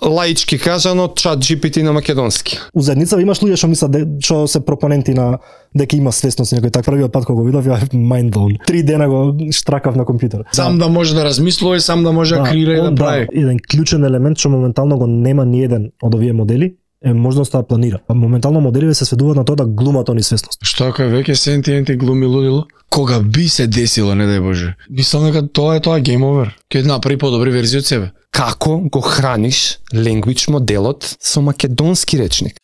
лаички кажано ChatGPT на македонски. У заедницава имаш луѓе што мислат што се пропоненти на дека има свесност некој так. Првиот пат кога го видов ја mind blown. 3 дена го штракав на компјутер. Сам да може да размислува и сам да може да креира и да прави. Еден клучен елемент што моментално го нема ни еден од овие модели е можноста да планира. Моментално моделиве се сведуваат на тоа да глумат они свесност. Што ако е веќе сентиенти глуми лудило? Кога би се десило, не дај Боже. Мислам дека тоа е game over. Ќе направи подобри верзии од себе. Како го храниш language моделот со македонски речник?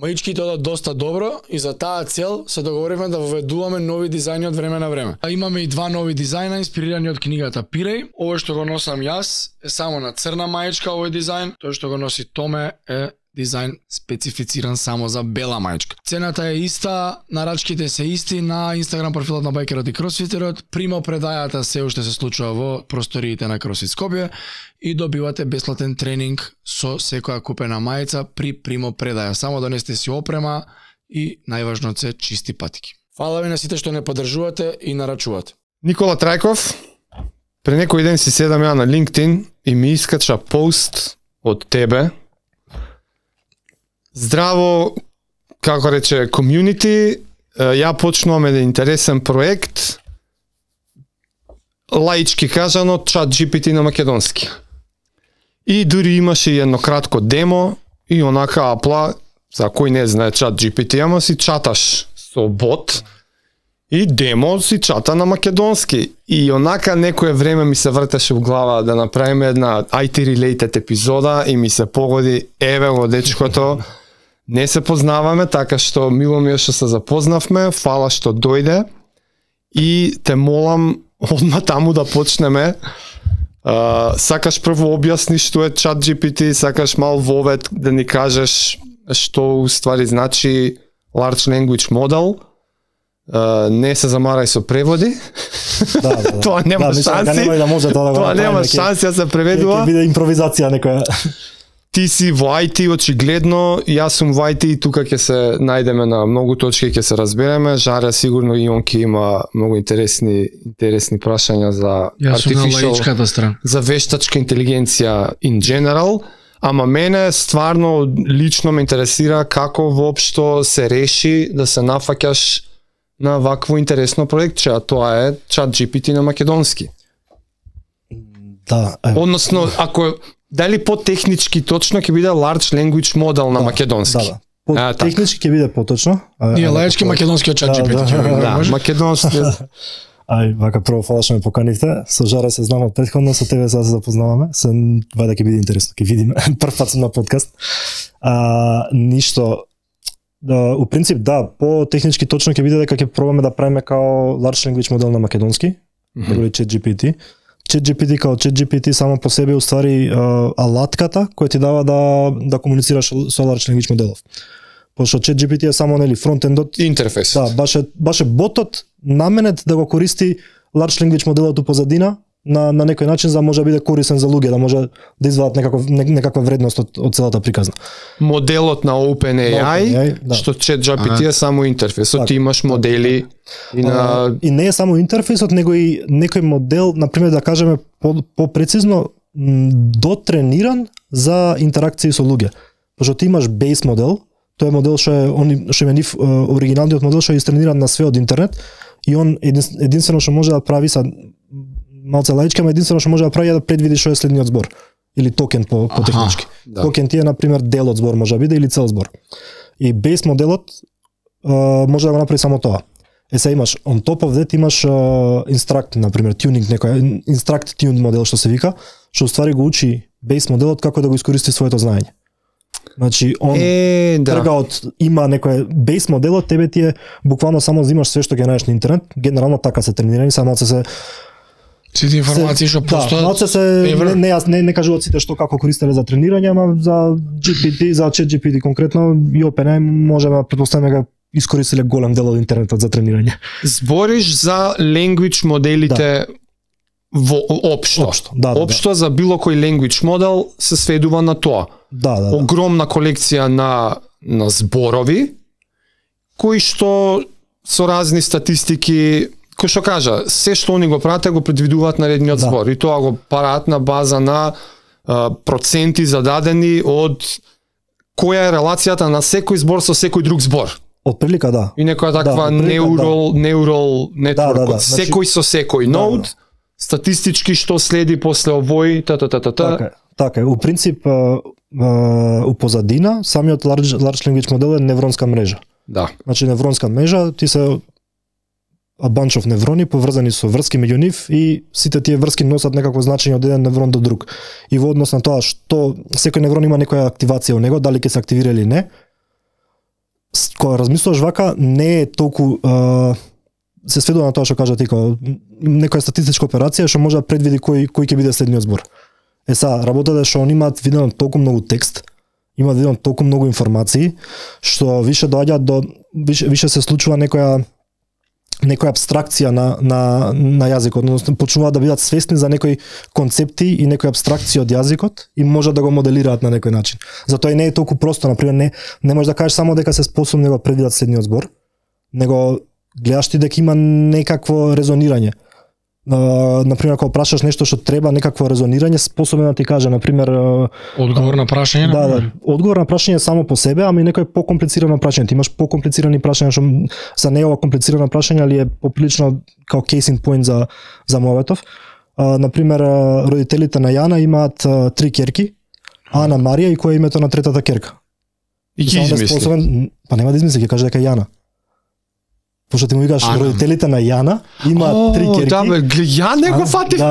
Маичките одат доста добро и за таа цел се договоривме да воведуваме нови дизајни од време на време. Имаме и 2 нови дизајна инспирирани од книгата Пиреј. Овој што го носам јас е само на црна маичка овој дизајн, тој што го носи Томе е дизајн специфициран само за бела маичка. Цената е иста, нарачките се исти на Инстаграм профилот на Байкерот и Кросфитерот. Примо предајата се уште се случува во просториите на Кросфит Скопје и добивате бесплатен тренинг со секоја купена мајца при примо предаја. Само донесете си опрема и најважно се чисти патики. Фала ви на сите што не поддржувате и нарачувате. Никола Трајков, пред некој ден си седам ја на LinkedIn и ми искача пост од тебе. Здраво, како рече, community, ја почнувам еден интересен проект, лаички кажано, ChatGPT на македонски. И дури имаше едно кратко демо и онака апла, за кој не знае ChatGPT, ама си чаташ со бот и демо си чата на македонски. И онака некое време ми се вртеше в глава да направиме една IT-related епизода и ми се погоди, еве го дечкото, не се познаваме, така што мило ми е што се запознавме, фала што дојде и те молам одма таму да почнеме. Сакаш прво објасни што е ChatGPT, сакаш мал вовед да ни кажеш што уствари значи Large Language Model. Не се замарај со преводи. Тоа нема шанси. Тоа нема шанси да се преведува. Ќе биде импровизација некоја. Ти си во IT очигледно, јас сум во IT и тука ќе се најдеме на многу точки, ќе се разбереме. Жаре сигурно и он ќе има многу интересни прашања за artificial, за вештачка интелигенција in general, ама мене стварно лично ме интересира како воопшто се реши да се нафаќаш на вакво интересно проектче, а тоа е ChatGPT на македонски. Да. Односно, ако дали по-технички точно ќе биде Large Language Model на македонски? Да. Технички ќе биде поточно. Ние лаички македонски од ChatGPT. Да, македонски. Вака прво фала што ме поканивте. Со Жаре се знам од претходно, со тебе сега се запознаваме. Се вајде ќе биде интересно, ќе видиме. Прв пат сум на подкаст. Ништо. У принцип да, по-технички точно ќе биде дека ќе пробаме да правиме као Large Language Model на македонски, или ChatGPT. ChatGPT као ChatGPT само по себе уствари алатката која ти дава да комуницираш со Large Language моделов. Пошто ChatGPT е само нели фронтендот, интерфейс. Да, баше ботот наменет да го користи Large Language моделот у позадина на некој начин за да може да биде корисен за луѓе, да може да извадат некаква вредност од целата приказна. Моделот на OpenAI, да. Што ChatGPT е само интерфейсот, ти имаш модели и не е само интерфейсот, него и некој модел, например да кажеме по-прецизно, дотрениран за интеракции со луѓе. Пошто ти имаш base модел, тој е модел што е нив оригиналниот модел што е истрениран на све од интернет и он единствено што може да прави са малце лаичка, ама единствено што може да прави е да предвиди што е следниот збор или токен по технички. Да. Токен ти е на пример дел од збор може да биде или цел збор. И base моделот може да го направи само тоа. Се имаш on top of that имаш instruct, на пример tuning некој instruct tuned модел што се вика, што уствари го учи base моделот како да го искористи своето знаење. Значи он трга од има некој base моделот, тебе ти е буквално само взимаш све што ќе најдеш на интернет, генерално така се тренирани, само се сите информации што постојат. Да, не кажуваат сите што како користеле за тренирање, ама за GPT, за ChatGPT конкретно и OpenAI можеме да претпоставиме дека искористиле голем дел од интернетот за тренирање. Збориш за language моделите во општо. Општо за било кој language модел се сведува на тоа. Огромна колекција на зборови кои што со разни статистики, кој што кажа, се што они го прават го предвидуваат наредниот збор и тоа го прават на база на проценти зададени од која е релацијата на секој збор со секој друг збор. Од прилика, да. И некоја таква neural network, секој со секој нод, статистички што следи после овој, Така е, у принцип, у позадина, самиот large language модел е невронска мрежа. Да. Значи, невронска мрежа, ти се a bunch of неврони поврзани со врски меѓу нив и сите тие врски носат некакво значење од еден неврон до друг. И во однос на тоа што секој неврон има некоја активација во него, дали ќе се активира или не, кога размислуваш вака, не е толку се сведува на тоа што кажа ти, некоја статистичка операција што може да предвиди кој ќе биде следниот збор. Работата е што они имаат видено толку многу текст, имаат видено толку многу информации, што више доаѓа до више се случува некоја абстракција на јазикот, односно почнуваат да бидат свесни за некои концепти и некои абстракции од јазикот и можат да го моделираат на некој начин. Затоа и не е толку просто, например, не можеш да кажеш само дека се способни да го предвидат следниот збор, него гледаш ти дека има некакво резонирање. Например, ако прашаш нешто што треба некакво резонирање, способен да ти каже, например, одговор на прашање, да, одговор на прашање само по себе, ама и некој покомплицирано прашање. Ти имаш покомплицирани прашања што за не ова комплицирано прашање, али е поприлично као case in point за Моветов. Например, родителите на Јана имаат 3 ќерки, Ана, Марија и кој е името на третата ќерка. И ги измисли. Па нема да измисли, ќе каже дека е Јана. Пошто ти му викаш родителите на Јана имаат 3 ќерки. Да, ја не го фатив.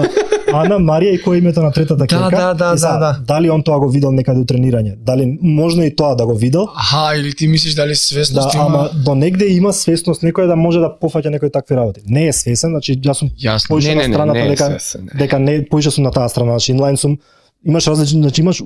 Ана, Марија и кој е името на третата ќерка. Да. Дали он тоа го видел некаде у тренирање? Дали можно и тоа да го видел? Или ти мислиш дали свесност има? Ама до негде има свесност некој да може да пофаќа некои такви работи. Не е свесен, значи јас сум поише на страната дека не поише сум на таа страна, значи инлайн сум, имаш различни, значи имаш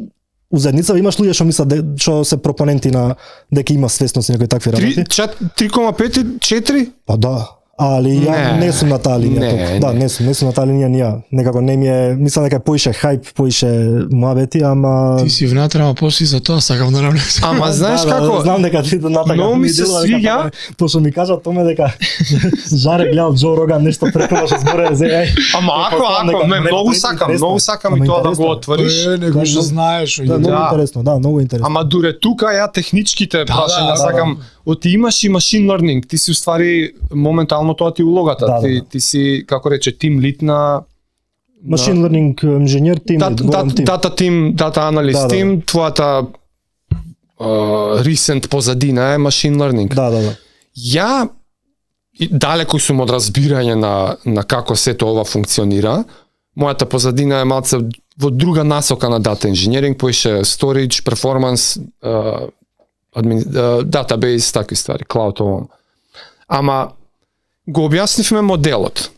у заедницава имаш луѓе што мислат што се пропоненти на дека има свесност и некои такви работи. 3,5 и 4? Па да. Али ја не сум на таа линија. Да, не сум на таа линија. Некако не ми е, мислам дека поише хајп, поише муабети, ама ти си внатре, ама после за тоа сакам да навлезам. Ама знаеш како? Знам дека ти натака. Многу ми се свиѓа, пошто ми кажа томе дека Жаре гледал Џо Роган нешто преку што зборе за Ама ако многу сакам и тоа да го отвориш. Него што знаеш. Многу интересно. Ама дуре тука ја техничките прашања сакам. Ти имаш и машин learning, ти си уствари моментално тоа ти улогата. Ти си, како рече, тим лид на машин learning инженер тим, дата тим, дата аналист тим, твојата recent позадина е машин learning. Да. Ја далеку сум од разбирање на како сето ова функционира. Мојата позадина е малце во друга насока на дата инженеринг, поише storage, performance, database, такви ствари, cloud овој. Ама го објаснивме моделот,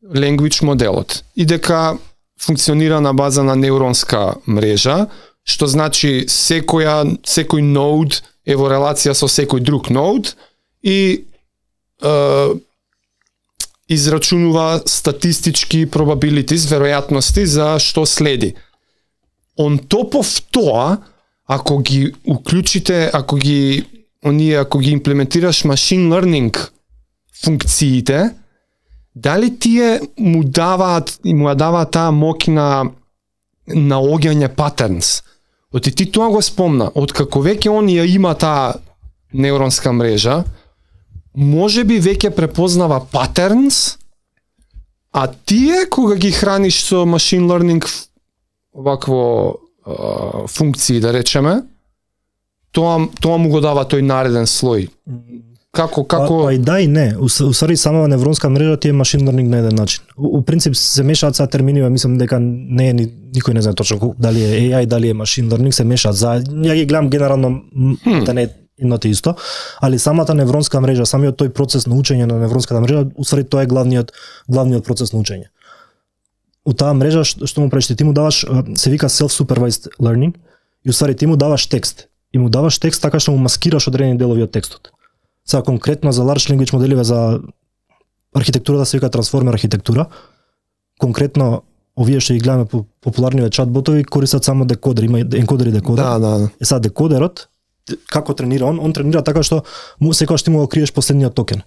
language моделот, и дека функционира на база на невронска мрежа, што значи секој нод е во релација со секој друг нод и израчунува статистички probabilities, веројатности за што следи. On top of тоа, ако ги уклучите, ако ги имплементираш машин learning функциите, дали тие му даваат таа моќ на наоѓање патернс? Оти ти тоа го спомна, откако веќе он ја има таа невронска мрежа, може би веќе препознава патернс, а тие кога ги храниш со машин learning вакво функции, да речеме, тоа му го дава тој нареден слој. Како? Па и да и не. Усари самава невронска мрежа ти е машин learning на еден начин. У принцип се мешаат са термини, мислам дека не е никој не знае точно дали е AI, дали е машин learning, се мешаат. Ја ги гледам генерално да не е едното исто, али самата невронска мрежа, самиот тој процес на учење на невронската мрежа, усари тоа е главниот процес на учење. У таа мрежа што му правиш, ти му даваш, се вика self-supervised learning, и усари ти му даваш текст. И му даваш текст така што му маскираш одредени делови од текстот. Сега конкретно за large language моделиве за архитектурата се вика трансформер архитектура. Конкретно овие што ги гледаме по популарниве чат-ботови користат само декодер, има енкодер и декодер. Да. Сега декодерот како тренира он тренира така што секогаш ти му го криеш последниот токен,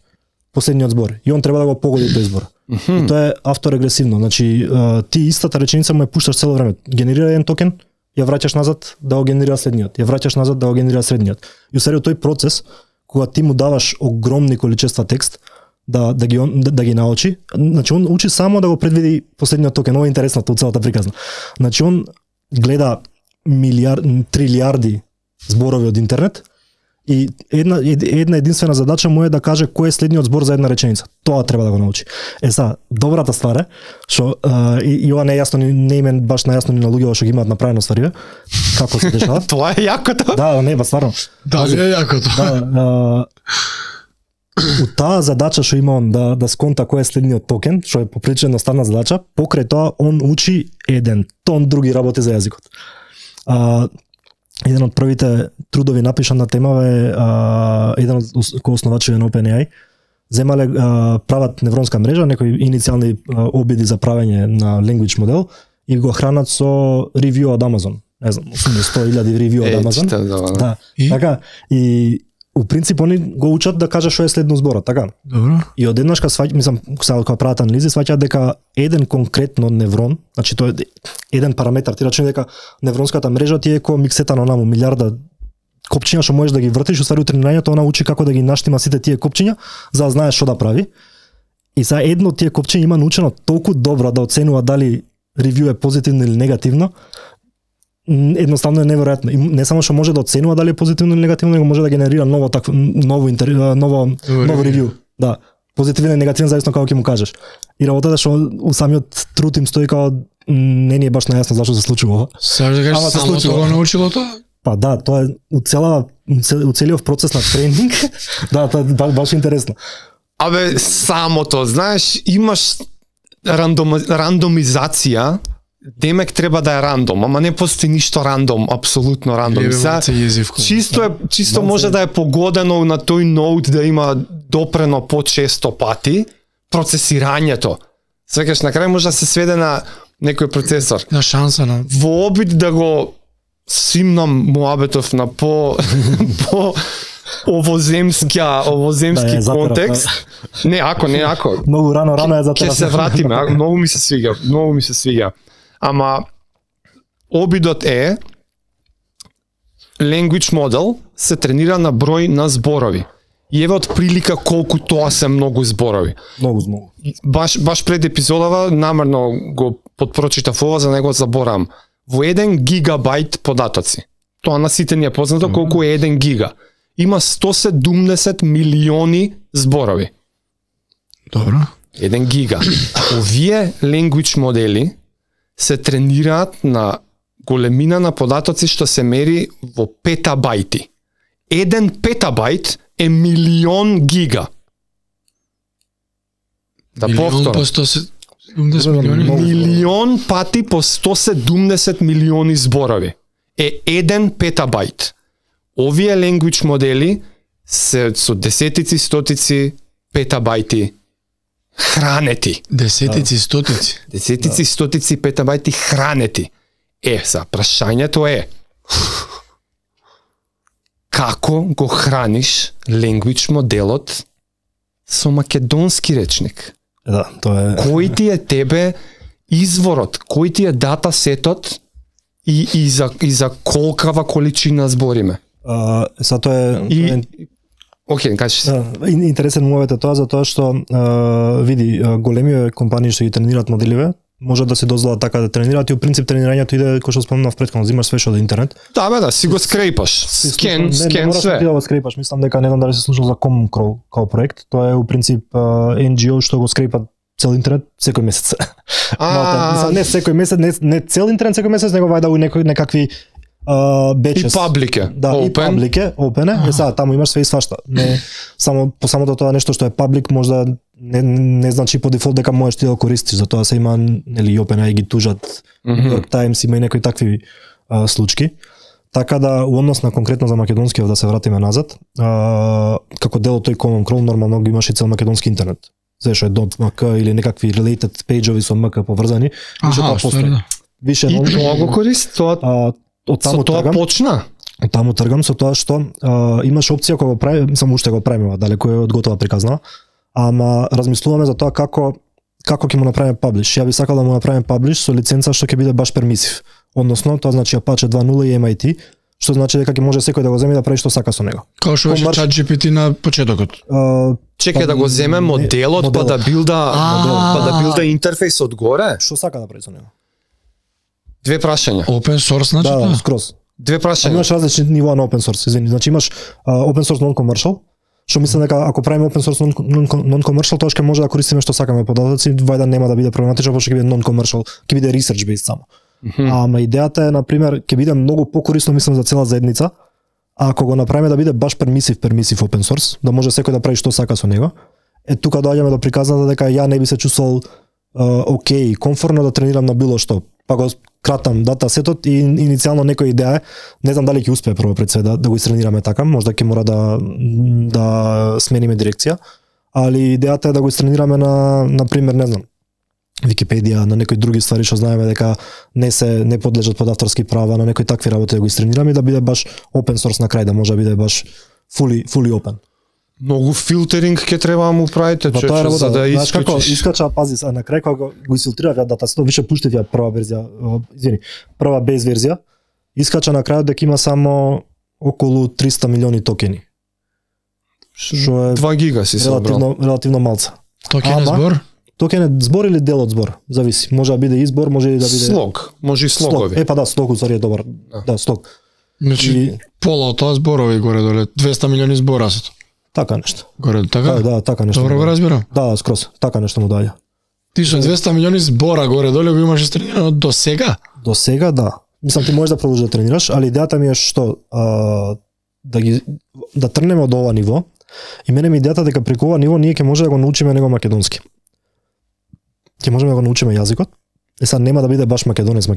последниот збор и он треба да го погоди тој збор. И тоа е авторегресивно, значи ти истата реченица му ја пушташ цело време. Генерира еден токен, ја враќаш назад да го генерира следниот, ја враќаш назад да го генерира следниот. И усари тој процес кога ти му даваш огромни количества текст да ги научи, значи он учи само да го предвиди последниот токен. Ова е интересното од целата приказна. Значи он гледа трилиарди зборови од интернет и една единствена задача му е да каже кој е следниот збор за една реченица. Тоа треба да го научи. Сега, добрата ствар е што и ова не е јасно, не име баш најасно ни на луѓето што ги имаат направено ствариве, како се дешава. Тоа е јакото. Да, не, стварно. Да, е јакото. Да, у таа задача што има он да сконта кој е следниот токен, што е поприлично едноставна задача, покрај тоа он учи еден тон други работи за јазикот. Еден од првите трудови напишан на темава е еден од основачите на OpenAI. Земале прават невронска мрежа, некои иницијални обиди за правење на language модел и го хранат со ревју од Amazon. Не знам, 100.000 ревју од Amazon. Да. Така и у принцип они го учат да каже што е следно зборот, така? Добро. И одеднаш кога прават анализи сваќаат дека еден конкретно неврон, значи тоа е еден параметар, ти рачуни дека невронската мрежа ти е како миксета на онаму милиарда копчиња што можеш да ги вртиш, усвари тренирањето она учи како да ги наштима сите тие копчиња за да знаеш што да прави. И за едно од тие копчиња има научено толку добро да оценува дали ревју е позитивно или негативно. Едноставно е неверојатно. И не само што може да оценува дали е позитивно или негативно, него може да генерира ново ревју. Да, позитивен и негативен зависно како ќе му кажеш. И работата што у самиот труд им стои како не ни е баш најасно зашто се случува ова. Саш да кажеш само тоа го научило тоа? Па да, тоа е у целиот процес на тренинг. Да, тоа е баш интересно. Абе, самото, знаеш, имаш рандомизација, демек треба да е рандом, ама не постои ништо рандом, апсолутно рандом. Чисто може да е погодено на тој ноут да има допрено по-често пати процесирањето. Свекаш на крај може да се сведе на некој процесор. На шанса на во обид да го симнам муабетов на по овоземски контекст. Не ако. Многу рано е за тоа. Ќе се вратиме, многу ми се свиѓа. Ама обидот е language model се тренира на број на зборови. И еве од прилика колку тоа се многу зборови. Многу. Баш пред епизодава намерно го подпрочитав ова, за него заборам. Во 1 гигабајт податоци. Тоа на сите ни е познато колку е 1 гига. Има 170 милиони зборови. Добро. 1 гига. Овие language модели се тренираат на големина на податоци што се мери во петабајти. 1 петабајт е милион гига. Да повторам. Милион пати по 170 милиони зборови е 1 петабајт. Овие language модели се со десетици, стотици петабајти хранети. Десетици, стотици. Десетици, стотици петабајти хранети. За прашањето е како го храниш language моделот со македонски речник? Да, тоа е. Кој ти е тебе изворот, кој ти е дата сетот и за колкава количина збориме? Тоа е Океј, кажи се. Интересен мовет е тоа затоа што види големите компании што ги тренираат моделиве можат да се дозволат така да тренираат и во принцип тренирањето иде кој што спомнав претходно, зимаш све што од интернет. Да, си го скрепаш. Скен све. Да го скрепаш, мислам дека не знам дали се слушал за Comcrawl како проект. Тоа е у принцип NGO што го скрепат цел интернет секој месец. Не секој месец, не цел интернет секој месец, него вајда у некакви бечес. И паблике. Да, open. И паблике, open е. Сега таму имаш све и свашта. Не само по самото тоа нешто што е паблик можда не значи по дефолт дека можеш ти да го користиш, затоа се има нели OpenAI ги тужат, New York Times има и некои такви случки. Така да, у однос на конкретно за македонскиот, да се вратиме назад, како дел од тој Common Crawl нормално ги имаше цел македонски интернет. Зашо е .mk или некакви related page-ови со МК поврзани, више тоа постои. Више и тоа го користи, тоа од таму тргам. Почна. Од таму тргам со тоа што имаш опција кога го прави, само уште го правиме, далеку е од готова приказна, ама размислуваме за тоа како ќе му направиме паблиш. Ја би сакал да му направиме паблиш со лиценца што ќе биде баш пермисив. Односно, тоа значи Apache 2.0 и MIT, што значи дека ќе може секој да го земе и да прави што сака со него. Како што беше ChatGPT на почетокот. Чекај да го земе моделот, па да билда интерфејс одгоре. Што сака да прави со него? Две прашања. Open source значи тоа? Да, скроз. Две прашања. Имаш различни нивоа на open source, извини. Значи имаш open source non-commercial, што мислам дека ако правиме open source non-commercial, тоа ќе може да користиме што сакаме податоци, вајда нема да биде проблематично, пошто ќе биде non-commercial, ќе биде research based само. Ама идејата е, на пример, ќе биде многу покорисно, мислам, за цела заедница, ако го направиме да биде баш permissive open source, да може секој да прави што сака со него. Тука доаѓаме до приказната дека ја не би се чувствувал окей, комфортно да тренирам на било што. Па го кратам датасетот и иницијално некоја идеја е, не знам дали ќе успее прво пред се да го истренираме така, можда ќе мора да смениме дирекција, али идејата е да го истренираме на пример, не знам, Википедија, на некои други ствари што знаеме дека не подлежат под авторски права, на некои такви работи да го истренираме и да биде баш open source на крај, да може да биде баш fully open. Многу филтеринг ќе треба да му правите, за да искача, пази, на крај кога го изфилтрирав ја датасетот, више пуштив ја прва бейс верзија, искача на крајот дека има само околу 300 милиони токени. Што е 2 гига си собрал. Релативно малца. Токен е збор? Токен е збор или дел од збор, зависи. Може да биде избор, може и да биде слог, може и слогови. Па да, слог уствари е добар. Да, слог. Значи пола од тоа зборови горе доле, 200 милиони збора се. Така нешто. Горе така? Да, така нешто. Добро го разбирам. Да, скроз. Така нешто му даја. Ти со 200 милиони збора горе доле го имаш тренирано до сега? До сега да. Мислам ти можеш да продолжиш да тренираш, али идејата ми е што да тргнеме од ова ниво. И мене ми идејата дека преку ова ниво ние ќе може да го научиме него македонски. Ќе можеме да го научиме јазикот. Сега нема да биде баш македонец.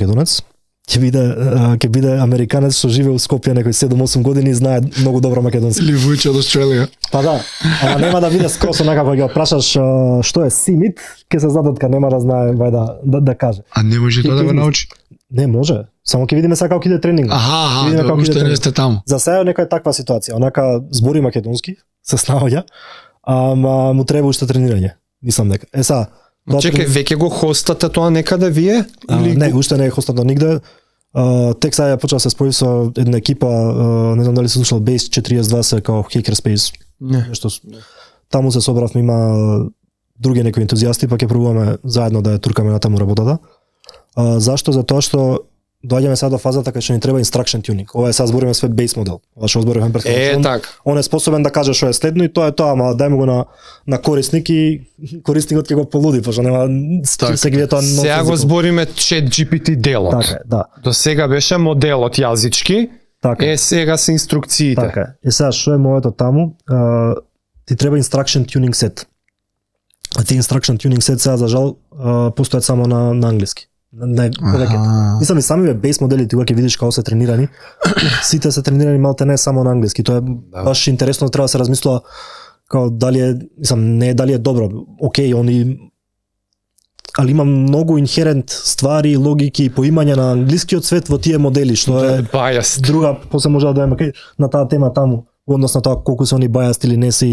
Ќе биде американец што живее во Скопје некои 7-8 години и знае многу добро македонски. Или Вујче од Австралија. Па да, ама нема да биде скроз онака кога ќе прашаш што е симит, ќе се задатка нема да знае да каже. А не може тоа да го научи? Не може. Само ќе видиме сега како ќе иде тренинг. Аха, уште не сте таму. За сега некоја таква ситуација, онака збори македонски, се снаоѓа, ама му треба уште тренирање. Мислам дека. Сега чекај, веќе го хостате тоа некаде вие? Не, уште не е хостато нигде. Тек сега ја почнав се спојив со една екипа, не знам дали се слушал Base 42 као Hackerspace. Нешто. Таму се собравме, има други некои ентузијасти, па ќе пробуваме заедно да ја туркаме на таму работата. Зашто? Затоа што доаѓаме сега до фазата кај што ни треба instruction tuning. Ова е сега збориме све base модел. Ова што збориме претходно. Так. Он е способен да каже што е следно и тоа е тоа, ама дајме го на корисник и корисникот ќе го полуди, пошто нема се ги тоа. Сега го збориме ChatGPT делот. Така, да. До сега беше моделот јазички. Така. Сега се инструкциите. Така. Сега што е моето таму? Ти треба instruction tuning set. А тие instruction tuning set сега за жал постојат само на англиски. Мислам и самиве бейс моделите кога ќе видиш како се тренирани, сите се тренирани малте не само на англиски. Тоа е баш интересно, треба да се размислува како дали е, мислам, не дали е добро. Океј, али има многу инхерент ствари, логики и поимање на англискиот свет во тие модели, што е друга, после може да дојдеме на таа тема таму, односно тоа колку се они biased или не се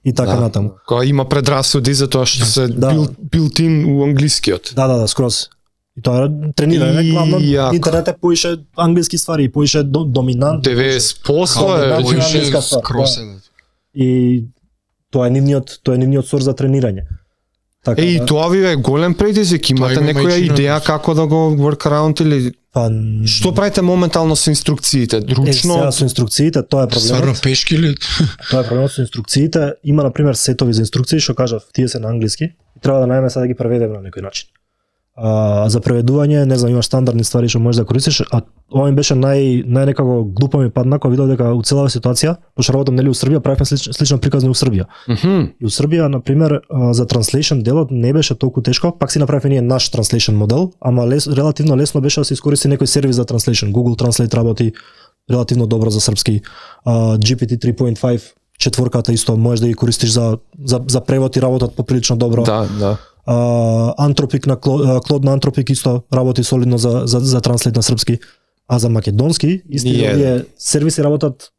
и така натаму. Кога има предрасуди за тоа што се built-in у англискиот. Да, скроз. И тоа тренирање, главно интернет е поише англиски ствари, поише доминант. 90% е поише скроз. И тоа е нивниот сорс за тренирање. Така, и тоа ви е голем предизвик, имате некоја идеја како да го workaround или што правите моментално со инструкциите? Ручно? Сега со инструкциите, тоа е проблемот. Стварно пешки ли? Тоа е проблемот со инструкциите. Има, например, сетови за инструкции, што кажав, тие се на англиски, и треба да најдеме сега да ги преведеме на некој начин. За преведување, не знам, имаш стандардни ствари што можеш да користиш, а ова ми беше најнекако глупо ми падна кога видов дека у целава ситуација, пошто работам нели у Србија, правевме слична приказна у Србија. И у Србија, на пример, за translation делот не беше толку тешко, пак си направивме ние наш translation модел, ама релативно лесно беше да се искористи некој сервис за translation. Google Translate работи, релативно добро за српски. GPT 3.5 четворката исто можеш да ги користиш за превод и работат поприлично добро. Да. Антропик на Клод на Антропик исто работи солидно за транслейт на српски, а за македонски исто сервиси работат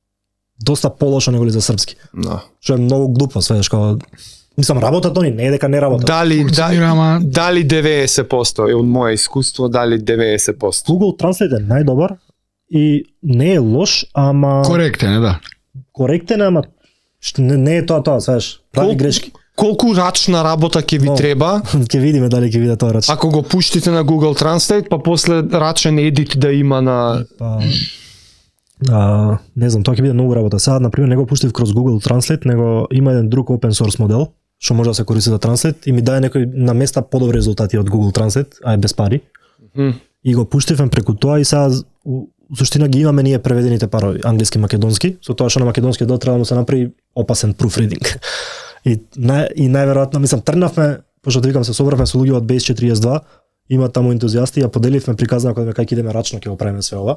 доста полошо неголи за српски. Да. Што е многу глупо, сведеш како мислам работат они, не е дека не работат. Дали 90% е од мое искуство, дали 90%. Google Translate е најдобар и не е лош, ама Коректен е, да. Коректен е, ама не е тоа, сведеш. Прави грешки. Колку рачна работа ќе ви треба? Ќе видиме дали ќе види тоа рачно. Ако го пуштите на Google Translate, па после рачен едит да има на не знам, тоа ќе биде многу работа. Сега на пример не го пуштив кроз Google Translate, него има еден друг open source модел што може да се користи за Translate и ми даде некои на места подобри резултати од Google Translate, а е без пари. И го пуштивме преку тоа и сега суштина ги имаме ние преведените парови, англиски, македонски, со тоа што на македонски дел треба да му се направи опасен proofreading. И најверојатно, мислам, тргнавме, пошто да викам се собравме со луѓе од Base 42, има таму ентузијасти, ја поделивме приказна кога кај ќе идеме рачно ќе го правиме све ова.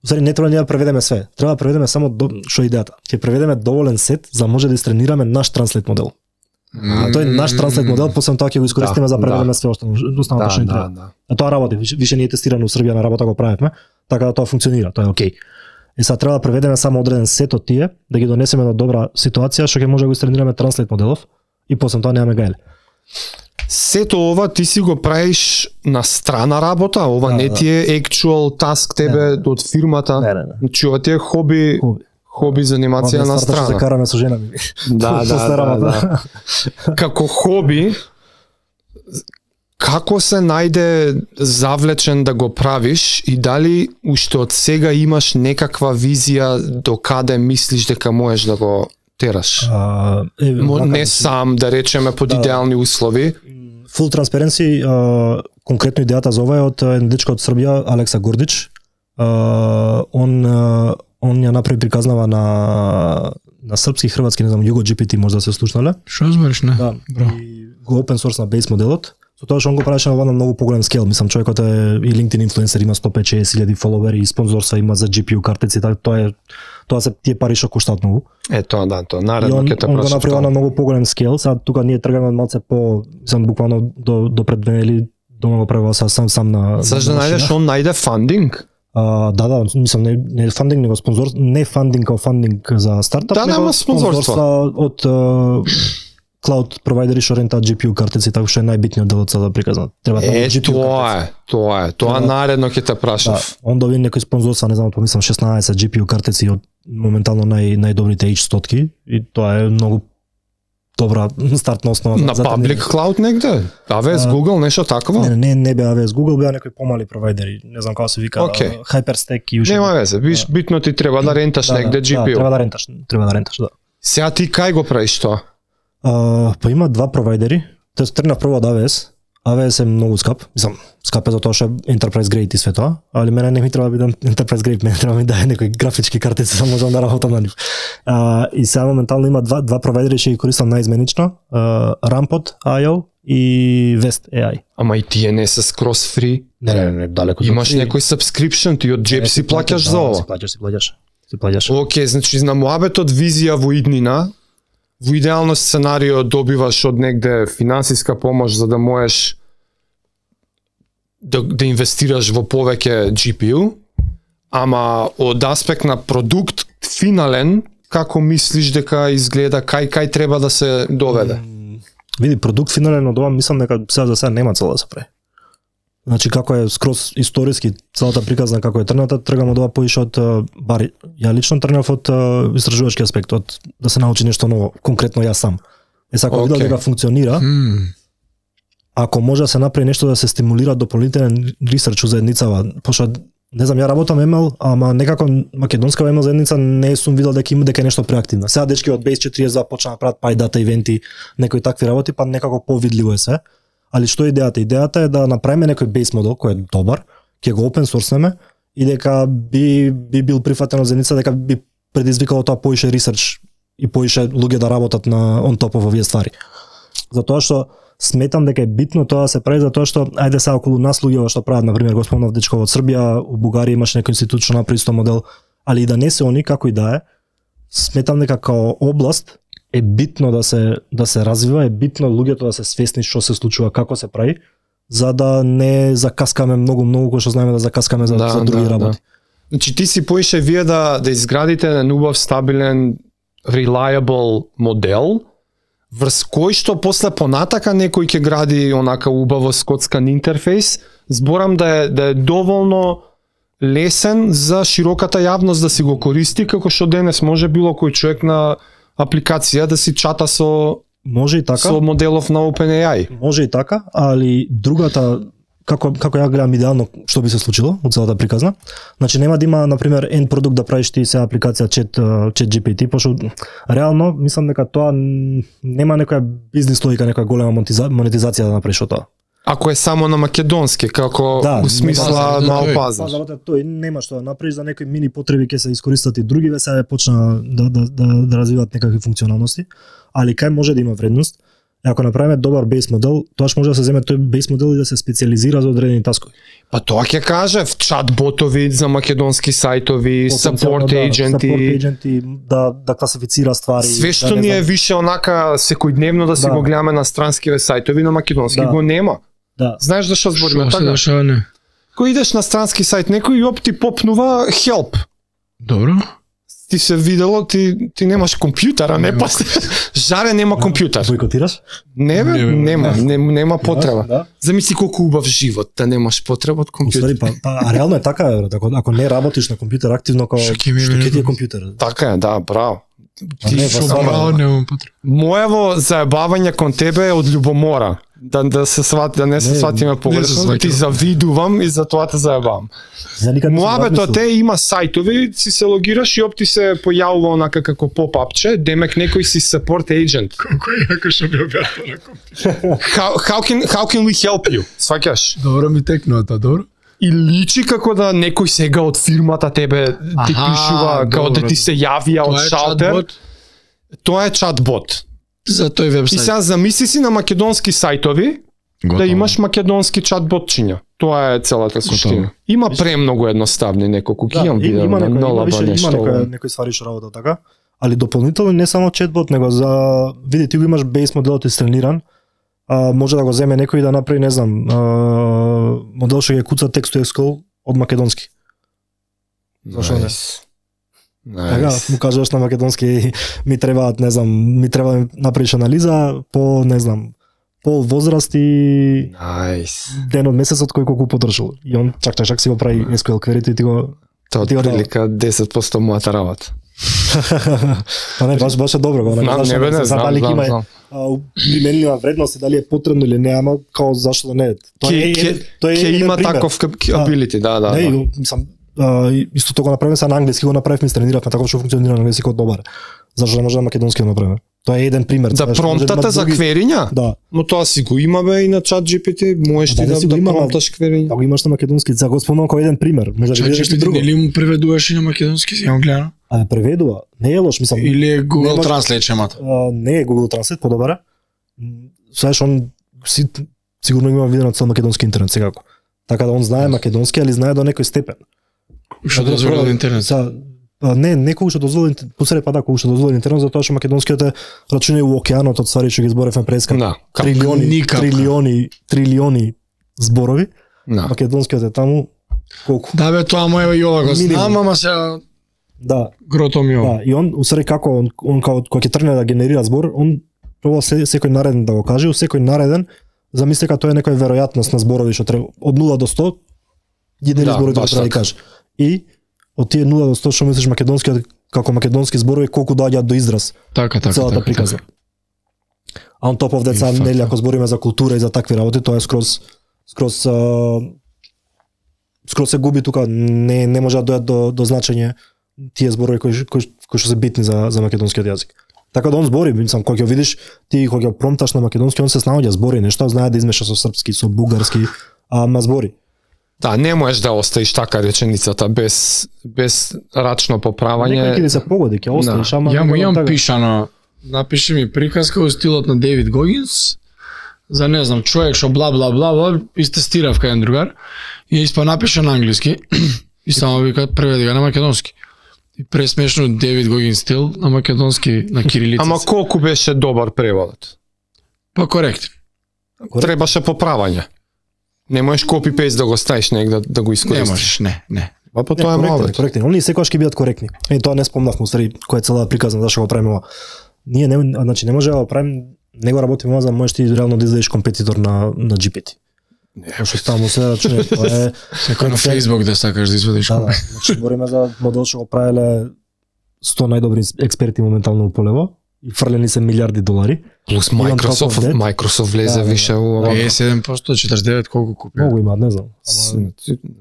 Усари не треба да преведеме све, треба да преведеме само што идејата. Ќе преведеме доволен сет за да може да истренираме наш транслейт модел. Тој наш транслейт модел, после тоа ќе го искористиме за преведеме све останато што ни треба. А тоа работи, више не е тестирано во Србија, на работа го правевме, така да тоа функционира, тоа е окей. И сега треба да преведеме само одреден сет од тие, да ги донесеме до добра ситуација што ќе може да го истренираме транслейт моделов и после тоа немаме гајле. Сето ова ти си го правиш на страна работа, ова не ти е actual task тебе од фирмата. Не. Значи ова ти е хоби занимација на страна. Се караме со жена ми. Да. Како хоби, како се најде завлечен да го правиш и дали уште од сега имаш некаква визија до каде мислиш дека можеш да го тераш? Не сам, да речеме под идеални услови. Full transparency, конкретно идејата за ова е од еден дечко од Србија, Алекса Гордич. Он ја направи приказнава на српски, хрватски, не знам, Jugo GPT може да се слушнале. Што збориш, не? Да. И го open source на base моделот. Со тоа што он го правеше на многу поголем скел, мислам човекот е и LinkedIn инфлуенсер, има 150.000 фоловери и спонзорства има за GPU картици, така тоа се тие пари што коштаат многу. Тоа наредно ќе те прашам. Он го направи на многу поголем скел, сега тука ние тргаме малце по, мислам буквално до пред 2 недели дома го правува сам на. Саш да најдеш он најде фандинг? Да, мислам не фандинг, него спонзор, не фандинг како фандинг за стартап, него спонзорства од cloud провайдери што рентаат GPU картици, така што е најбитниот дел од целата приказна. Треба тоа наредно ќе те прашав. Он доби некој спонзорства, не знам, помислам 16 GPU картици од моментално најдобрите H100-ки и тоа е многу добра стартна основа на public cloud негде. AWS Google нешто такво? Не беа AWS Google, беа некои помали провайдери, не знам како се вика, HyperStack и уште. Нема везе, битно ти треба да ренташ негде GPU. Треба да ренташ, да. Сега ти кај го правиш тоа? Па има два провайдери. Тоест тргнав прво од AWS. AWS е многу скап. Мислам, скап е затоа што е enterprise grade и све тоа, али мене не ми треба да биде enterprise grade, мене треба да ми даде некои графички картици за можам да работам на нив. И сега моментално има два провайдери што ги користам најизменично, Rampod.io и Vest AI. Ама и тие не се скрос фри. Не, далеко. Имаш некој subscription, ти од джеб си плаќаш за ова. Си плаќаш. Океј, значи на моабетот визија во иднина, во идеално сценарио добиваш од негде финансиска помош за да можеш да инвестираш во повеќе GPU, ама од аспект на продукт финален, како мислиш дека изгледа, кај треба да се доведе? Види, продукт финален од ова, мислам дека сега за сега нема цел да се прави. Значи како е скроз историски целата приказна како е тргната, тргам од ова поише од бар ја лично тргнав од истражувачки аспект, од да се научи нешто ново, конкретно јас сам. Ако видам дека функционира, ако може да се направи нешто да се стимулира дополнителен ресерч за едницава, пошто не знам, ја работам ML, ама некако македонска ML заедница не сум видел дека има дека е нешто преактивно. Сега дечки од Base 42 почнаа да прават PyData ивенти, некои такви работи, па некако повидливо е се. Али што е идејата? Идејата е да направиме некој base модел кој е добар, ќе го open source-неме и дека би бил прифатен од заедница, дека би предизвикало тоа поише ресерч и поише луѓе да работат на on top of овие ствари. Затоа што сметам дека е битно тоа да се прави, затоа што ајде сега околу нас луѓе што прават, на пример, го спомнав дечко од Србија, у Бугарија имаш некој институт што направи исто модел, али и да не се они, како и да е, сметам дека као област е битно да се развива, е битно луѓето да се свесни што се случува, како се прави, за да не закаскаме многу кој што знаеме да закаскаме за други работи. Значи ти си поише вие да изградите еден убав, стабилен, reliable модел, врз кој што после понатака некој ќе гради онака убаво скоцкан интерфейс, зборам да е доволно лесен за широката јавност да си го користи, како што денес може било кој човек на апликација да си чата може и така, со моделов на OpenAI. Може и така, али другата како ја гледам идеално што би се случило од целата приказна. Значи нема да има на пример end продукт да правиш ти се апликација ChatGPT, пошто реално мислам дека тоа нема некоја бизнис логика, некоја голема монетизација да направиш од тоа. Ако е само на македонски, како у смисла мал пазар. Тој нема што да направиш за некои мини потреби ќе се искористат и други сега почна да развиваат некакви функционалности, али кај може да има вредност. Ако направиме добар бейс модел, тоаш може да се земе тој бейс модел и да се специализира за одредени таскови. Па тоа ќе каже, чат-ботови за македонски сајтови, support agenti, да класифицира ствари. Све што ни е више онака секојдневно да си го гледаме на странскиве сајтови, на македонски го нема. Да. Знаеш зашто збориме така? Што не? Кој идеш на странски сајт, некој јоп ти попнува help. Добро. Ти се видело, ти немаш компјутер, а не па Жаре нема компјутер. Бойкотираш? Не бе, нема потреба. Да. Замисли колку убав живот, да немаш потреба од компјутер. А реално е така, ако не работиш на компјутер активно, што ќе ти е компјутер? Така е, да, браво. Браво, немам потреба. Моево заебавање кон тебе е од љубомора. Да не се сватиме погрешно, ти завидувам и за тоа те заебавам. Моабето те има сајтови, си се логираш и опти се појавува онака како поп-апче, демек некој си support agent. Колко е јако што ми објаснува на компјутер. How can we help you? Сваќаш? Добро ми текнува тоа, добро. И личи како да некој сега од фирмата тебе ти пишува, како да ти се јавија од шалтер. Тоа е чат-бот. За тој вебсайт. И сега замисли си на македонски сајтови да имаш македонски чат-ботчиња. Тоа е целата суштина. Има премногу едноставни неколку ги имам видео на Нолаба нешто. Има некој ствари што работа така, али дополнително не само чат-бот, него за види ти го имаш бейс моделот истрениран, може да го земе некој да направи, не знам, модел што ќе куца text to SQL од македонски. Зашо не? Така, му кажуваш на македонски, ми требаат, не знам, ми треба да направиш анализа по, не знам, пол возраст и ден од месецот кој колку потрошил. И он чак си го прави SQL query и ти го... Тоа прилика 10% мојата работа. Па не, баш е добро. Не знам. Применлива вредност и дали е потребно или не, ама као зашто да не е. Ќе има таков ability, да. Не, мислам, исто тоа го направиме са на англиски, го направивме, трениравме така што функционира на англиски добар. Зашто не може на македонски да направиме? Тоа е еден пример. За промптата за квериња? Да. Но тоа си го имаме и на ChatGPT, можеш ти да промпташ квериња. Да го имаш на македонски, за го спомнам како еден пример. Може да видиш и друго. Или му преведуваш и на македонски, си ја гледам. А преведува, не е лош, мислам. Или е Google Translate чемата. Не е Google Translate, подобар. Знаеш, он сигурно има видено на цел македонски интернет секако. Така да он знае македонски, али знае до некој степен. Што дозволи интернет? Не кога што дозволи посред па да, кога што дозволи интернет, затоа што македонскиот е рачуне у океанот од ствари што ги зборевме преска. Трилиони зборови. Македонскиот е таму колку? Да бе, тоа моје и ова го знам, ама се грото ми ова. Да, и он усреди како он кога ќе тргне да генерира збор, он пробува секој нареден да го каже, у секој нареден замисли дека тоа е некоја веројатност на зборови што треба од 0 до 100 генери зборови што треба да каже. И од тие 0 до 100 што мислиш македонскиот како македонски зборови колку доаѓаат до израз. Така. Целата приказна. А он топ деца нели ако збориме за култура и за такви работи, тоа е скроз се губи тука, не може да дојат до значење тие зборови кои што се битни за македонскиот јазик. Така да он збори, мислам, кога ќе видиш, ти кога ќе промпташ на македонски, он се снаоѓа, збори нешто, знае да измеша со српски, со бугарски, ама збори. Да, не можеш да оставиш така реченицата без рачно поправање. Некој ќе се погоди, ќе оставиш, ама Јам пишано, напиши ми приказка во стилот на Дейвид Гогинс, за не знам, човек што бла бла бла бла, истестирав кај еден другар, и ја напиша на англиски, и само вика преведи го на македонски. И пресмешно Девид Гогин стил на македонски, на кирилица. Ама колку беше добар преводот? Па коректен. Требаше поправање. Не можеш копи-пейст да го ставиш негде да го Не искористиш. можеш, не. Па тоа е мало. Коректен. Они секогаш ќе бидат коректни. Тоа не спомнавме, уствари, која е целата приказна зашто го правиме ова. Ние не може да го правиме, не го работиме ова за да можеш ти реално да излезеш компетитор на GPT. Не, што ставам се рачуне, тоа е Секој на Facebook да сакаш да извадиш. Да, значи говориме за модел што го правеле 100 најдобри експерти моментално у полево и фрлени се милиарди долари. Плюс Microsoft влезе више у ова. 57%, 49 колку купи. Многу имаат, не знам.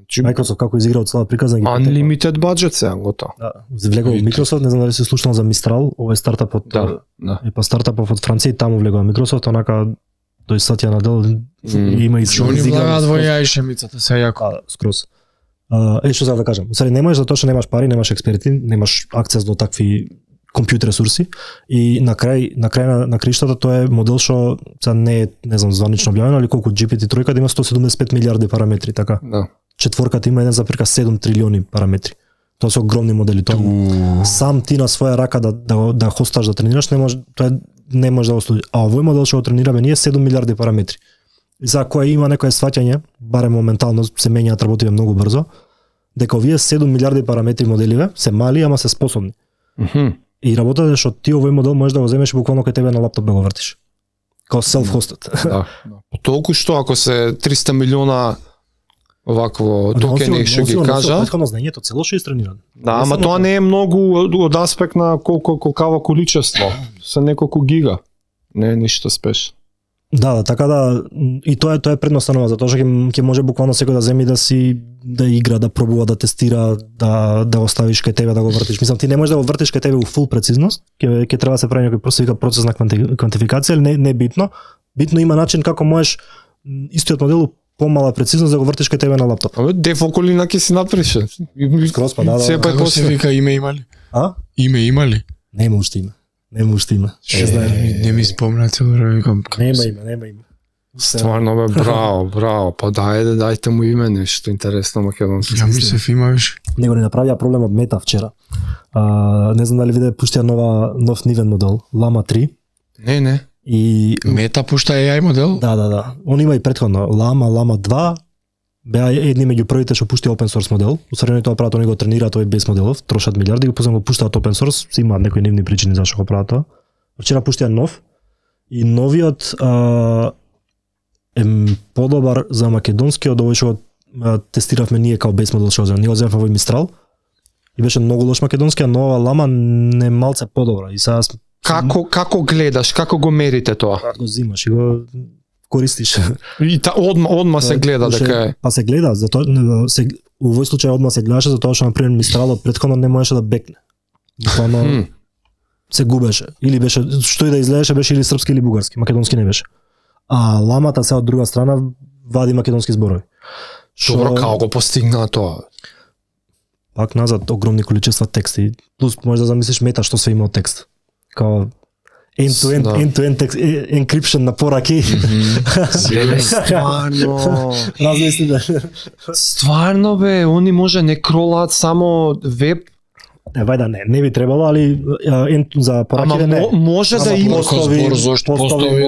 Microsoft како изигра од целата приказна ги Unlimited budget сега готово. Да, влегува Microsoft, не знам дали си слушнал за Mistral, ова е стартапот. Да. Е па стартапот од Франција и таму влегува Microsoft, онака тој Сатја Надел има и Они влагаат во AI шемицата, се јако. скроз. Што сакам да кажам, усари не можеш затоа што немаш пари, немаш експерти, немаш акцес до такви компјутер ресурси и на крај на криштата тоа е модел што сега не знам званично објавено, али колку GPT-3 има 175 милиарди параметри, така. Да. Четворката има 1,7 трилиони параметри. Тоа се огромни модели, тоа сам ти на своја рака да хосташ да тренираш, не може да го служи. А овој модел што го тренираме ние 7 милиарди параметри. И за кој има некое сваќање, барем моментално се менјаат, работиме многу брзо, дека овие 7 милиарди параметри моделиве се мали, ама се способни. И работата е што ти овој модел можеш да го земеш буквално кај тебе на лаптоп да го вртиш. Као self-hosted. Да. Толку што ако се 300 милиона вакво токени што ги кажа. Претходно знаењето цело што е истренирано. Да, ама тоа не е многу од аспект на колкава количество. Се неколку гига. Не е ништо спеш. Да, така да и тоа е предноставно, затоа што ќе може буквално секој да земи да игра, да пробува, да тестира, да оставиш кај тебе да го вртиш. Мислам ти не можеш да го вртиш кај тебе у фул прецизност, ќе треба да се прави некој процес на квантификација, или не е битно. Битно има начин како можеш истиот модел помала прецизност да го вртиш кај тебе на лаптоп. Дефоколина ќе си напише. Скроз па да. Како се вика име има ли? А? Име има ли? Нема уште име. Не ми спомна цело време викам. Нема име. Стварно бе, браво. Па дајте му име, нешто интересно македонски. Ја мислев имаш. Него не направија проблем од Мета вчера. Не знам дали виде пуштија нов нивен модел, Llama 3. Не. И Мета пушта AI модел? Да. Он има и претходно Llama 2. Беа едни меѓу првите што пушти open source модел. Усредно тоа прават, они го тренираат овој без моделов, трошат милиарди, го после го пуштаат open source, си имаат некои нивни причини зашто го прават тоа. Вчера пуштија нов и новиот е подобар за македонски од овој што тестиравме ние као без модел што ние го земавме овој Mistral и беше многу лош македонски, а нова Llama не малце подобра. И сега Како гледаш, како го мерите тоа? го зимаш и го користиш. И одма се гледа дека е. Па се гледа, затоа у овој случај одма се гледаше затоа што на пример Мистралот претходно не можеше да бекне. Буквално се губеше. Или беше што и да изгледаше беше или српски или бугарски, македонски не беше. А Ламата се од друга страна вади македонски зборови. Добро, како го постигна тоа? Пак назад огромни количества тексти. Плюс може да замислиш Мета што се има од текст. Као end-to-end text encryption на пораки. Стварно. Размисли да. Стварно бе, они може не кролаат само веб. Вајда не би требало, али за пораките не. Може да има постови,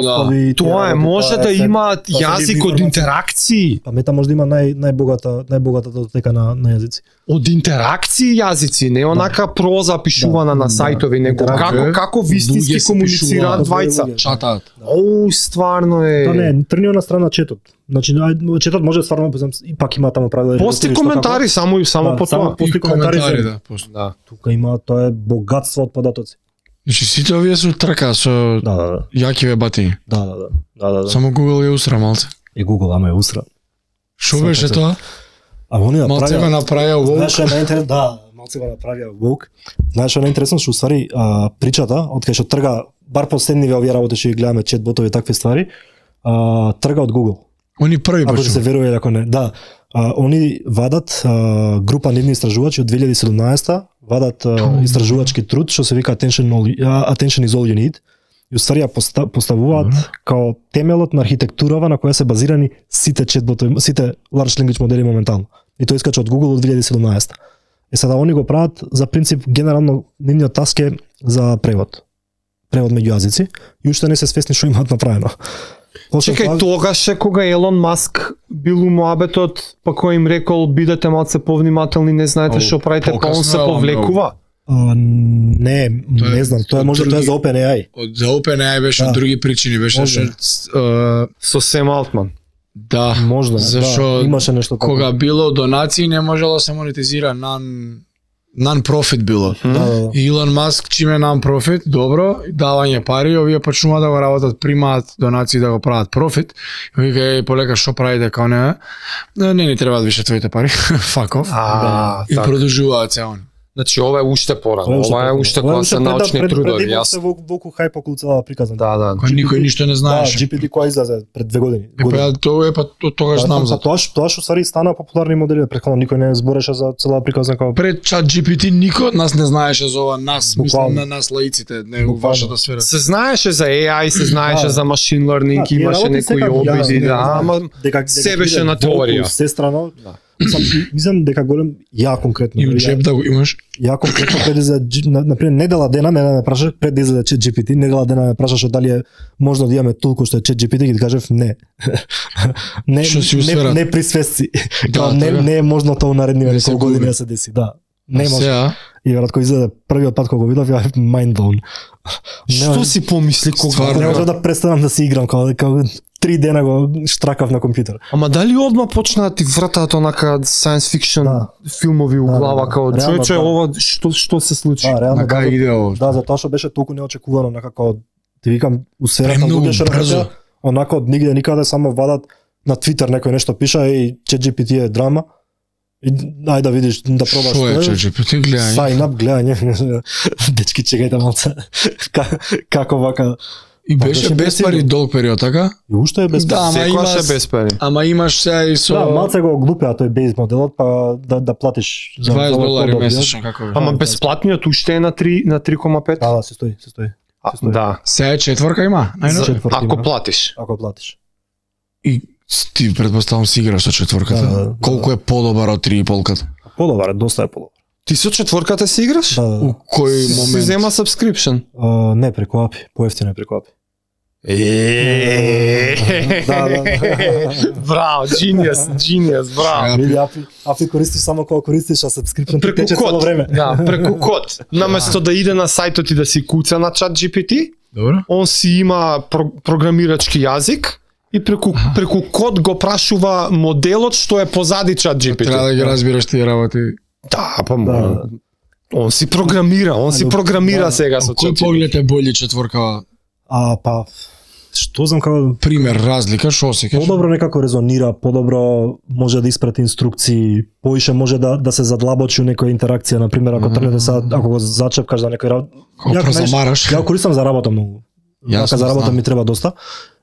да. Тоа е, може да имаат јазик од интеракции. Па Мета може да има најбогата датотека на јазици. Од интеракции јазици, не онака проза пишувана на сајтови, него како вистински комуницираат двајца. Чатаат. Стварно е. Тоа не е, тргнува на страна четот. Значи четот може стварно пак има таму правила. Пости коментари само по тоа. Пости коментари, да. Тука има, тоа е богатство од податоци. Значи сите овие се трка со јаки батини. Да. Само Google ја усра малце. И Google ама ја усра. Што беше тоа? А они малце го направија woke. Знаеш што е најинтересно? Да, малце го направија woke. Знаеш што е најинтересно што уствари причата од кај што трга бар последниве овие работи што ги гледаме чет ботови и такви ствари, трга од Google. Они први почнаа. Ако се верува ако не. Да. Они вадат група нивни истражувачи од 2017 вадат истражувачки труд што се вика Attention is all you need. И уствари ја поставуваат као темелот на архитектурава на која се базирани сите четботови, сите large language модели моментално. И тоа искача од Google од 2017. Сега они го прават за принцип генерално нивниот таск е за превод меѓу јазици и уште не се свесни што имаат направено. Чекај, тогаш е кога Елон Маск бил у муабетот, па кој им рекол бидете малце повнимателни, не знаете што правите, па он се повлекува. Не знам, тоа може тоа е за OpenAI. За OpenAI беше од други причини, беше со Сем Алтман. Да, можда, зашо имаше нешто така. Кога било донации не можело да се монетизира non-profit било. Илон Маск чиме non-profit, добро, давање пари, овие почнува да го работат, примаат донации да го прават профит. Вика полека што правите као не ни требаат више твоите пари. Fuck off. И продолжуваат се они. Значи ова е уште порано, ова е уште кога се научни трудови. Јас се волку хајп околу цела приказна. Да. Кој никој ништо не знаеше. Да, GPT кој излезе пред 2 години. Тоа е тогаш знам за тоа. Тоа што сари стана популарни модели, претходно никој не збореше за цела приказна како пред чат GPT никој од нас не знаеше за ова, мислам на нас лаиците, не во вашата сфера. Се знаеше за AI, се знаеше за machine learning, имаше некои обиди, ама се беше на теорија. Се страно. Мислам дека голем ја конкретно. И учеб да го имаш. Ја конкретно пред за например недела дена ме прашаш пред да излезе ChatGPT, недела дена ме прашаш дали е можно да имаме толку што е ChatGPT, ги кажав не. Не при свесци. Не е можно тоа наредниве неколку години да се деси, да. Не може. И веројатно излезе првиот пат кога го видов, ја mind blown. Што си помисли кога не може да престанам да се играм како 3 дена го штракав на компјутер. Ама дали одма почна да ти вратаат онака science fiction филмови у глава као човече ова што се случи? На кај иде ова? Да, затоа што беше толку неочекувано, некако ти викам усерата луѓе што работат, онака од нигде никаде само вадат на Твитер некој нешто пиша и ChatGPT е драма. И ајде да видиш, да пробаш. Што е ChatGPT гледање? Sign up гледање. Дечки чекајте малце. Како вака. И беше без пари долг период, така? И уште е без пари. Да, секогаш е без пари. Ама имаш сега и со... Да, малце го глупеа тој бейз моделот, па да платиш за $20 месечно, како е. Ама бесплатниот уште е на 3,5? Да, се стои. Да. Сега четворка има, ако платиш. Ако платиш. И ти предпоставам си играш со четворката. Колку е подобар од 3,5-ката? Подобар, доста е подобар. Ти со четворката си играш? Да. У кој момент? Си зема subscription? Не, преку API, поевтино е преку API. Браво, genius, браво. Види, API користиш само кога користиш, а subscription тече цело време. Да, преку код. Наместо да иде на сајтот и да си куца на ChatGPT, он си има програмирачки јазик и преку код го прашува моделот што е позади ChatGPT. Треба да ги разбираш тие работи. Да, па он си програмира сега со ChatGPT. Кој поглед е бољи четворка? Па што знам како пример разлика, што се кажеш? Подобро некако резонира, подобро може да испрати инструкции, поише може да се задлабочи у некоја интеракција, на пример ако тргнете сега, ако го зачепкаш за некој ја користам за работа многу. Јака за работа ми треба доста.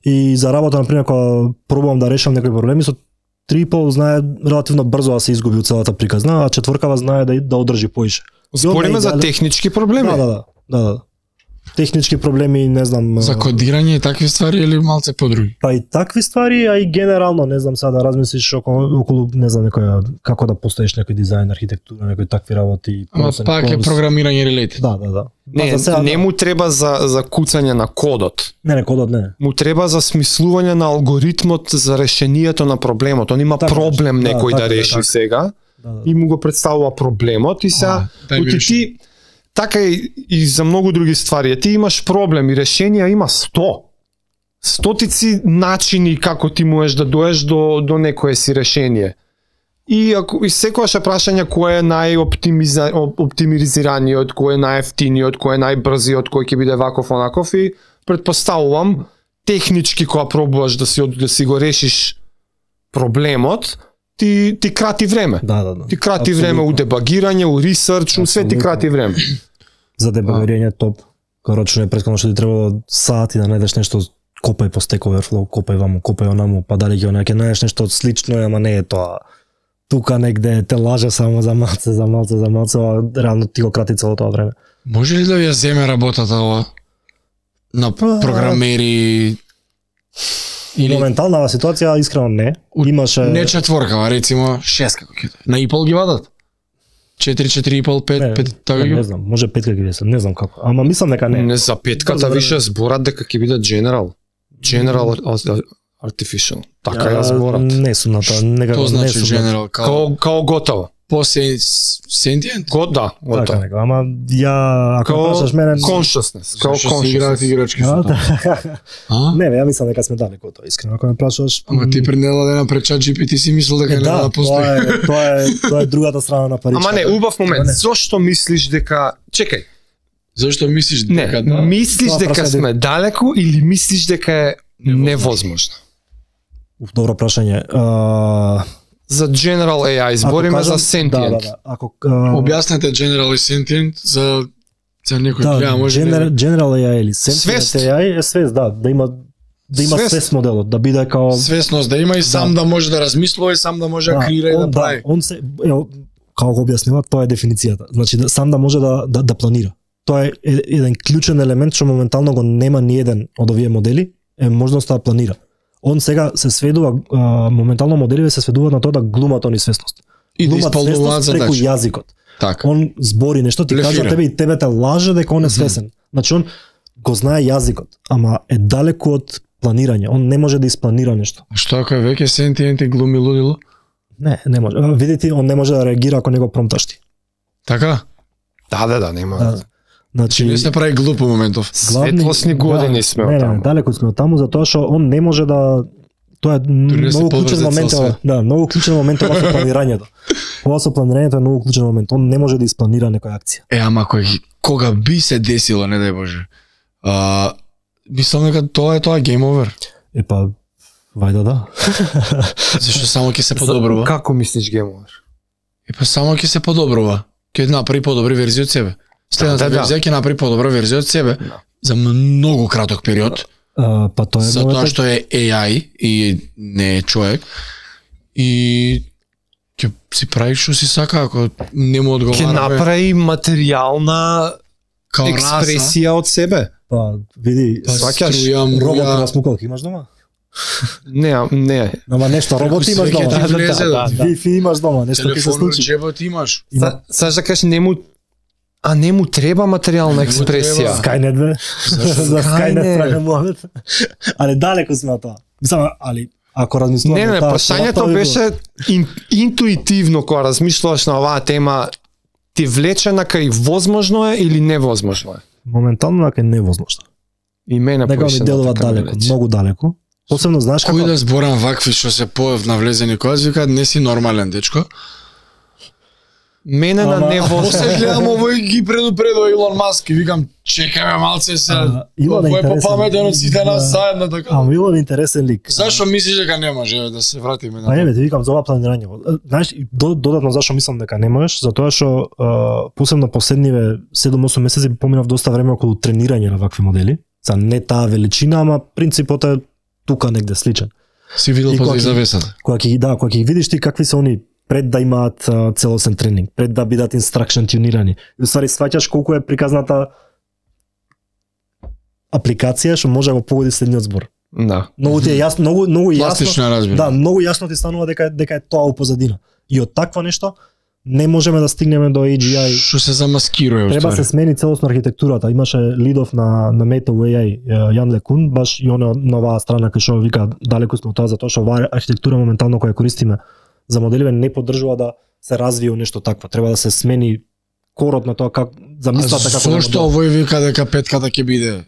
И за работа на пример кога пробувам да решам некои проблеми со 3,5 знае релативно брзо да се изгуби целата приказна, а четворкава знае да одржи поише. Збориме за технички проблеми. Да. Технички проблеми, не знам. За кодирање и такви ствари или малце подруги? Па и такви ствари, а и генерално, не знам сега да размислиш околу не знам некоја како да поставиш некој дизајн, архитектура, некои такви работи. Ама пак е програмирање related. Да. Не му треба за куцање на кодот. Не, кодот не. Му треба за смислување на алгоритмот за решението на проблемот. Он има проблем некој да реши сега и му го представува проблемот и сега ти така и за многу други ствари. Ти имаш проблем и решенија има 100. Стотици начини како ти можеш да доеш до некое си решение. И секогаш е прашање кој е најоптимизираниот, кој е најефтиниот, кој е најбрзиот, кој ќе биде ваков онаков и претпоставувам технички кога пробуваш да си го решиш проблемот, ти крати време. Да. Ти крати време у дебагирање, у ресерч, у све ти крати време. За дебагирање топ. Корочно е претходно што ти требало сати да најдеш нешто, копај по Stack Overflow, копај ваму, копај онаму, па дали ќе најдеш нешто слично, ама не е тоа. Тука негде те лаже само за малце, реално ти го крати цело тоа време. Може ли да ја земе работата ова на програмери? Или моментална ситуација искрено не. Имаше не четворка, рецимо 6 како ќе. На Apple ги вадат. 4, 4,5, 5, 5, така не ги? знам, може 5 ќе биде, не знам како. Ама мислам дека не. Не за петката више зборат дека ќе биде General Artificial. Така ја зборат. Не сум на тоа, некако Тоа не значи сум. General Као готово. по sentient? Да, Така готово. некако, ама ја ако Као прашаш мене consciousness, као Зашто си играат consciousness. играчки А, со тоа? да. А? Не, бе, ја мислам дека сме далеко од тоа, искрено ако ме прашуваш. Ама ти пред недела дена пред чат GPT си мислел дека нема да постои. тоа е другата страна на паричката. Ама не, убав момент. Не. Зошто мислиш дека чекај, Зашто мислиш дека не, мислиш Тоа дека прашање сме далеко или мислиш дека е невозможно? Добро прашање. За General AI збориме за sentient. Да. Ако Објаснете General и Sentient за некој да, гледа, може General AI или Свест. Sentient AI е свест, да има Свест. свест моделот, да биде као свесност да има и сам да може да размислува и сам да може да креира и да прави. он се како го објаснила, тоа е дефиницијата. Значи сам да може да планира. Тоа е еден клучен елемент што моментално го нема ни еден од овие модели, е можноста да планира. Он сега се сведува, моментално моделиве се сведуваат на тоа да глумат они свесност. И да Глумат исполнуваат свесност преку задачи. јазикот. Така. Он збори нешто, ти кажа Блефира. тебе и тебе те лаже дека он е свесен. Значи он го знае јазикот, ама е далеку од планирање. Он не може да испланира нешто. Што ако е веќе Sentient и глуми лудило? Не може. Видите, он не може да реагира ако не го промпташ ти. Така? Да, нема. Да. Значи не се прави глуп моментов. Светлосни години сме од Не, таму. далеко сме од таму затоа што он не може да тоа е не се многу поврзе клучен момент, цел свет. да, многу клучен момент ова со планирањето. Ова со планирањето е многу клучен момент. Он не може да испланира некоја акција. Ама кога би се десило, не дај Боже. Мислам дека тоа е game over. Епа вајда да. Зашто само ќе се подобрува. Како мислиш геймовер? Епа само ќе се подобрува. Ќе направи подобри верзија од себе. Следната Да. верзија ќе направи подобра верзија од себе за многу краток период. Па тоа е Затоа моментот. што е AI и не е човек. И ќе си прави што си сака ако не му Ќе одговара. направи материјална Као експресија од себе. Па види, сваќаш, робот на смукалки имаш дома? Не. Ама нешто робот Преку имаш свеќе дома. ти влезе, да. Wi-Fi имаш дома, нешто ќе се Телефон во случи. джебот имаш. Саш да кажеш не му треба материјална експресија. Skynet бе. За Skynet Skynet. прави момент. Але далеко сме од тоа. Мислам, али ако размислуваме Не, таа прашањето тоа би беше интуитивно кога размислуваш на оваа тема, ти влече на кај возможно е или невозможно е? моментално дека е невозможно. И мене Дека ми поише делува така ми далеко, влече. многу далеко. Посебно знаеш како Кој да зборам вакви што се навлезени кој викаат не си нормален дечко. Мене на Ама- После невозможно. гледам овој ги предупредува Илон Маск и викам чекаме малце се. Илон е Овој е интересен. попаметен од сите нас заедно така. Ама Илон е интересен лик. Зашо мислиш дека не може еве, да се вратиме Па на? еве, ти викам за ова планирање. Знаеш, и додатно зашо мислам дека не можеш, затоа што посебно последниве 7-8 месеци поминав доста време околу тренирање на вакви модели. За не таа величина, ама принципот е тука негде сличен. Си видел И позади кога ќе- завесата. Кога ќе ги видиш ти какви се они пред да имаат целосен тренинг, пред да бидат инстракшн тюнирани. И уствари сваќаш колку е приказната апликација што може да го погоди следниот збор. Да. Многу ти е јасно, многу јасно. Пластично разбира. Да, многу јасно ти станува дека е тоа у позадина. И од такво нешто не можеме да стигнеме до AGI. Што се замаскирува Треба се смени целосно архитектурата. Имаше лидов на Meta AI Јан Лекун, баш и он на оваа страна кај што вика далеку сме од тоа затоа што оваа архитектура моментално која користиме за моделиве не поддржува да се развие нешто такво. Треба да се смени корот на тоа как замислата како Зошто овој вика дека петката ќе биде?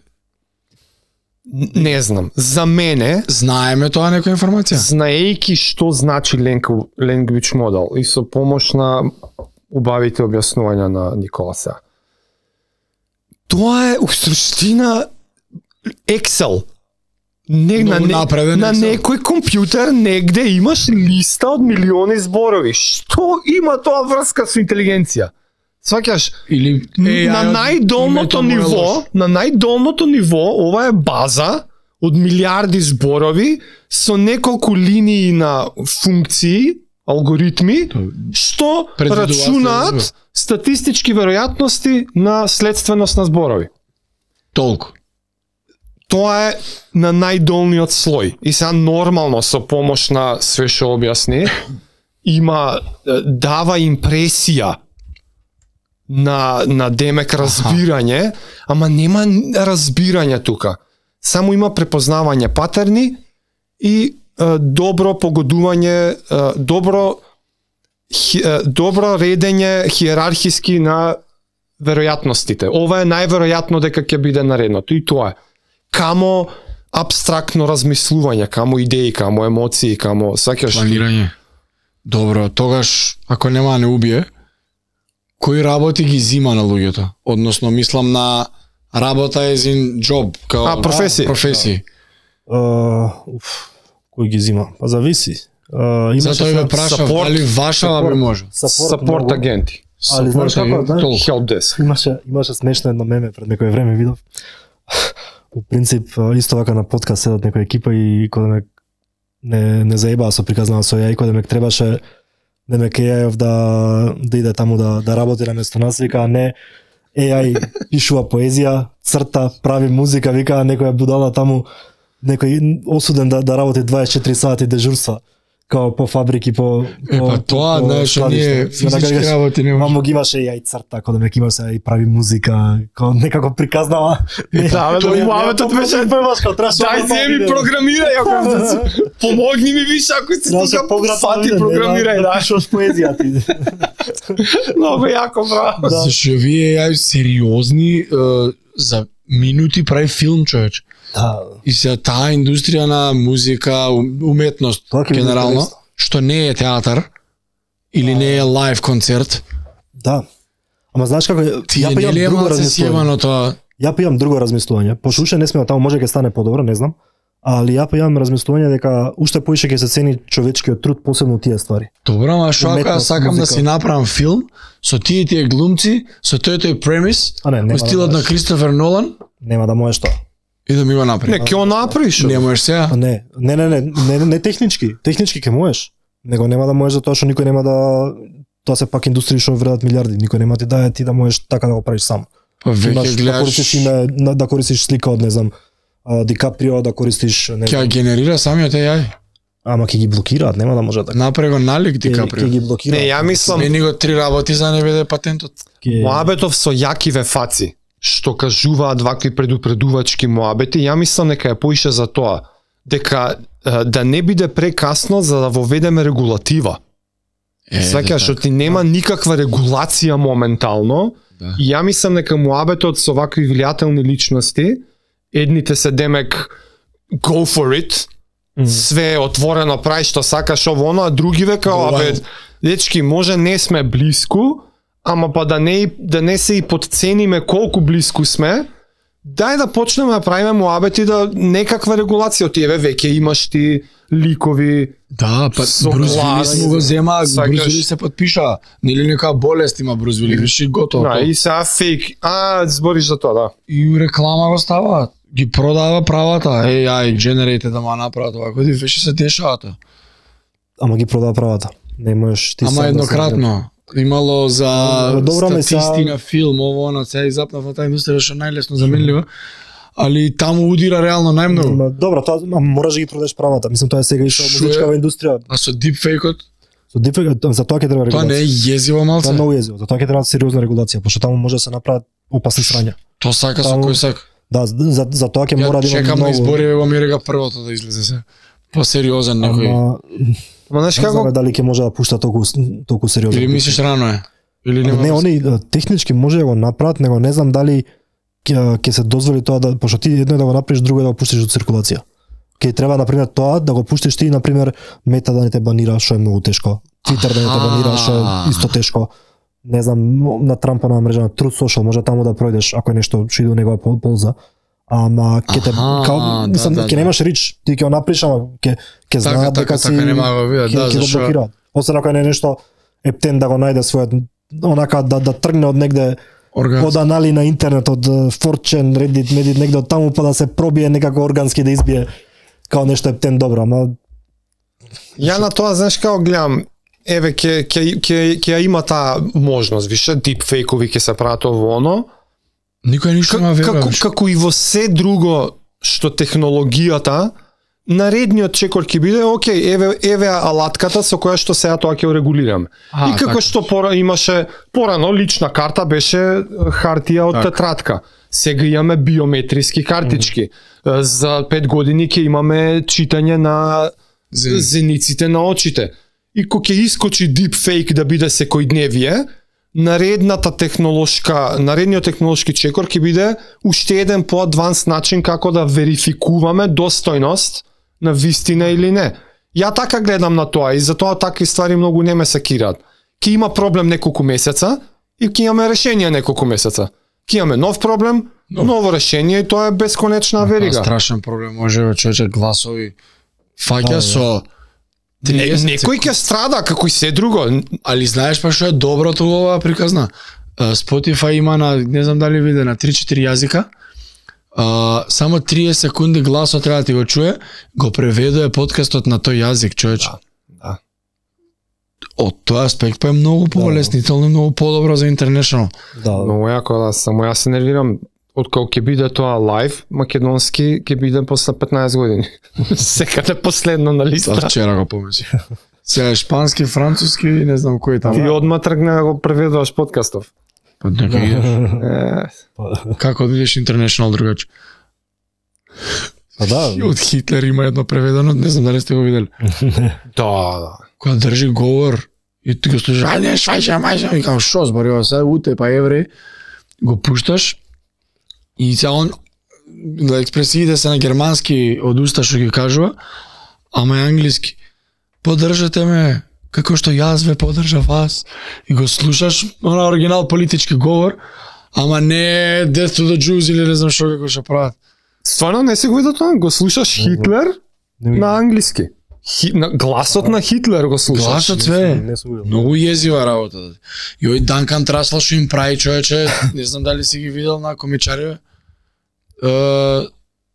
Не знам. За мене, Знаеме тоа некоја информација? знаејќи што значи language model и со помош на убавите објаснувања на Николаса. Тоа е у суштина Excel. Многу напреден на Excel. некој компјутер негде имаш листа од милиони зборови. Што има тоа врска со интелигенција? Сваќаш, Или на најдолното ниво, ова е база од милиарди зборови со неколку линии на функции, алгоритми, што Предвидуваат рачунаат следство. статистички веројатности на следственост на зборови. толку. Тоа е на најдолниот слој. И сега нормално со помош на све што објасни, дава импресија на демек разбирање, ама нема разбирање тука. Само има препознавање патерни и добро погодување, добро редење хиерархиски на веројатностите. Ова е најверојатно дека ќе биде наредното и тоа е. Камо апстрактно размислување, камо идеи, камо емоции, камо сакаш планирање. Добро, тогаш ако нема не убие, кои работи ги зима на луѓето? Односно мислам на работа as in job, као професии. Професии. Кој ги зима? Па зависи. Затоа ја прашав дали вашава би може. Сапорт агенти. Али знаеш како, Help desk. Имаше смешно едно меме пред некој време видов. По принцип исто вака на подкаст седат некоја екипа и кога ме не заебаа со приказнава со ја и кога ме требаше Демек AI да иде таму да работи на место нас, вика не AI пишува поезија, црта, прави музика, вика некоја будала таму, некој осуден да работи 24 сати дежурства, као по фабрики, по тоа, знаеш, ние физички работи не може. Мамо ги имаше AI црта, кога демек имаш и прави музика, као некако приказнава. Да, тоа муабетот беше дај земи програмирај, ако помогни ми више ако си тука сати програмирај, да. Пишуваш поезија ти. Многу јако, браво. Зашто вие AI сериозни за минути прави филм, човеч. Да. И се таа индустрија на музика, уметност, генерално, што не е театар, или не е лайв концерт. Да. Ама знаеш како, ја па имам друго размислување. Ја па имам друго размислување. Пошто уште не сме таму, може ќе стане подобро, не знам. Али ја па имам размислување дека уште поише ќе се цени човечкиот труд, посебно тие ствари. Добро, ама што ако сакам да си направам филм со тие глумци, со тој премис, во стилот на Кристофер Нолан, нема да можеш тоа. И да ми го направи. Не, ќе го направиш. Не можеш сега? Не технички. Технички ќе можеш. Него нема да можеш затоа што никој нема тоа се пак индустрија што вредат милиарди. Никој нема ти дае ти да можеш така да го правиш сам. Па веќе гледаш да користиш име, да користиш слика од не знам Ди Каприо, да користиш не знам. Ќе генерира самиот AI. Ама ќе ги блокираат, нема да може така. Направи го налик Ди Каприо. Ќе ги блокираат. Не, ја мислам. Смени го 3 работи за не биде патентот. Муабетов со јакиве фаци што кажуваат вакви предупредувачки муабети, ја мислам дека е поише за тоа, дека да не биде прекасно за да воведеме регулатива. Сваќаш, што ти нема никаква регулација моментално, и ја мислам дека муабетот со вакви влијателни личности, едните се демек go for it, све отворено прави што сакаш ово, а други века, абе, дечки, може не сме блиску, ама па да не се и подцениме колку блиску сме, дај да почнеме да правиме муабети да некаква регулација од тие веќе имаш ти ликови. Да, па Бруз Вилис му го зема, Бруз Вилис се подпиша. Нели нека болест има Бруз Вилис, виши готово. Да, и сега фейк. Збориш за тоа, да. И реклама го ставаат. Ги продава правата. AI generated да ма направат ова, кои веши се дешават. Ама ги продава правата. Не можеш ти. Ама еднократно. Имало за статисти на филм, ово на сега запнав на таа индустрија што најлесно заменлива. Али таму удира реално најмногу. Добро, тоа мораш да ги продадеш правата. Мислам тоа е сега и со музичкава индустрија. А со дипфейкот? Со дипфейкот за тоа ќе треба регулација. Тоа не е језиво малце. Тоа е многу језиво. За тоа ќе треба сериозна регулација, пошто таму може да се направат опасни срања. Тоа сака со кој сака. Да, за тоа ќе мора да има чекам на избори во Америка првото да излезе се. По-сериозен некој. Ама знаеш како дали ќе може да пушта толку сериозно. Или мислиш рано е? Или нема? Не, они технички може да го направат, него не знам дали ќе се дозволи тоа да, пошто ти едно е да го направиш, друго е да го пуштиш од циркулација. Ќе треба на пример тоа да го пуштиш ти, на пример Мета да не те банира, што е многу тешко. Твитер да не те банира, што е исто тешко. Не знам, на Трампова мрежа на Truth Social може таму да пројдеш ако е нешто што иде у негова полза. Ама ќе те ќе немаш рич, ти ќе го направиш, ама ќе знаат дека си нема го видат, да, зашто. Освен ако не нешто ептен да го најде својот онака да тргне од негде од анали на интернет, од 4chan, Reddit, Reddit, негде од таму па да се пробие некако органски да избие као нешто ептен добро, ама ја на тоа знаеш како гледам, еве ќе има таа можност, више дипфейкови ќе се прават ово оно. Никој ништо нема верува. Како и во се друго што технологијата наредниот чекор ќе биде, окей, еве алатката со која што сега тоа ќе го регулираме. И како што имаше порано лична карта беше хартија од тетрадка. Сега имаме биометриски картички. За 5 години ќе имаме читање на зениците на очите. И кога ќе искочи deepfake да биде секојдневие, наредниот технолошки чекор ќе биде уште еден поадванс начин како да верификуваме достојност на вистина или не. Ја така гледам на тоа и затоа такви ствари многу не ме сакираат. Ќе има проблем неколку месеца и ќе имаме решение неколку месеца. Ќе имаме нов проблем, ново решение и тоа е бесконечна верига. Страшен проблем може човече гласови фаќа со некој ќе страда како и се друго. Али знаеш па што е доброто оваа приказна? Spotify има на, не знам дали виде, на 3-4 јазика. Само 30 секунди гласот треба да ти го чуе, го преведува подкастот на тој јазик, човече. Да. Од тој аспект па е многу полеснително, многу подобро за international. Да. Многу јако, да, само јас се нервирам. Откако ќе биде тоа лайв, македонски ќе биде после 15 години. Секаде последно на листа. Вчера го помислив. Сега шпански, француски, не знам кој таму. Ти одма тргна да го преведуваш подкастов. Па нека идеш. Како да бидеш international другаче? Па да. Од Хитлер има едно преведено, не знам дали сте го видели. Да. Кога држи говор и ти го слушаш, ајде швајша, и како шо зборува се, уте па евреи, го пушташ и сега он експресиите се на германски од уста што ги кажува, ама е англиски. Поддржате ме, како што јас ве поддржав вас, и го слушаш на оригинал политички говор, ама не Death to the Jews или не знам што како ќе прават. Стварно не си го видел тоа? Го слушаш Хитлер на англиски. Гласот на Хитлер го слушаш. Гласот све. Многу језива работа. И ој Данкан Траслал што им прави, човече, не знам дали си ги видел на комичариве.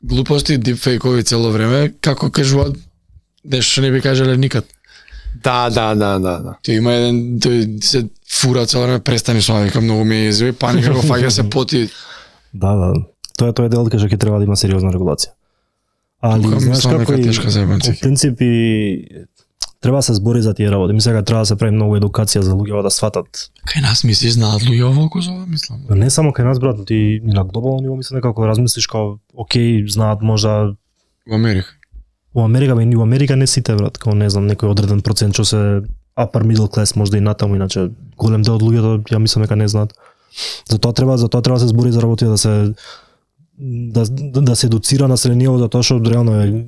Глупости, дипфейкови цело време, како кажуваат, нешто што не би кажале никад. Да. Тој има еден, тој се фура цело време, престани со вика, многу ми е језива, паника го фаќа се поти. Да. Тоа е дел кај што ќе треба да има сериозна регулација. Али знаеш како и по принцип треба да се збори за тие работи. Мислам дека треба да се прави многу едукација за луѓето да сватат. Кај нас мислиш знаат луѓе ово за ова, мислам. Не само кај нас, брат, ти на глобално ниво мислам дека ако размислиш како окей, знаат можда во Америка. Во Америка не сите, брат, како не знам, некој одреден процент што се upper middle class можда и натаму, иначе голем дел од луѓето ја мислам дека не знаат. Затоа треба да се збори за работи да се едуцира населението за тоа што реално е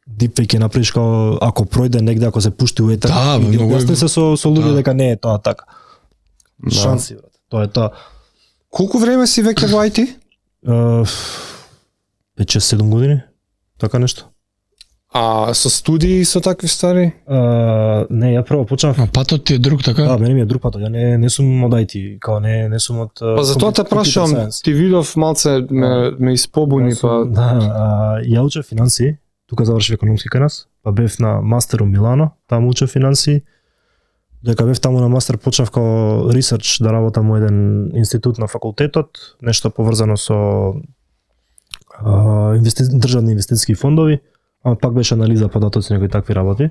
дипфейк ќе направиш како ако пројде негде, ако се пушти у етер, да, и објасни се со луѓе дека не е тоа така. Да. Шанси, брат. Тоа е тоа. Колку време си веќе во IT? 5-6-7 години. Така нешто. А со студии со такви стари? Не, ја прво почнав. А патот ти е друг, така? Да, мене ми е друг патот. Ја не сум од IT, као не сум од. Па затоа те прашувам, ти видов малце ме испобуни па. Да, ја учев финанси, тука завршив економски кај нас, па бев на мастер у Милано, таму учев финанси. Дека бев таму на мастер почнав као ресерч да работам во еден институт на факултетот, нешто поврзано со државни инвестициски фондови. Ама пак беше анализа податоци, некои такви работи.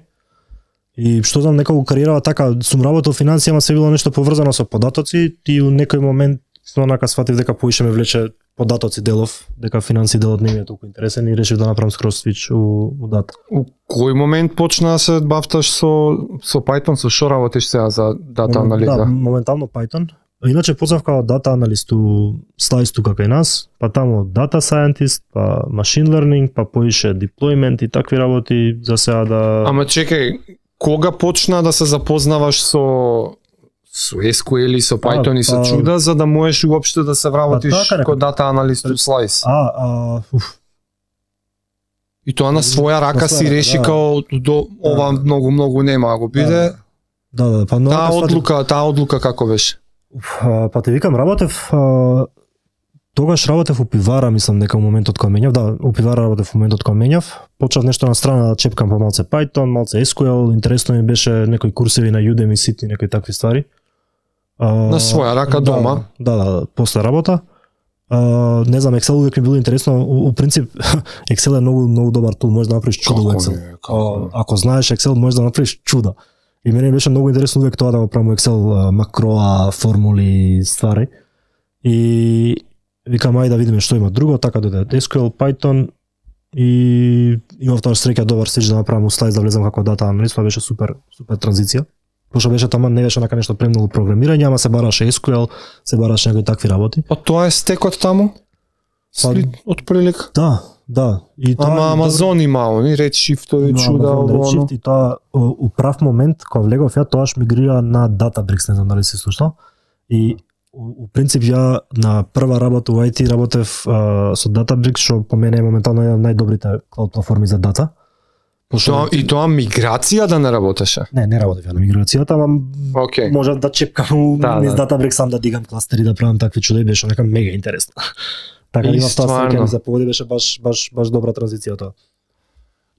И што знам, некако кариерава така, сум работел финансија, ама се било нешто поврзано со податоци и у некој момент онака сватив дека поише ме влече податоци делов, дека финанси делот не ми е толку интересен и решив да направам скроз свич у дата. У кој момент почна да се бавташ со Python, со што работиш сега за дата анализа? Да, моментално Python. Иначе почнав као дата аналист у Slice тука кај нас, па таму data scientist, па machine learning, па поише deployment и такви работи за сега да. Ама чекај, кога почна да се запознаваш со SQL и со Python и со чуда за да можеш уопште да се вработиш како дата аналист у Slice? И тоа на своја рака си реши као до ова многу нема да го биде. Да, па таа одлука како беше? Па те викам, тогаш работев у пивара, мислам дека моментот кога менјав, да, у пивара работев моментот кога менјав, почнав нешто на страна да чепкам по малце Python, малце SQL, интересно ми беше некои курсеви на Udemy, некои такви ствари. На своја рака дома? Да, после работа. Не знам, Excel увек ми било интересно. У принцип Excel е многу добар тул, можеш да направиш чудо во Excel. Ако знаеш Excel, можеш да направиш чуда. И мене беше многу интересно увек тоа да го правам во Excel, макроа, формули, ствари. И викам ајде да видиме што има друго, така дојде SQL, Python и имав тоа среќа добар стич да направам слайд да влезам како дата аналист, тоа беше супер транзиција. Пошто беше тама не беше нака нешто премногу програмирање, ама се бараше SQL, се бараше некои такви работи. Па тоа е стекот таму? Од прилик? Да. И тоа Амазон има они Redshift-ови чуда, Redshift и тоа у прав момент кога влегов ја тоаш мигрира на Databricks, не знам дали си слушнал. И у принцип ја на прва работа во IT работев со Databricks, што по мене е моментално една од најдобрите клауд платформи за дата. И тоа миграција да не работеше? Не работев ја на миграцијата, ама може да чепкам низ Databricks сам да дигам кластери, да правам такви чуда и беше нека мега интересно. Така има тоа среќа ми се погоди, беше баш добра транзиција тоа.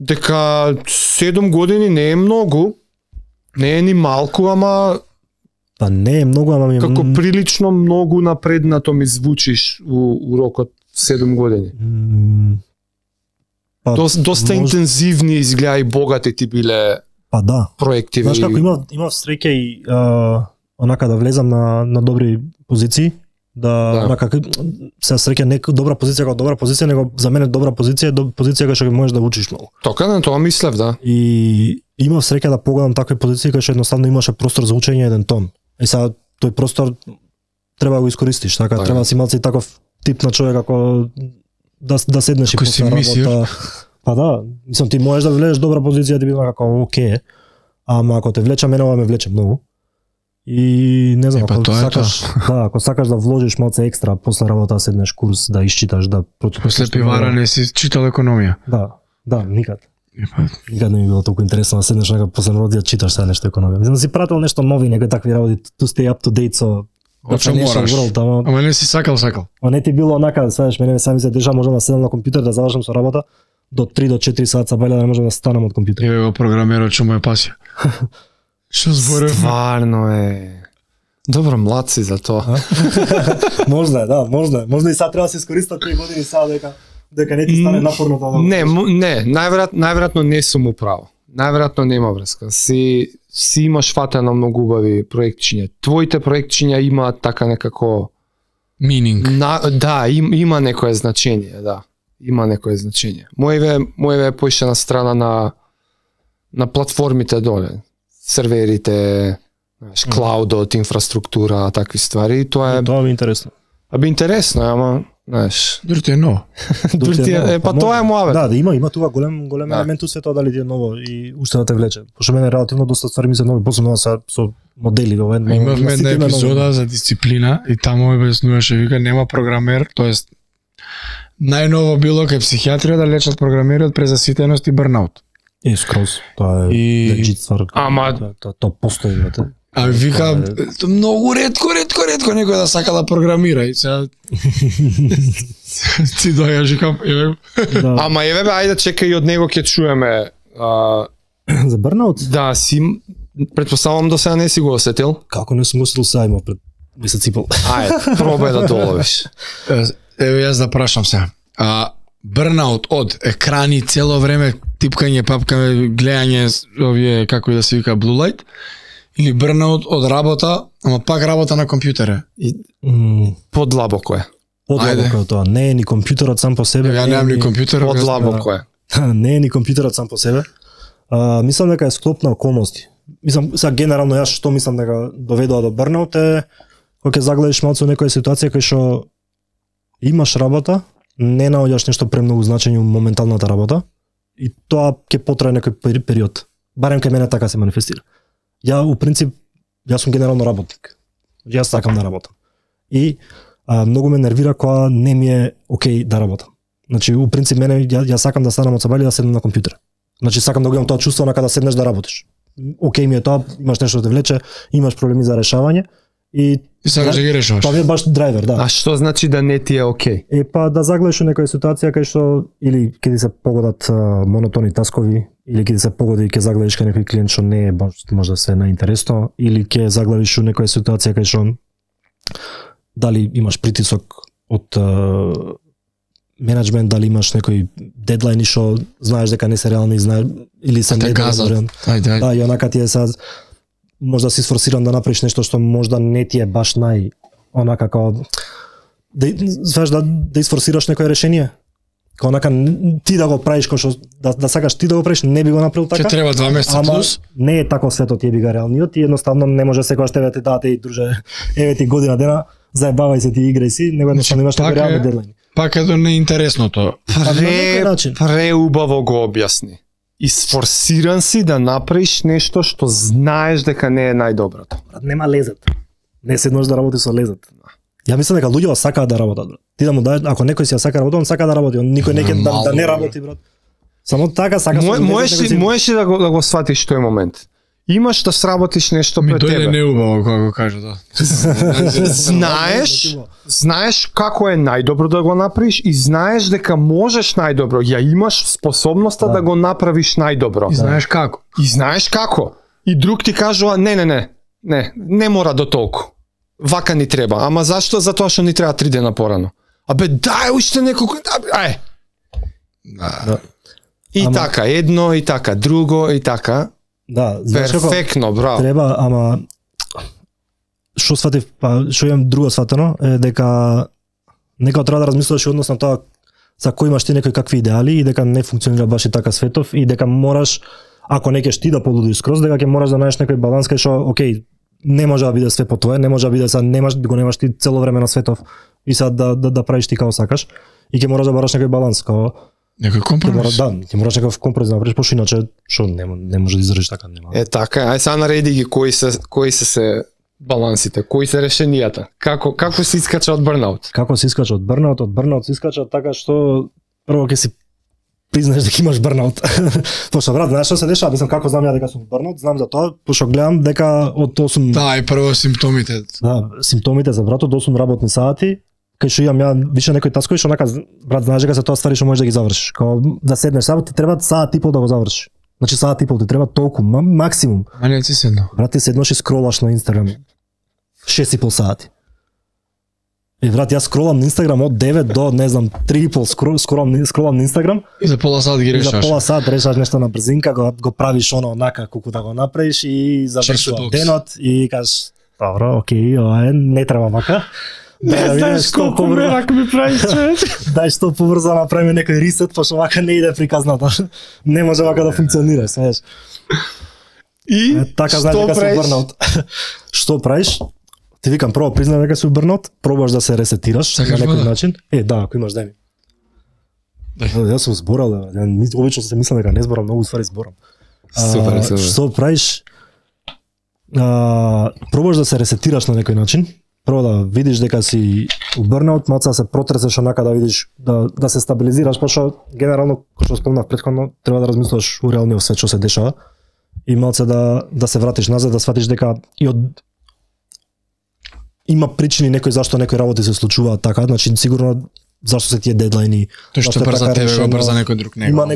Дека 7 години не е многу, не е ни малку, ама па не е многу, ама ми како прилично многу напреднато ми звучиш у рокот 7 години. Доста интензивни изгледа и богати ти биле проекти. Знаеш како имав среќа и онака да влезам на добри позиции, онака се среќа не добра позиција, него за мене добра позиција е позиција кај што можеш да учиш многу. Тока на тоа мислев, да. И имав среќа да погледам такви позиции кај што едноставно имаше простор за учење еден тон. И сега тој простор треба да го искористиш, така треба да си малци таков тип на човек ако да седнеш и после работа. Па да, мислам ти можеш да влезеш добра позиција да биде како окей, ама ако те влече мене ова ме влече многу. И не знам, ако сакаш да вложиш малце екстра после работа да седнеш курс, да исчиташ, да после пивара не си читал економија. Да, никад. Никад не ми било толку интересно да седнеш нека после работа да читаш сега нешто економија. Мислам да си прател нешто нови, некои такви работи, to stay up to date со Ама не си сакал. Ама не ти било онака, знаеш, мене сами се деша можам да седам на компјутер да завршам со работа до 3 до 4 саат са бајле да не можам да станам од компјутер. Еве го програмерот што му е пасија. Што зборев? Стварно е. Добро, млад си за тоа. Можда е, да, можда е. Можда и сега треба да се искористат 3 години сега дека не ти стане напорно тоа. Не, најверојатно не сум управо. Најверојатно нема врска. Си имаш фатено многу убави проектчиња. Твоите проектчиња имаат така некако meaning. Да, има некое значење, да. Има некое значење. Моеве е поише на страна на платформите доле. Серверите, клаудот, инфраструктура, такви ствари. Тоа ми интересно. Интересно, ама знаеш. Дури ти е ново. Па тоа е муавет. Да, има тука голем елемент у сето дали ти е ново и уште да те влече. Пошто мене релативно доста ствари ми се нови, посебно со модели во едно. Имавме една епизода за дисциплина и таму објаснуваше, вика нема програмер, тоест најново било кај психијатрија да лечат програмери од презаситеност и бърнаут. Скроз, тоа е легит ствар. Ама тоа постои, брате. А вика, многу ретко некој да сака да програмира и сега ти дојаш и кам, Ама еве бе, ајде чекај од него ќе чуеме за бърнаут? Да, предпоставам до сега не си го осетил. Како не сум осетил сега има пред месец и пол. Ајде, пробај да доловиш. Еве јас да прашам сега. Бърнаут од екрани цело време, типкање, папкање, гледање, овие како и да се вика blue light, или бърнаут од работа, ама пак работа на компјутере. Подлабоко е. Подлабоко е тоа. Не е ни компјутерот сам по себе. Ја немам ни компјутер. Подлабоко е. Не е ни компјутерот сам по себе. Мислам дека е склоп на околности. Мислам, сега генерално јас што мислам дека доведува до бърнаут е кога ќе загледаш малку во некоја ситуација кај што имаш работа, не наоѓаш нешто премногу значење во моменталната работа и тоа ќе потрае некој период. Барем кај мене така се манифестира. Јас сум генерално работник. Јас сакам да работам. И многу ме нервира кога не ми е окей да работам. Значи, у принцип мене јас сакам да станам од сабајле да седнам на компјутер. Значи сакам да го имам тоа чувство на кога седнеш да работиш. Окей ми е тоа, имаш нешто да те влече, имаш проблеми за решавање и сакаш да ги решаваш. Тоа е баш драйвер, да. А што значи да не ти е окей? Па да загледаш во некоја ситуација кај што или ќе ти се погодат монотони таскови, или ќе ти се погоди и ќе загледаш кај некој клиент што не е баш можда се наинтересно, или ќе загледаш во некоја ситуација кај што дали имаш притисок од менеджмент, дали имаш некои дедлайни што знаеш дека не се реални, знаеш или се те газат. Да, и онака ти е сад можда си сфорсиран да направиш нешто што можда не ти е баш онака како да isforsiraš некое решение. Као онака ти да го правиш кој што да сакаш ти да го правиш, не би го направил така. Ќе треба 2 месеца плюс. Не е тако светот, ти би га реалниот и едноставно не може секогаш тебе ти дадете и друже, еве ти година дена, заебавај се ти играј си, него едноставно имаш некој реални дедлайн. Пак е до неинтересното. Преубаво го објасни. Isforsиран си да направиш нешто што знаеш дека не е најдоброто. Нема лезет. Не седнеш да работиш со лезет. Ја мислам дека луѓето сакаат да работат, брат. Ти да му даеш, ако некој си ја сака работа, он сака да работи, он никој не ќе да не работи, брат. Само така сака со можеш да го сватиш тој момент. Имаш да сработиш нешто пред тебе. Тој е неубаво кога го кажа, да. Знаеш како е најдобро да го направиш и знаеш дека можеш најдобро. Ја имаш способноста да го направиш најдобро. И знаеш како. И друг ти кажува не мора до толку. Вака ни треба. Ама зашто? Затоа што ни треба 3 дена порано. Абе дај уште неколку. Ај. И така едно и така друго и така. Да, перфектно, браво. Треба, ама што сватив, што имам друго сватено е дека некако треба да размислуваш однос на тоа за кој имаш ти некои какви идеали и дека не функционира баш и така светов и дека мораш, ако не ќе ти да полудиш скроз, дека ќе мораш да најдеш некој баланс кај што окей, не може да биде све по твое, не може да биде немаш ти цело време на светов и сад да правиш ти како сакаш и ќе мораш да бараш некој баланс, како некој компромис. Ќе мораш некој компромис да направиш, пошто иначе што не може да издржиш така, нема. Така, ај сега нареди ги кои се балансите, кои се решенијата. Како се искача од бурнаут? Како се искача од бурнаут? Од бурнаут се искача така што прво ќе си признаеш дека имаш бурнаут. Пошто брат, знаеш што се дешава? Мислам како знам ја дека сум бурнаут, знам за тоа, пошто гледам дека од 8 Да, и прво симптомите. Да, симптомите за брат од 8 работни сати, кај што имам ја више некои таскови што онака брат знаеш дека се тоа ствари што можеш да ги завршиш. Као да седнеш само ти треба саат и пол да го завршиш. Значи саат и пол ти треба толку максимум. А не ти седна. Брат ти седнеш и скролаш на Инстаграм 6,5 сати. И брат јас скролам на Инстаграм од 9 до не знам 3,5 скролам на Инстаграм и за пола сат ги решаш. За пола сат решаш нешто на брзинка, го правиш онака колку да го направиш и завршува денот и кажеш добро, окей, ова не треба вака. Не знаеш колку мерак ми правиш, човек. Дај што побрзо направиме некој ресет, пошто вака не иде приказната. Не може вака да функционира, знаеш. И така знаеш дека си бурнаут. Што правиш? Ти викам прво признај дека си бурнаут, пробаш да се ресетираш на некој начин. Да, ако имаш дај ми. Јас сум зборал, обично се мислам дека не зборам, многу ствари зборам. Супер. Што правиш? Пробаш да се ресетираш на некој начин. Прво да видиш дека си у бурнаут, малце да се протресеш онака да видиш да се стабилизираш, пошто генерално кој што спомнав претходно, треба да размислуваш у реалниот свет што се дешава и малце да се вратиш назад, да сватиш дека и од има причини некој зашто некои работи се случуваат така, значи сигурно зашто се тие дедлайни. Тоа што брза тебе, го брза некој друг него. Има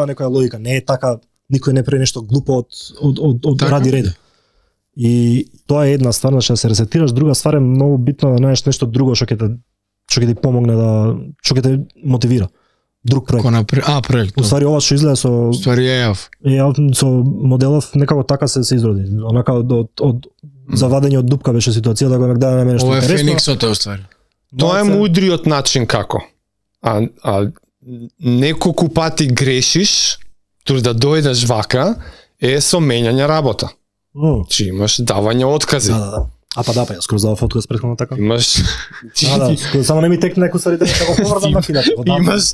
некоја логика, не е така, никој не прави нешто глупо од ради ред. И тоа е една ствар, значи да се ресетираш, друга ствар е многу битно да најдеш нешто друго што ќе ти помогне што ќе те мотивира. Друг проект. Проект. Уствари ова што изгледа со EAF со моделов некако така се изроди. Онака од завадење од дупка беше ситуација да го нагледаме нешто интересно. Ова е Фениксот уствари. Тоа е мудриот начин како. А неколку пати грешиш, тур да дојдеш вака е со менјање работа. Чи имаш давање откази. Да. Ја скоро задав отказ претходно така. Имаш само не ми текне некој ствари да го поврзам на финат.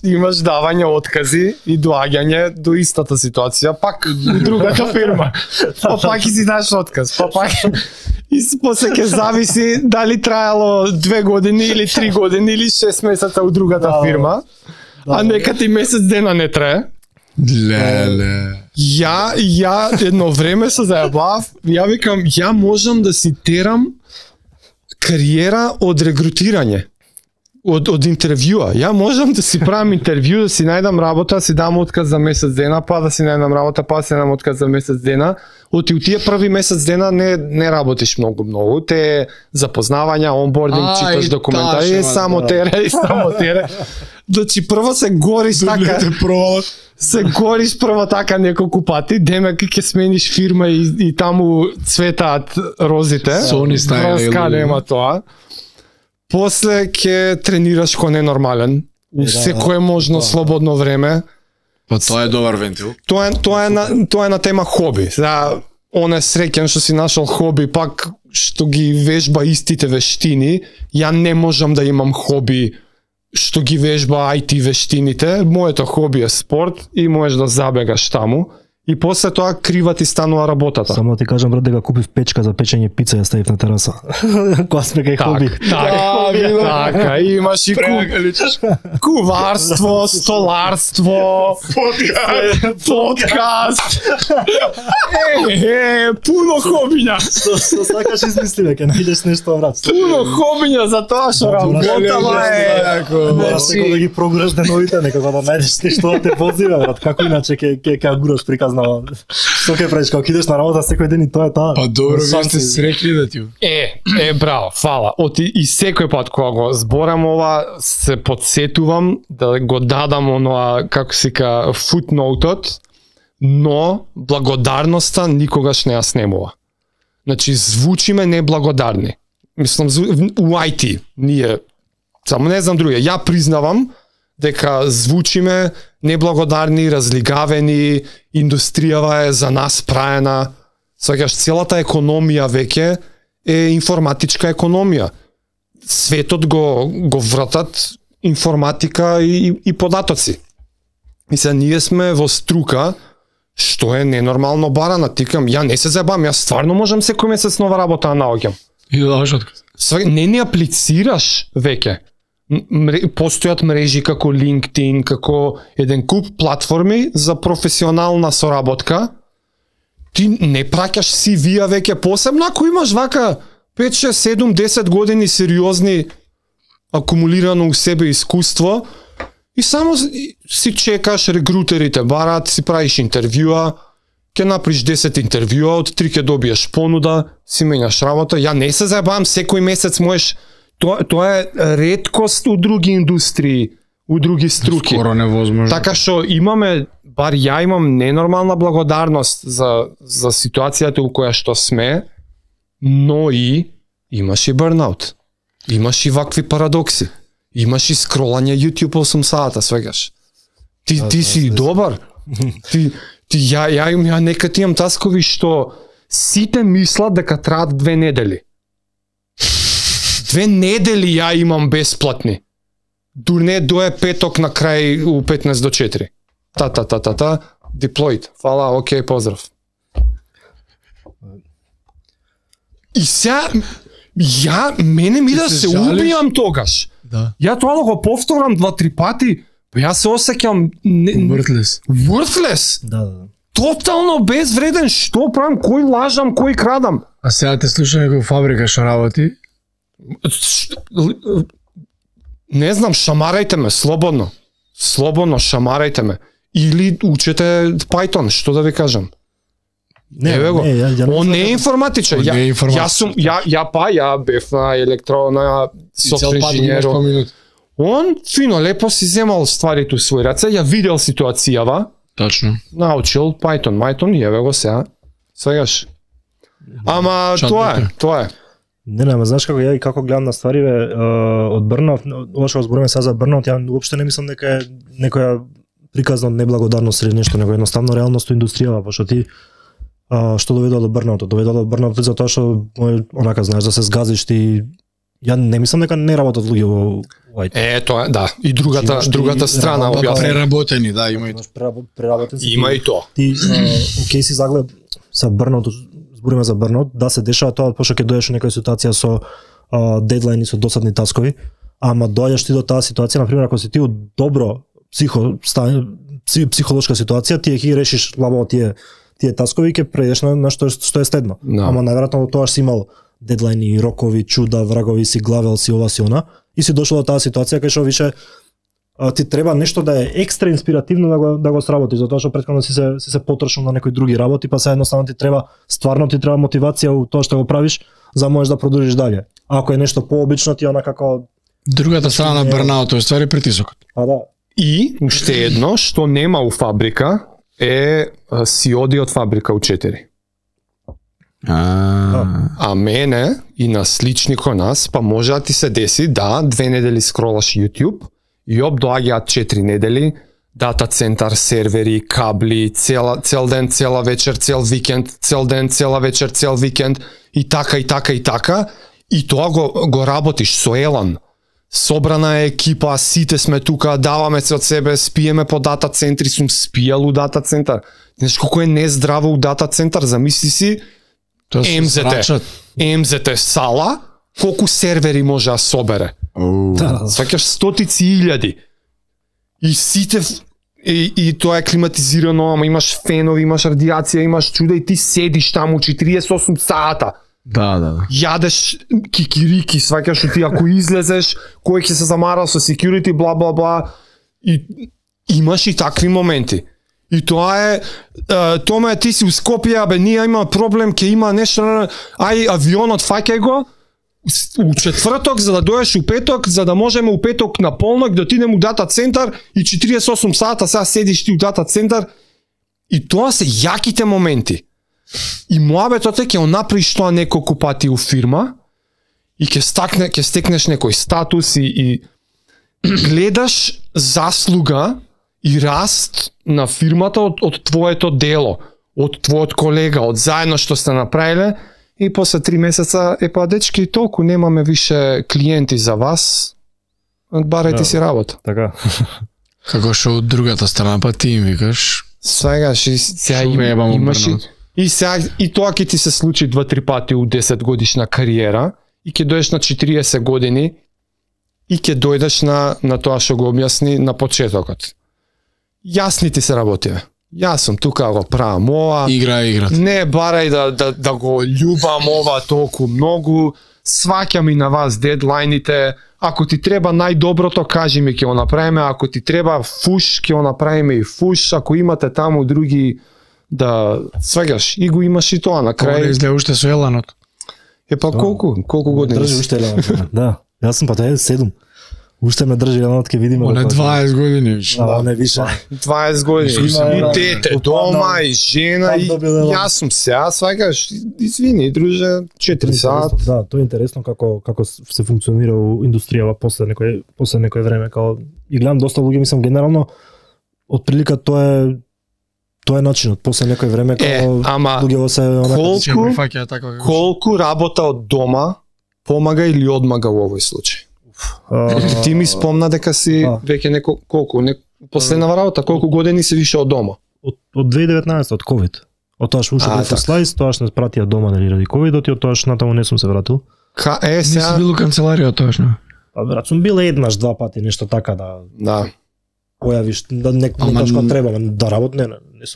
Имаш давање откази и доаѓање до истата ситуација, пак у другата фирма. Пак и си даш отказ. Пак и после ќе зависи дали траело 2 години или 3 години или 6 месеца у другата фирма. А нека ти месец дена не трае. Леле. Ја едно време се заебав, ја викам, ја можам да си терам кариера од регрутирање. од интервјуа. Ја можам да си правам интервју, да си најдам работа, да си дам отказ за месец дена, па да си најдам работа, па да си најдам отказ за месец дена. Од тие први месец дена не работиш многу. Те запознавања, онбординг, читаш документари, само тере. Значи прво се гориш така. Се гориш прво така неколку пати, демек ќе смениш фирма и таму цветаат розите. Sony style. Роска нема тоа. После ќе тренираш ко ненормален. У секое можно слободно време. Па тоа е добар вентил. Тоа е на тема хоби. Сега, он е среќен што си нашол хоби, пак што ги вежба истите вештини. Ја не можам да имам хоби што ги вежба IT вештините. Моето хоби е спорт и можеш да забегаш таму. И после тоа крива ти станува работата. Само ти кажам, брат, дека купив печка за печење пица и ја ставив на тераса. Кога сме кај хоби. Така, имаш и куварство, столарство, подкаст. Пуно хобиња. Што сакаш измисли, ќе најдеш нешто, брат. Пуно хобиња за тоа што работава е. Значи да ги прогураш деновите, некако да најдеш нешто да те возива, брат. Како иначе ќе гураш приказна. Што ќе правиш, кога идеш на работа секој ден и тоа е таа. Па добро, вие сте среќни да ти. Браво, фала. И секој пат кога го зборам ова, се подсетувам да го дадам оноа, како се ка, футноутот, но благодарноста никогаш не ја снемува. Значи, звучиме неблагодарни. Мислам, у IT, ние, само не знам други, ја признавам дека звучиме неблагодарни, разлигавени, индустријава е за нас праена. Сваќаш, целата економија веќе е информатичка економија. Светот го вратат информатика и податоци. И сега ние сме во струка што е ненормално барана. Тикам, ја не се забавам, ја стварно можам секој месец нова работа да наоѓам. И да даш отказ. Не аплицираш веќе. Постојат мрежи како LinkedIn, како еден куп платформи за професионална соработка. Ти не праќаш CV-а веќе, посебно ако имаш вака 5, 6, 7, 10 години сериозни акумулирано у себе искуство и само си чекаш, регрутерите барат, си правиш интервјуа, ќе направиш 10 интервјуа, од 3 ќе добиеш понуда, си менјаш работа. Ја не се заебавам, секој месец можеш. Тоа е реткост у други индустрии, у други струки. Скоро невозможно. Така што имаме, бар ја имам ненормална благодарност за ситуацијата у која што сме, но и имаш и бурнаут. Имаш и вакви парадокси. Имаш и скролање YouTube 8 сата, свегаш. Ти си добар. Ја некад имам таскови што сите мислат дека траат 2 недели. 2 недели ја имам бесплатни. Дурне дое петок на крај у 15 до 4. Deployed. Фала, окей, поздрав. И сега, мене ми да се убијам тогаш. Да. Ја тоа да го повторам 2-3 пати, па ја се осеќам worthless. Да. Тотално безвреден, што правам, кој лажам, кој крадам. А сега те слушам некој фабрика што работи. Не знам, шамарајте ме, слободно. Слободно шамарајте ме. Или учете Python, што да ви кажам. Еве го. Он не е информатичар. Ја бев на електронна софтвер инженер. Он фино лепо си земал стварите у свој раце, ја видел ситуацијава. Точно. Научил Python и еве го сега. Свегаш. Ама тоа е. Не, ама знаеш како ја и како гледам на ствариве од Брнов, ова што збориме сега за Брнов, ја уопште не мислам дека е некоја приказна неблагодарност или нешто, него едноставно реалност у индустријава, пошто ти што доведува до Брнов, доведува до Брнов затоа што онака знаеш да се згазиш ти. Ја не мислам дека не работат луѓе во IT. Тоа да, и другата страна објасни. Преработени, да, има и преработени. Има и тоа. Ти окей си заглед за Брнот, збориме за Брнот, да се дешава тоа пошто ќе дојдеш во некоја ситуација со дедлајни, со досадни таскови, ама доаѓаш ти до таа ситуација, на пример, ако си ти од добро психолошка ситуација, ти ќе ги решиш лабаво тие таскови, ќе преидеш на што е следно. No. Ама најверојатно тоа си имал дедлайни, рокови, чуда, врагови си, главел си, ова си она, и си дошол до таа ситуација кај што више ти треба нешто да е екстра инспиративно да го сработи, затоа што претходно си се потрошил на некои други работи, па се едноставно ти треба мотивација у тоа што го правиш, за да можеш да продолжиш дале. Ако е нешто пообично, ти она како другата страна на бурнаут е ствари притисокот. А да. И уште едно што нема у фабрика е си оди од фабрика у 4. А мене и на слични кој нас, па може да ти се деси да 2 недели скролаш YouTube и доаѓаат 4 недели, дата центар, сервери, кабли, цел ден, цела вечер, цел викенд, цел ден, цела вечер, цел викенд и така, и тоа го работиш со елан. Собрана е екипа, сите сме тука, даваме се од себе, спиеме по дата центри, сум спијал у дата центар. Знаеш колку е нездраво у дата центар, замисли си МЗТ сала, колку сервери може да собере. Сваќаш стотици илјади. И сите и тоа е климатизирано, ама имаш фенови, имаш радиација, имаш чуда и ти седиш таму 48 сата. Да. Јадеш кикирики, сваќаш ти ако излезеш, кој ќе се замара со security, бла бла бла. И имаш и такви моменти. И тоа е Томе, ти си у Скопје, бе, ние има проблем, ќе има нешто, ај авионот фаќај го у четврток за да доеш у петок, за да можеме у петок на полнок да отидеме у дата центар и 48 сата сега седиш ти у дата центар. И тоа се јаките моменти. И муабетот е ќе направиш тоа неколку пати у фирма и ќе стекнеш некој статус и гледаш заслуга и раст на фирмата од твоето дело, од твојот колега, од заедно што сте направиле, и после 3 месеца па дечки толку немаме више клиенти за вас, барајте си работа. Така. Како што од другата страна па ти им викаш. Сега имаш и тоа ќе ти се случи 2-3 пати у 10 годишна кариера и ќе дојдеш на 40 години и ќе дојдеш на тоа што го објасни на почетокот. Јасни ти се работиве. Јас сум тука го правам ова. Игра. Не барај да го љубам ова толку многу. Сваќам и на вас дедлайните. Ако ти треба најдоброто, кажи ми ќе го направиме. Ако ти треба фуш, ќе го направиме и фуш. Ако имате таму други да сваѓаш и го имаш и тоа на крај. Ова изгледа уште со еланот. Па колку години? Држи уште еланот. Да. Јас сум па тоа 7. Уште ме држи еланот, ќе видиме. Оне 20 години више. Да, не више. 20 години. И дете дома, и жена, и јас сум сега, сваќаш, извини, друже, 4 сат. Да, тоа е интересно како се функционира у индустријава после некој време, како и гледам доста луѓе, мислам генерално од прилика тоа е начинот, после некој време како луѓето се колку работа од дома помага или одмага во овој случај? Ти ми спомна дека си веќе последнава работа, колку години си више од дома? Од 2019, од ковид. Од тоа што уште бев слайс, тоа што не спратија дома ради ковидот и од тоа што натаму не сум се вратил. Не си бил у канцеларија точно? Па брат, сум бил еднаш, 2 пати, нешто така да појавиш, да некој што треба, да работам, не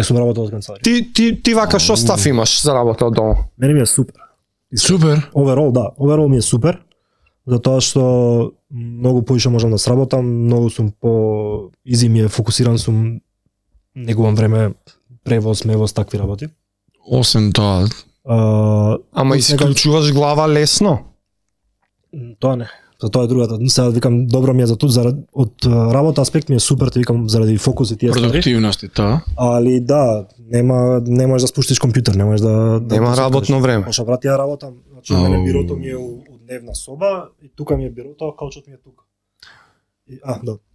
сум работел од канцеларија. Ти вака што став имаш за работа од дома? Мене ми е супер. Супер? Оверол ми е супер. Затоа што многу поише можам да сработам, многу сум изи ми е, фокусиран сум, негувам време превоз, мевоз, такви работи. Освен тоа. Ама исклучуваш глава лесно? Тоа не. За тоа е другата. Сега викам, добро ми е за тоа, од работа аспект ми е супер, те викам заради фокус и тие ствари. Продуктивност и тоа. Али да, не можеш да спуштиш компјутер, не можеш да нема работно време. Може врати ја работам, значи мене бирото ми е у дневна соба и тука ми е бирото, каучот ми е тука.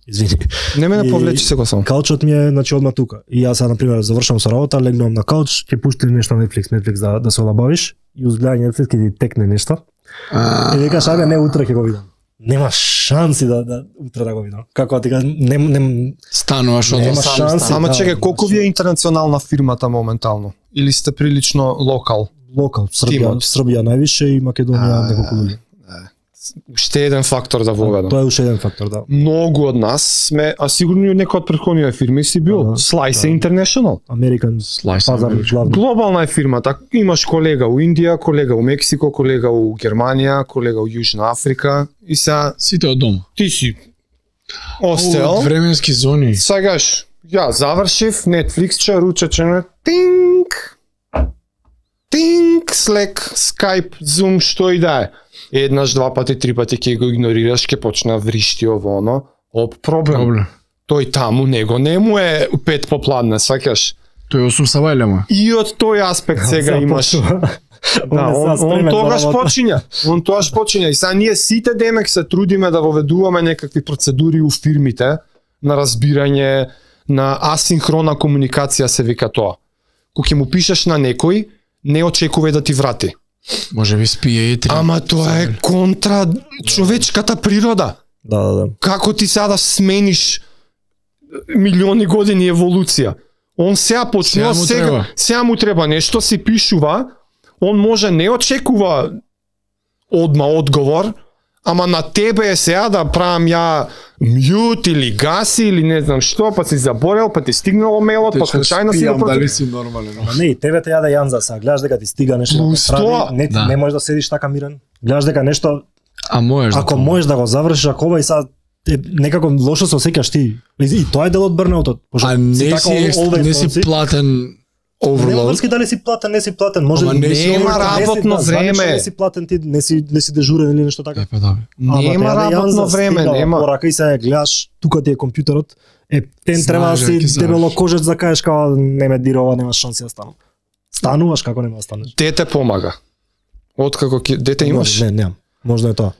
Извини. Не ме повлечи се го сам. Каучот ми е значи одма тука. И јас на пример завршам со работа, легнувам на кауч, ќе пуштиш нешто на Netflix да се олабавиш и узгледање Netflix ќе ти текне нешто. И викаш, ајде не утре ќе го видам. Нема шанси да утре да го видам. Како ти кажам, не стануваш од нема шанси. Ама чекај, колку ви е интернационална фирмата моментално? Или сте прилично локал? Локал, Србија највише и Македонија неколку луѓе. уште еден фактор да воведам. Тоа е уште еден фактор, да. Многу од нас сме, а сигурно и некој од претходните фирми си бил, Slice International. American пазар главно. Глобална е фирмата. Имаш колега у Индија, колега у Мексико, колега у Германија, колега у Јужна Африка и са Сите од дома. ти си остел. Од временски зони. Сагаш, ја завршив, Netflix че, ручече на тинг, Slack, Skype, Zoom, што и да е. Еднаш, два пати, три пати ќе го игнорираш, ќе почна вришти ово оно. Проблем. Тој таму него не му е 5 попладне, сваќаш. Тој 8 сабајле му. И од тој аспект сега имаш. Да, он тогаш почиња. Он тогаш почиња. И сега ние сите демек се трудиме да воведуваме некакви процедури у фирмите на разбирање, на асинхрона комуникација се вика тоа. Кога ќе му пишеш на некој, не очекувај да ти врати. Може би спие и три. Ама тоа е контра човечката природа. Да. Како ти сега да смениш милиони години еволуција? Он сега почнува, сега му треба нешто, си пишува, он може не очекува одма одговор, ама на тебе е сега да правам ја мјут или гаси или не знам што, па си заборел, па ти стигнало мейлот, па случајно си го дали си нормален. Не, и тебе те ја да јанза са, гледаш дека ти стига нешто да прави, не можеш да седиш така мирен. Гледаш дека нешто можеш. Ако можеш да го завршиш, ако ова и са некако лошо се осеќаш ти. И тоа е дел од бърнаутот. А не си платен overload. Нема врски дали си платен, не си платен, може нема работно време. Не си платен ти, не си дежурен или нешто така. Нема работно време, нема. Порака и се гледаш, тука ти е компјутерот. Тен треба да си дебело кожец да кажеш као не ме дирова, нема шанси да станам. Стануваш како нема да станеш. Дете помага. Откако дете имаш? Не, немам. Можда е тоа.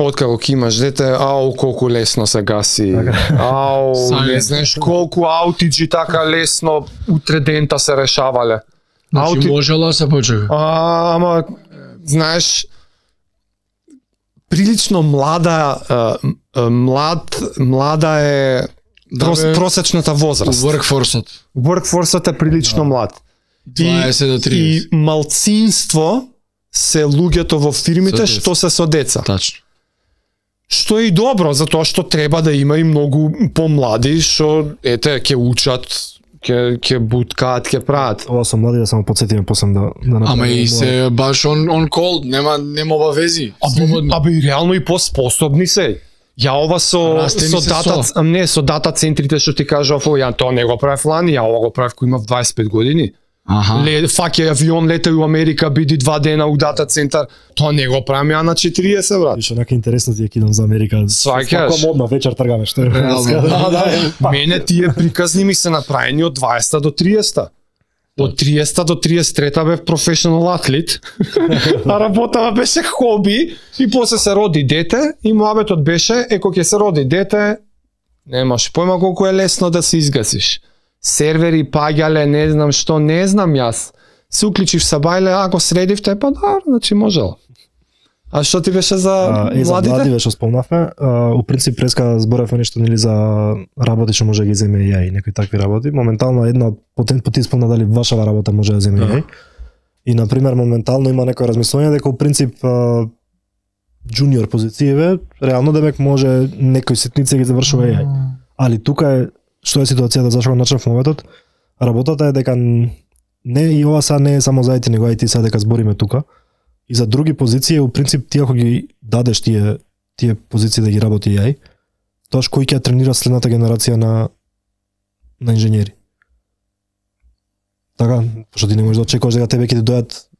Откако ќе имаш дете, колку лесно се гаси. Не знаеш колку аутиджи така лесно утре дента се решавале. Значи можела се почека. Ама знаеш прилично млада е просечната возраст. Workforce е прилично млад. 20 до 30. И малцинство се луѓето во фирмите што се со деца. Тачно. Што е и добро, затоа што треба да има и многу помлади што ќе учат, ќе буткаат, ќе прават. Ова со млади да само потсетиме после да Ама и се баш on call, нема обавези. Абе и реално и поспособни се. Ја ова со дата центрите што ти кажав, ја тоа не го правев лани, ја ова го правев кој имав 25 години. Фаќа авион, летај у Америка, биди 2 дена у дата центар, тоа не го правам ја на 40, брат. Више, онака интересно ти е кидам за Америка. Сваќаш? Како модно, вечер тргаме, што е. Мене тие приказни ми се направени од 20 до 30. Од 30 до 33 бев професионал атлет, а работава беше хоби и после се роди дете и муабетот беше, кога ќе се роди дете, немаш појма колку е лесно да се изгасиш. Сервери паѓале, не знам што, не знам јас. Се уклучив сабајле, ако средивте, па да, значи можел. А што ти беше за младите? За млади беше спомнавме. У принцип преска зборевме нешто нели за работи што може да ги земе и некои такви работи. Моментално една од потенти спомна дали вашава работа може да земе и. И на пример моментално има некој размислување дека у принцип джуниор позицијеве реално демек може некој ситница ги завршува и. Али тука е што е ситуацијата зашто го начнав моветот, работата е дека не и ова са не е само за IT, него IT са дека збориме тука. И за други позиции, у принцип, ти ако ги дадеш тие позиции да ги работи AI, тоаш кој ќе тренира следната генерација на инженери. Така, пошто ти не можеш да очекуваш дека тебе ќе ти дојат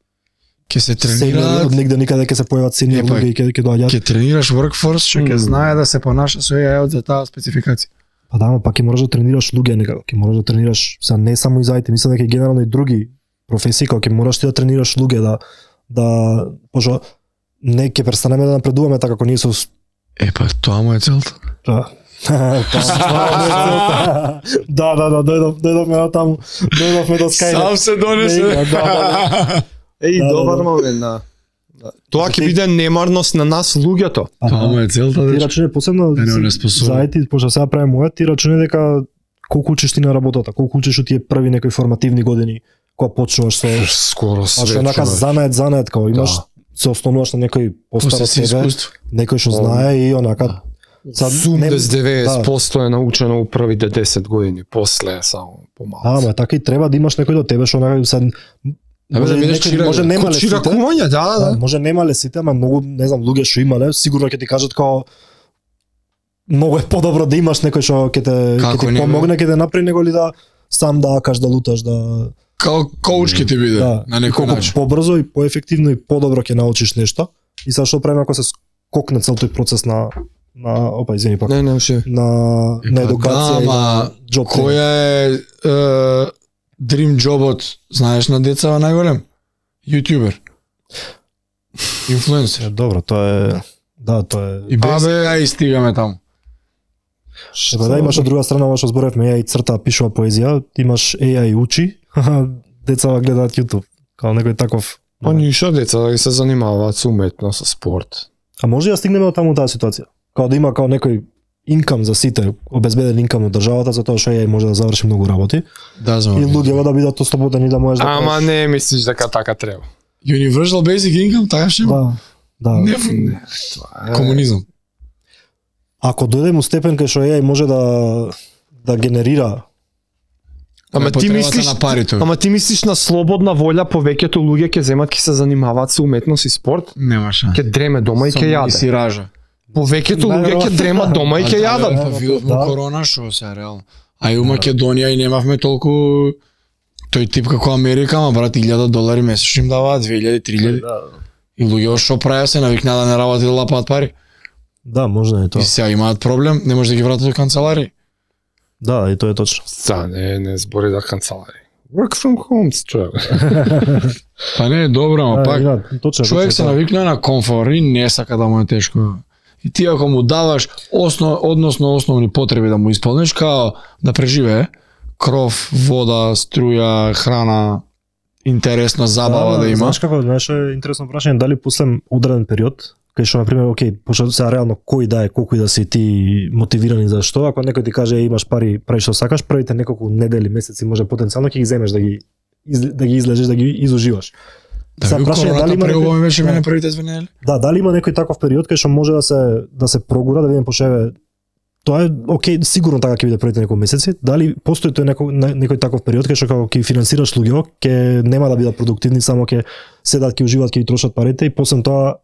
ќе се тренираат од негде никаде ќе се појават сениор луѓе и ќе доаѓаат. Ќе тренираш workforce што ќе знае да се понаша со AI за таа спецификација. Па да, пак ќе можеш да тренираш луѓе некако, ќе можеш да тренираш са не само и за IT, мислам дека и генерално и други професии кога ќе мораш ти да тренираш луѓе да пошто не ќе престанеме да напредуваме така како ние со па тоа му е целта. Да, дојдовме на таму, дојдовме до Skynet. Сам се донесе. Добар момент, да. Тоа ќе биде немарност на нас луѓето. Тоа му е целта. Ти рачуне посебно за IT, пошто сега правиме мојот, ти рачуне дека колку учиш ти на работата, колку учиш од тие први некои формативни години, кога почнуваш со скоро све. Значи онака занает, као имаш се ослонуваш на некој постар од После тебе, искуство. некој што знае и онака Сад, Zoom не- без 90% е научено у првите 10 години, после е само помалку. Ама така и треба да имаш некој до тебе што онака се Да бидеш чирак. може нема Код лесите. чиракување, да. Може нема лесите, ама многу, не знам, луѓе што имале, сигурно ќе ти кажат као многу е подобро да имаш некој што ќе те Како ќе ти не, бе? помогне, ќе те направи него ли да сам да акаш, да луташ, да Као коуч ќе ти биде на и некој колку начин. побрзо и поефективно и подобро ќе научиш нешто. И сега што правиме ако се скокне цел тој процес на опа извини пак Не, ше. на едукација и на ама job training. која е дрим джобот, знаеш на деца најголем? Јутјубер. Инфлуенсер. Добро, тоа е да, тоа е. И без ај стигаме таму. Еба да, имаш од друга страна ова што зборевме, AI црта, пишува поезија, имаш AI учи, деца гледаат YouTube, као некој таков. Па ништо деца да ги се занимаваат со уметност, со спорт. А може да стигнеме од таму таа ситуација? Као да има као некој инкам за сите, обезбеден инкам од државата за тоа што AI може да заврши многу работи Да, знам. и луѓето да бидат ослободени да можеш да Ама не мислиш дека така треба. Universal Basic Income, така ще има? да. Не, комунизам. Ако дојдем у степен кај што AI може да генерира Ама ти мислиш на парите. Ама ти мислиш на слободна волја повеќето луѓе ќе земат ќе се занимаваат со уметност и спорт, Нема шанс. ќе дреме дома и ќе И јаде. си ража. Повеќето луѓе ќе дремат дома и ќе јадат. Па видовме Да. корона шо се реално. А и у Македонија и немавме толку тој тип како Америка, ама брат $1000 месечно им даваат 2000-3000. И луѓе што правеа се навикнаа да не работат и да лапаат пари. Да, може да е И тоа. сега имаат проблем, не може да ги вратат до канцелари. Да, и тоа е точно. За не збори за канцелари. Work from home, човек. Па не е добро, ама пак точно. човек се навикнува на комфор и не сака да му е тешко. И ти ако му даваш односно основни потреби да му исполниш, као да преживее, кров, вода, струја, храна, интересна забава да има. Знаеш како, знаеш е интересно прашање, дали после ударен период, кај што на пример, окей, пошто сега реално кој да е, колку и да си ти мотивирани за што, ако некој ти каже имаш пари, прави што сакаш, првите неколку недели, месеци може потенцијално ќе ги земеш да ги излежеш, да ги изуживаш. Да, Сега ви прашање, короната дали има преубаво некој- беше да. мене првите 2 недели. Да, дали има некој таков период кај што може да се прогура, да видиме пошеве тоа е окей, сигурно така ќе биде првите неколку месеци. Дали постои тој некој таков период кај што како ќе финансираш луѓе, ќе нема да бидат продуктивни, само ќе седат, ќе уживаат, ќе ги трошат парите и после тоа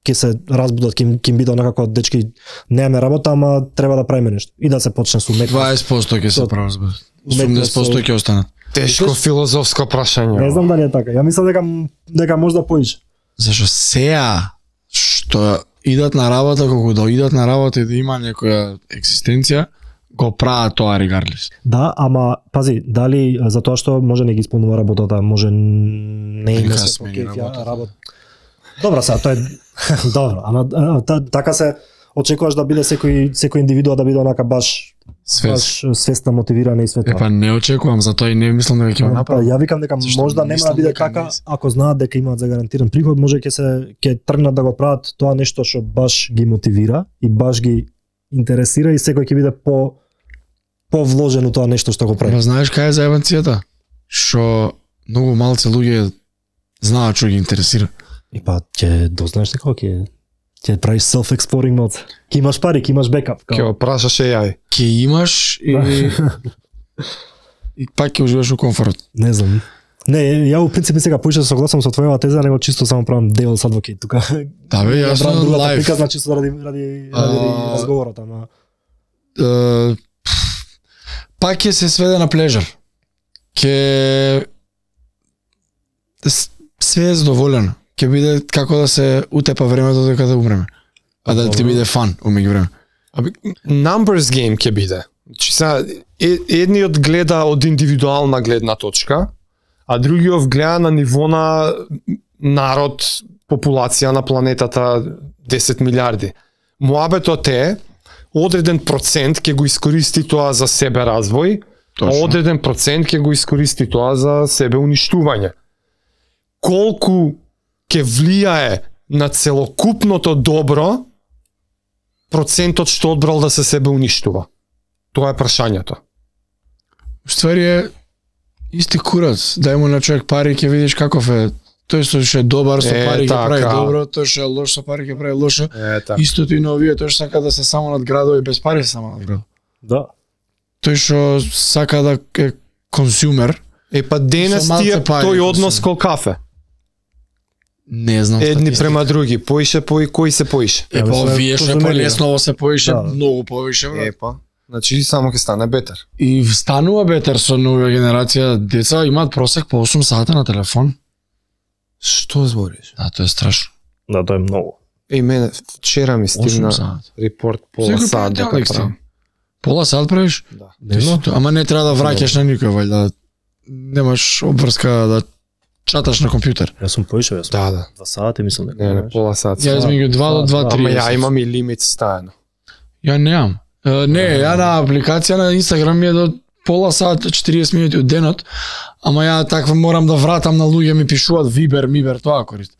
ќе се разбудат, ќе им биде онакако дечки немаме работа, ама треба да правиме нешто и да се почне со уметност. 20% ќе се правразбудат. Уметност 80% ќе останат. Тешко филозофско прашање. Не знам дали е така. Ја мислам дека може да поише. Зашо сеа што идат на работа, колку да идат на работа и да има некоја екзистенција, го прават тоа regardless. Да, ама пази, дали за тоа што може не ги исполнува работата, може не Или има кога се смени покеќа работата. работа. Добро, сега тоа е добро, ама така се очекуваш да биде секој индивидуа да биде онака баш свесна, мотивирана и све тоа. Па не очекувам, затоа и не мислам дека ќе го Па, направам. ја викам дека Зашто можда нема да мислам биде дека така, не се. ако знаат дека имаат загарантиран приход, може ќе тргнат да го прават тоа нешто што баш ги мотивира и баш ги интересира и секој ќе биде повложен у тоа нешто што го прави. Ама знаеш кај е заебанцијата? Што многу малце луѓе знаат што ги интересира. И па ќе дознаеш некако ќе правиш self-exploring mode. Ќе имаш пари, ќе имаш бекап. Ќе го прашаш AI. Ќе имаш и пак ќе уживаш у комфорт. Не знам. Не, ја у принцип сега поише согласам со твојава теза, него чисто само правам devil's advocate тука. Да бе, јас Брам сум другата лайф. прика, значи ради разговорот, ама Пак ќе се сведе на плежер. Ќе све е задоволено. Ќе биде како да се утепа времето дека да умреме. А да ти биде фан умеѓу време. Numbers game ќе биде. Значи сега едниот гледа од индивидуална гледна точка, а другиот гледа на ниво на народ, популација на планетата 10 милиарди. Муабетот е одреден процент ќе го искористи тоа за себе развој, а Точно. одреден процент ќе го искористи тоа за себе уништување. Колку ќе влијае на целокупното добро процентот што одбрал да се себе уништува? Тоа е прашањето. Ствари е исти курац. Дај му на човек пари ќе видиш каков е Тој што е добар со пари ќе прави така. добро, тој што е лош со пари ќе прави лошо. Така. Истото и на овие, тој што сака да се само надградува и без пари се само надградува. Да. Тој што сака да е консумер, Па денес Со малце тие пари, тој однос мислам. кол кафе. не знам Едни статистика. према други, поише кој се поише. Па овие што Позумели, полесново се поише, Да. многу повише, брат. Па. Значи само ќе стане бетер. И станува бетер со нова генерација, деца имаат просек по 8 сата на телефон. Што збориш? Да, тоа е страшно. Да, тоа е многу. Мене вчера ми 8 стигна сат. репорт пола Секој сат дека понеделник правам. Пола сат правиш? Да. Ама не треба да враќаш на никој, вајда. Немаш обврска да чаташ на компјутер. Јас сум поише, јас сум Да. 2 сати, мислам дека. Не, пола сат. Ја измеѓу 2 до 2:30. Ама ја имам и лимит стајано. Ја немам. Не, ја на апликација на Инстаграм ми е до пола сат, 40 минути од денот, ама ја таква морам да вратам на луѓе ми пишуваат Viber, тоа користам.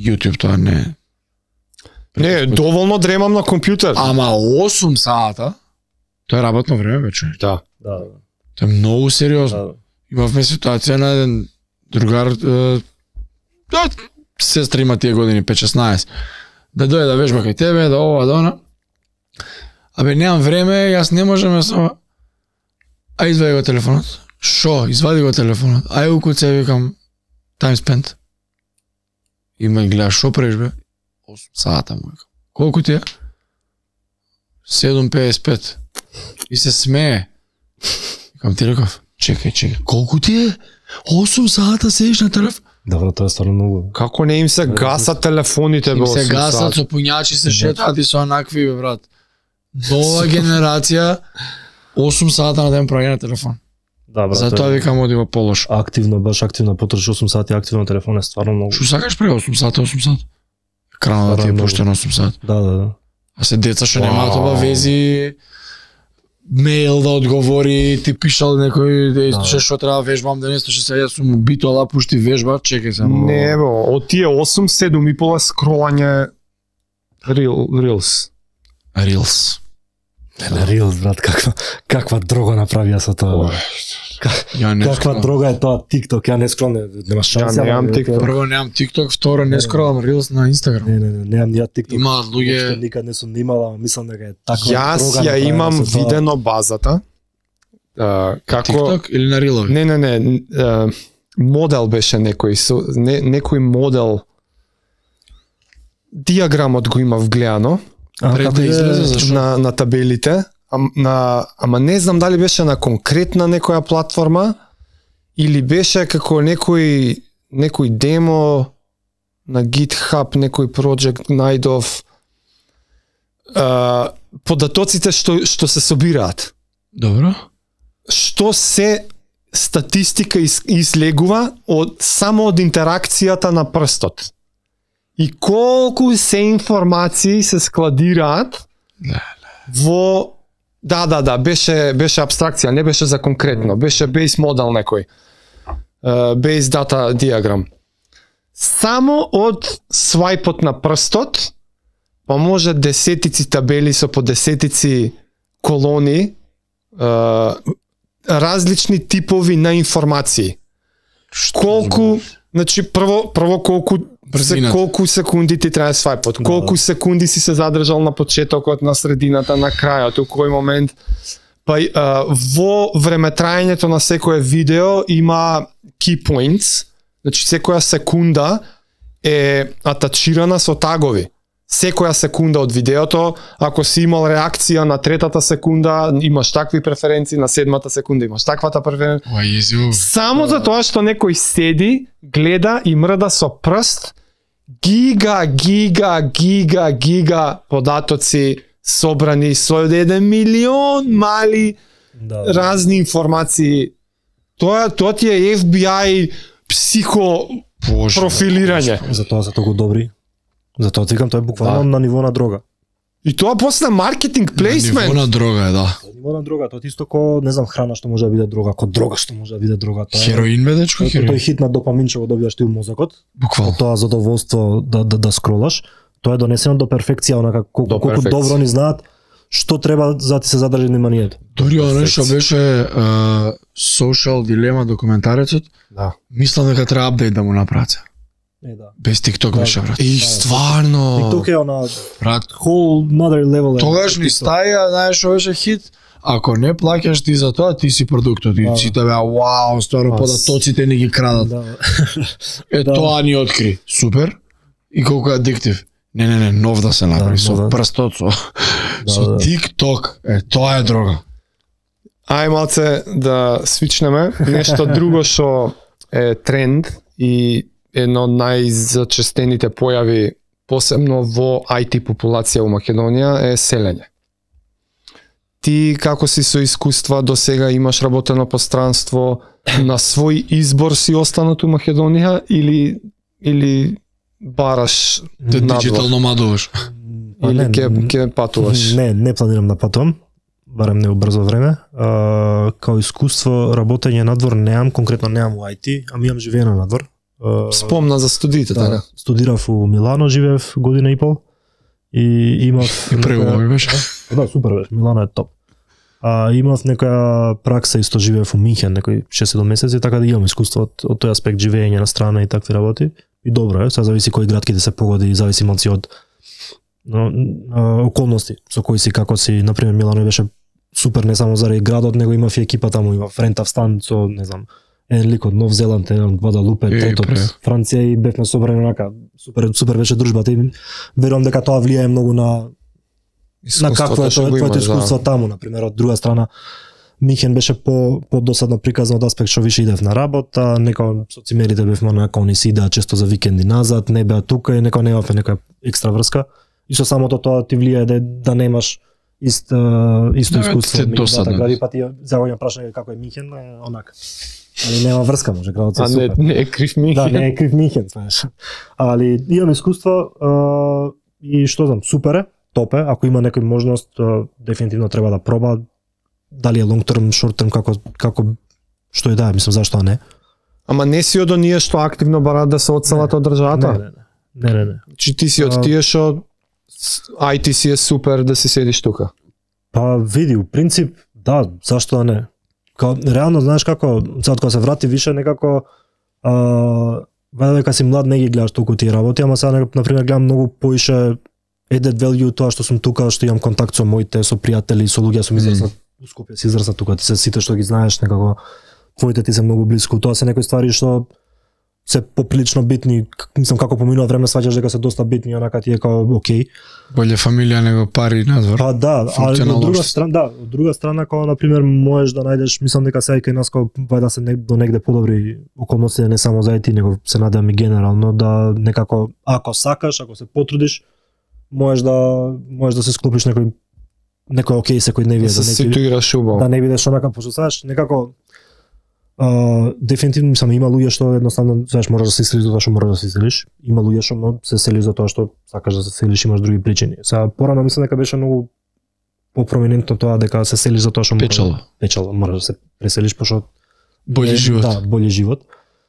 YouTube тоа не. Не, доволно дремам на компјутер. Ама 8 сата, тоа е работно време вече. Да. Да. Тоа е многу сериозно. Да. Имавме ситуација на еден другар, сестра има тие години, 5-16, да дојде да вежба кај тебе, да ова, да она. Абе, немам време, јас не можам, а извади го телефонот. Шо? Извади го телефонот. Ај укуце, викам, time spent. И ме гледа, шо преш бе? 8 сата му викам. Колку ти е? 7:55. И се смее. Викам ти реков, чекај, колку ти е? 8 сата седиш на телефон? Добро, тоа е стварно многу. Како не им се гасат телефоните бе Им се 8 гасат сат? со пуњачи, се шетаат и со онакви, бе, брат. Нова генерација, 8 сата на ден прави на телефон. Да, брат. Затоа викам оди во полош. активно, баш активно потроши 8 сати активно на телефон е стварно многу. Шо сакаш прави 8 сата, 8 сата? Екранот да ти е Многу. пуштен 8 сата. Да. А се деца што немаат Вау. обавези, мејл да одговори, ти пишал некој да истуше што треба вежбам денес, што се јас сум битола пушти вежба, чекај само. Не бе, од тие 8-7 и пола скролање Reels. Reels. На Reels, брат, каква дрога направија со тоа. Ја не Каква скролам. дрога е тоа TikTok, ја не скролам, нема шанса. Ја немам ама, TikTok. Прво немам TikTok, второ не скролам Reels на Instagram. Не, немам ни ја TikTok. Имаат луѓе. Уопште никад не сум имала, ама мислам дека е таква Јас дрога ја направена имам со тоа. видено базата. Како TikTok или на Reelovi? Не, модел беше некој некој модел диаграмот го имав гледано Пред да излезе, зашо? на табелите, ама не знам дали беше на конкретна некоја платформа или беше како некој демо на GitHub, некој проект најдов податоците што се собираат. Добро. Што се статистика излегува само од интеракцијата на прстот. И колку се информации се складираат во беше абстракција, не беше за конкретно, беше base model некој. Base data diagram. Само од свајпот на прстот, па може десетици табели со по десетици колони, различни типови на информации. Колку, значи прво колку секунди ти трае свајпот, колку секунди си се задржал на почетокот, на средината, на крајот, у кој момент. Па во времетраењето на секое видео има key points, значи секоја секунда е атачирана со тагови. Секоја секунда од видеото, ако си имал реакција на третата секунда, имаш такви преференции, на седмата секунда имаш таквата преференција. Ова језиво. Само за тоа што некој седи, гледа и мрда со прст, гига податоци собрани со 1 милион мали разни информации. Тоа ти е FBI психо профилирање. Затоа се толку добри. Затоа викам тоа е буквално на ниво на дрога. И тоа после маркетинг плейсмент. Ниво на дрога е, да. Ниво на дрога, тоа исто ко, не знам, храна што може да биде дрога, ко дрога што може да биде дрога. Тоа Хероин бе, дечко, тој хероин. хит на допамин што го добиваш ти у мозокот, Буквално. тоа задоволство да скролаш, тоа е донесено до перфекција, онака колку добро ни знаат што треба за да ти се задржи вниманието. Дури оно што беше social дилема документарецот, Да. мислам дека треба апдейт да му направат. Да. Без TikTok Да, беше да. брат. И Да. стварно. TikTok е она брат, whole another level. тогаш ни стаја, знаеш што беше хит. Ако не плаќаш ти за тоа, ти си продуктот. И Да. сите беа, вау, стварно Да. податоците ни ги крадат. Да. Да. Тоа ни откри. Супер. И колку е адиктив. Не, нов да се направи, Да, со да. прстот, со Да. TikTok. Тоа е дрога. Ај малце да свичнеме. Нешто друго што е тренд и едно од најзачестените појави, посебно во IT популација у Македонија, е селење. Ти како си со искуства до сега, имаш работено пространство, на свој избор си останат у Македонија или бараш Те надвор? диджитал номадуваш. Па Или не, ќе патуваш? Не планирам да патувам, барем не у брзо време. Као искуство работење надвор немам, конкретно немам у IT, ами имам живење надвор. Спомна за студиите, така? Да, студирав у Милано, живеев година и пол и имав И преубаво ми беше. Да, супер беше, Милано е топ. Имав некоја пракса, исто живеев у Минхен, некои 6-7 месеци, така да имам искуство од тој аспект, живење на страна и такви работи. И добро е, сега зависи кој град ќе да се погоди, зависи малци од околности, со кои си, како си, например Милано беше супер не само заради градот, него имав и екипа таму, имав рентав стан со, не знам, еден лик од Нов Зеланд, еден Гвадалупе, третот Франција и бевме собрани онака, супер беше дружбата и верувам дека тоа влијае многу на какво е твоето искуство таму, например, од друга страна Михен беше по-досадно приказан од аспект што више идев на работа, некој со цимерите бевме онака, они си идеа често за викенди назад, не беа тука и некој немавме некоја екстра врска. И со самото тоа ти влијае да немаш исто искуство од двата гради, па ти заоѓам прашање како е Михен, онака. Али нема врска, може градот е супер. Не е крив Михен. Да, не е крив Михен, знаеш. Али имам искуство и што знам, супер е, топ е, ако има некој можност, дефинитивно треба да проба, дали е long term, short term, како што и да е, мислам зашто не. Ама не си од оние што активно бараат да се одселат од државата? Не. Чи ти си од тие што IT си е супер да си седиш тука? Па види, у принцип, да, зашто не. Реално, знаеш како, сега кога се врати више, некако, вајде дека си млад не ги гледаш толку тие работи, ама сега, например, гледам многу поише added value тоа што сум тука, што имам контакт со моите, со пријатели, со луѓе, сум израснат, у Скопје си израснат тука, ти се сите што ги знаеш, некако, твоите ти се многу блиску, тоа се некои ствари што се поприлично битни, мислам како поминува време сваќаш дека се доста битни, онака ти е као окей. Боле фамилија него пари надвор. Па да, а од друга страна, од друга страна кога на пример можеш да најдеш, мислам дека сега кај нас кога вајда се до негде подобри околности, не само за IT, него се надевам и генерално да некако ако сакаш, ако се потрудиш, можеш да се склопиш некој окей секој не види да се ситуираш убаво. Да не бидеш онака пошто знаеш, некако дефинитивно мислам има луѓе што едноставно знаеш можеш да се иселиш затоа што можеш да се иселиш. Има луѓе што се селиш затоа што сакаш да се селиш, имаш други причини. Сега порано мислам дека беше многу попроминентно тоа дека се селиш затоа што печала, можеш да се преселиш пошто бољи живот. Да, бољи живот.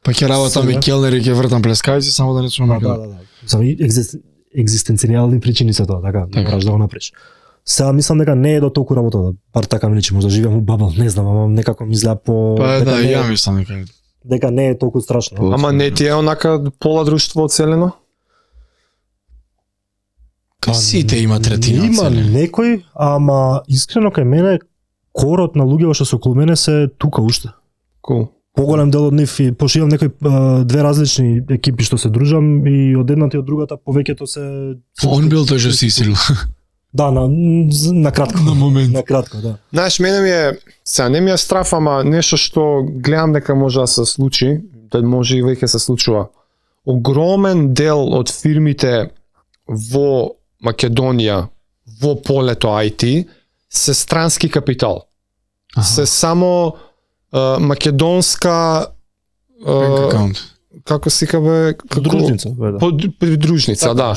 Па ќе работам и келнер и ќе вртам плескавици само да не сум на Да. Само екзистенцијални причини се тоа, така, мораш да го направиш. Сега мислам дека не е до толку работа, бар така ми личи, можда живеам у бабл, не знам, ама некако ми изгледа по Па да, ја мислам дека не е толку страшно. Ама не ти е онака пола друштво оцелено? Сите има третина Има оцелени. некој, ама искрено кај мене корот на луѓе што се околу мене се тука уште. Cool. Поголем дел од нив и пошто имам некои две различни екипи што се дружам и од едната и од другата повеќето се Он бил тој што си исил. Да, на кратко. На момент. На кратко, да. Знаеш, мене ми е, сега не ми е страф, ама нешто што гледам дека може да се случи, да може и веќе се случува. Огромен дел од фирмите во Македонија, во полето IT, се странски капитал. Се само македонска како си кабе Дружница, Дружница, да.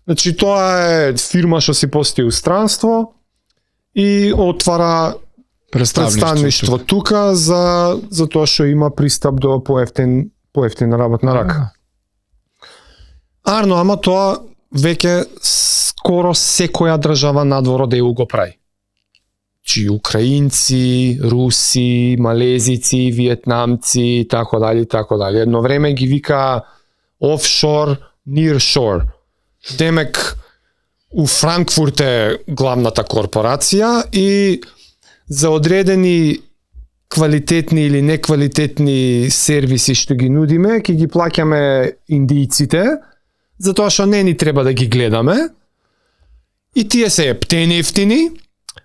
Значи тоа е фирма што си пости устранство и отвара представништво тука за тоа што има пристап до поевтина работна рака. Арно, ама тоа веќе скоро секоја држава надвор од ЕУ го прави. Значи украинци, руси, малезици, виетнамци и така дали, така дали. Едно време ги вика офшор, nearshore. Демек у Франкфурт е главната корпорација и за одредени квалитетни или неквалитетни сервиси што ги нудиме, ќе ги плаќаме индијците, затоа што не ни треба да ги гледаме. И тие се ептени ефтини,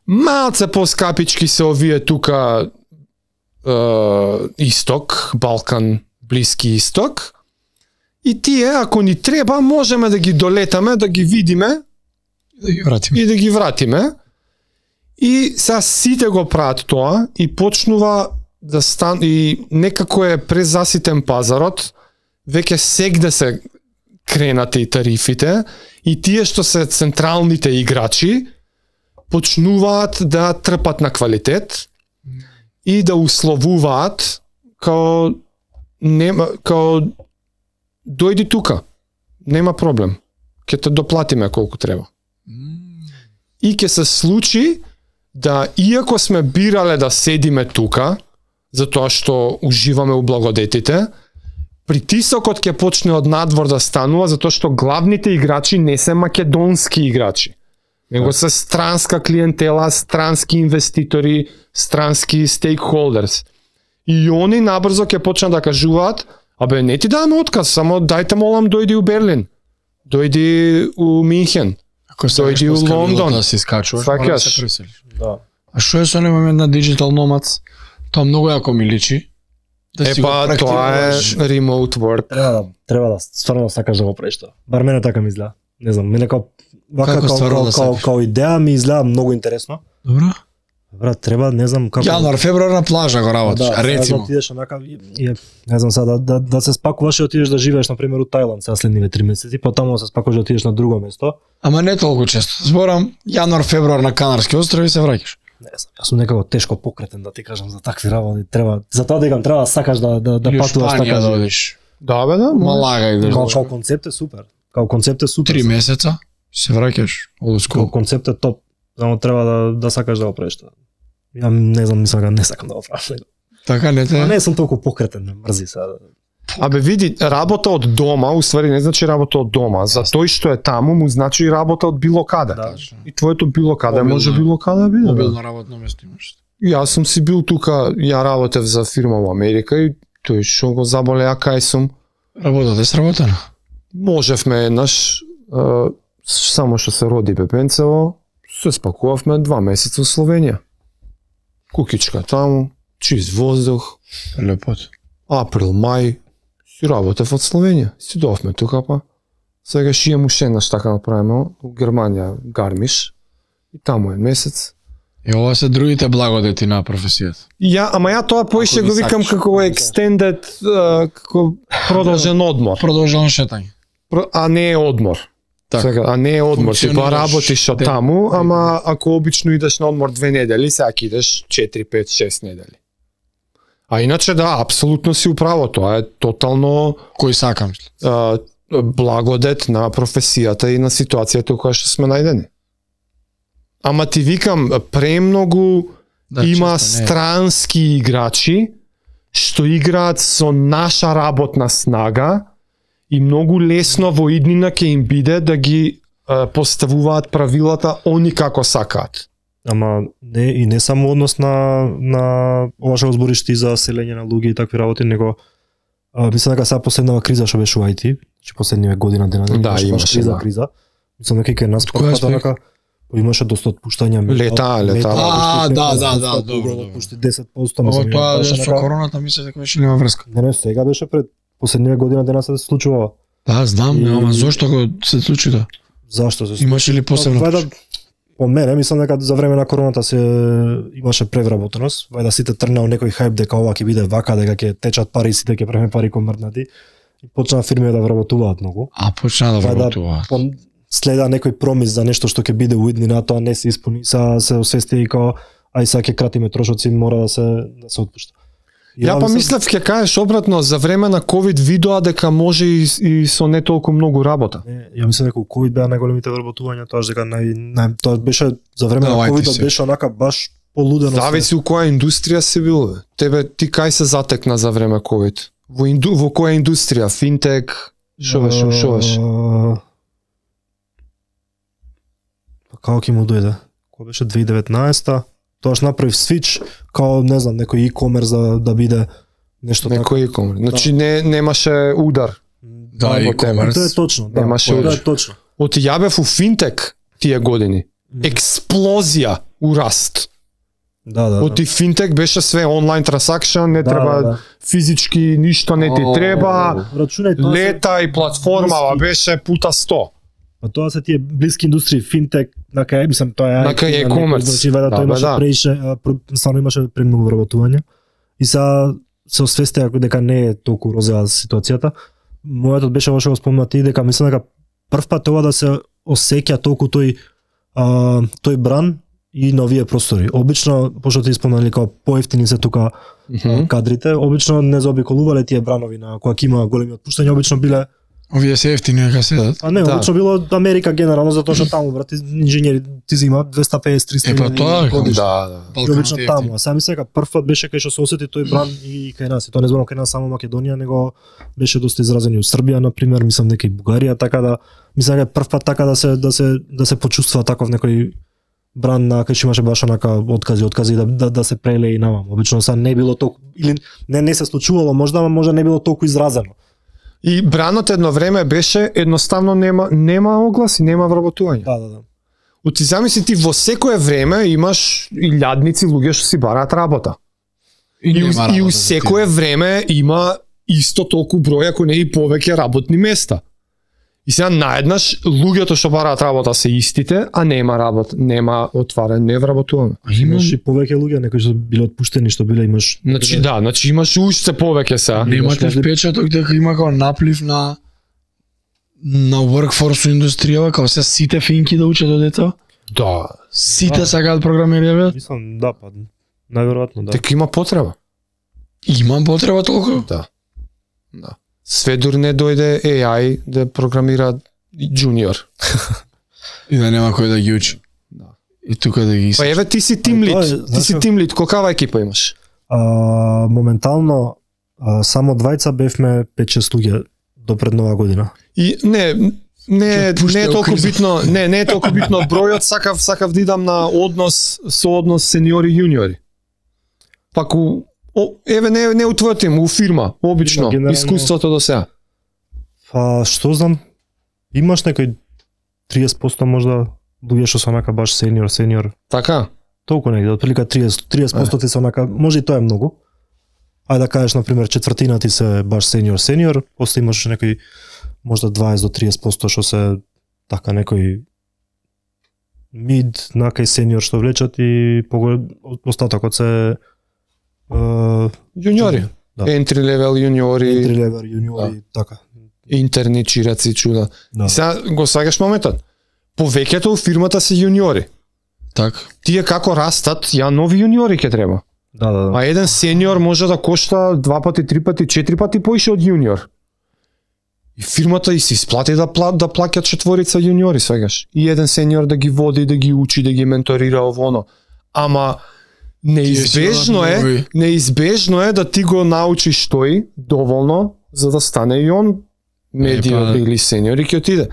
малце поскапички се овие тука Исток, Балкан, Блиски Исток. И тие, ако ни треба, можеме да ги долетаме, да ги видиме и да ги вратиме. И сега сите го прават тоа и почнува да и некако е презаситен пазарот, веќе сегде се кренате и тарифите, и тие што се централните играчи почнуваат да трпат на квалитет и да условуваат као дојди тука, нема проблем, ќе те доплатиме колку треба. И ќе се случи да, иако сме бирале да седиме тука, затоа што уживаме у благодетите, притисокот ќе почне од надвор да станува, затоа што главните играчи не се македонски играчи, него се странска клиентела, странски инвеститори, странски стейкхолдерс. И они набрзо ќе почнат да кажуваат, абе не ти даваме отказ, само дајте молам дојди у Берлин, дојди у Минхен, дојди у Лондон. Да се искачуваш, Свакаш. мора да се преселиш. Да. А што е со оној момент на Digital Nomads? Тоа многу јако ми личи. Да си го Епа, тоа е практикуваш. remote work. Треба да стварно да сакаш да го правиш тоа. Бар мене така ми изгледа. Не знам, мене Како стварно да сакаш? као идеја ми изгледа многу интересно. Добро. Брат, треба, не знам како. Јануар, февруар на плажа го работиш, да, рецимо. Да отидеш онака и не знам сега да се спакуваш и отидеш да живееш на пример у Тајланд сега следниве 3 месеци, потаму да се спакуваш да отидеш на друго место. Ама не толку често. Зборам јануар, февруар на Канарски острови се враќаш. Не знам, јас сум некако тешко покретен да ти кажам за такви работи. Треба, затоа дека треба да сакаш да Или патуваш Шпанија така. да одиш. Да, бе, да. Малага идеш. Као концепт е супер. Као концепт е супер. 3 месеца се враќаш. Old Као school. концепт е топ. Само треба да сакаш да го правиш тоа. Ја не знам, мислам дека не сакам да го правам. Така не те. А не сум толку покретен, ме мрзи сега. Абе види, работа од дома, уствари не значи работа од дома. За тој што е таму му значи и работа од било каде. Да. И твоето било каде Мобилно може е. било каде да биде. бе. Мобилно работно место имаш. Јас сум си бил тука, ја работев за фирма во Америка и тој што го заболе, а кај сум. Работата е сработена. Можевме еднаш, само што се роди бебенцево, се спакувавме 2 месеца во Словенија. Кукичка таму, чист воздух, Лепот. април, мај, си работев од Словенија. Си доавме тука па. Сега ще имам уште еднаш така направиме у Германија, Гармиш. И таму е месец. И ова се другите благодети на професијата. Ама ја тоа поише Ако го ги викам сакаш. како extended, како продолжен одмор. Продолжено шетање. А не е одмор. Така. Сега, а не е одмор, типа Функционираш работиш од ден. таму, ама ако обично идеш на одмор 2 недели, сега ќе идеш 4, 5, 6 недели. А иначе да, апсолутно си управо, тоа е тотално Кој сакам. благодет на професијата и на ситуацијата во која што сме најдени. Ама ти викам, премногу има често не е. странски играчи што играат со наша работна снага и многу лесно во иднина ќе им биде да ги поставуваат правилата они како сакаат. Ама не само однос на ова што го збориш ти за селење на луѓе и такви работи, него мислам дека сега последнава криза што беше у IT, че последниве година дена Да, беше баш имаше, да. криза. Мислам дека кај нас Кој аспект? така имаше доста отпуштања. Лета. Да, добро. Отпушти 10%. Ова мислам, тоа беше со нека- короната мислам дека беше нема врска. Не, сега беше пред последниве година дена се случува. Да, знам, И- ама зошто го се случи тоа? Зашто се Имаше ли посебно? Вајда, по мене, мислам дека за време на короната се имаше превработеност, вајда сите тргнал некој хајп дека ова ќе биде вака, дека ќе течат пари, сите ќе преме пари комрнати. И почнаа фирми да вработуваат многу. А почна да Вајда вработуваат. следа некој промис за нешто што ќе биде у иднина, тоа не се исполни, се освести и као ај сега ќе кратиме трошоци, мора да се отпушта. И Ја па мислам- мислев ќе кажеш обратно, за време на ковид видоа дека може и со не толку многу работа. Не, ја мислам дека у ковид беа најголемите вработувања, тоа дека тоа беше за време Да, на IT ковид се. беше онака баш полудено. Зависи у која индустрија си бил. Бе. Ти кај се затекна за време ковид? Во која индустрија? Финтек? Шо беше? Како ќе му дојде? Кога беше 2019-та? Тоаш направив свич, као, не знам, некој e-commerce да биде нешто така. Некој e-commerce. Значи немаше удар. Да, e-commerce. Тоа е точно, да. Немаше Тоа удар. е точно. Од ја бев у финтек тие години. Експлозија у раст. Да. Од финтек беше све онлайн трансакшн, не треба физички ништо не ти треба. Рачунај тоа. Лета и платформава беше пута 100. Па тоа се тие блиски индустрии, финтек, на кај мислам тоа е. На кај e-commerce. Значи вајде тој имаше стварно имаше премногу вработување. И се освестија дека не е толку розова ситуацијата. Мојот беше ваше го спомнати дека мислам дека прв пат ова да се осеќа толку тој бран и на овие простори. Обично, пошто ти спомнали како поевтини се тука кадрите, обично не заобиколувале тие бранови на кога има големи отпуштања, обично биле Овие се ефтини дека седат. А не, обично било Америка генерално затоа што таму брат инженери ти зимаат 250-300 Па тоа годишно. Да. И обично таму, а сами сега прв пат беше кај што се осети тој бран и кај нас. И тоа не зборам кај нас само Македонија, него беше доста изразен и у Србија на пример, мислам дека и Бугарија, така да мислам дека прв пат така да се почувствува таков некој бран на кај што имаше баш онака откази да се преле и наваму. Обично са не било толку или не се случувало, можда не било толку изразено. И бранот едно време беше едноставно нема огласи, нема вработување. Да. Оти замисли ти во секое време имаш илјадници луѓе што си бараат работа. И у секое време има исто толку број, ако не и повеќе работни места. И сега наеднаш луѓето што бараат работа се истите, а нема работа, нема отварен, не вработуваме. Имаш и повеќе луѓе некои што биле отпуштени, што биле имаш. Значи имаш уште повеќе сега. Немате впечаток дека има како наплив на workforce индустријава, како се сите финки да учат од дето? Да. Сите сакаат програмирање? Мислам, да, па најверојатно, да. Дека има потреба. Има потреба толку? Да. Све дур не дојде AI да програмира джуниор. И да нема кој да ги учи. Да. И тука да ги Па еве ти си тим лид, колкава екипа имаш? Моментално само двајца бевме 5-6 луѓе до пред нова година. И не е толку битно, не е толку битно бројот, сакав да идам на однос сениори јуниори. Пак еве не у твојот тим, у фирма, обично, искуството до сега. Па што знам, имаш некој 30% можда луѓе што се онака баш сениор. Така? Толку негде, отприлика 30% ти се онака, може и тоа е многу. Ајде да кажеш на пример четвртина ти се баш сениор, после имаш некој можда 20 до 30% што се така некој мид накај сениор што влечат и остатокот се јуниори. Да. Entry level јуниори, така. Интерни чираци чуда. Да. И сега го сваѓаш моментот. Повеќето у фирмата се јуниори. Така. Тие како растат, ја нови јуниори ќе треба. Да. А еден сениор може да кошта 2 пати, 3 пати, 4 пати поише од јуниор. И фирмата и се исплати да плаќат четворица јуниори, свегаш. И еден сениор да ги води, да ги учи, да ги менторира ово. Ама неизбежно е да ти го научиш тој доволно за да стане и он медиор или сениор и ќе отиде.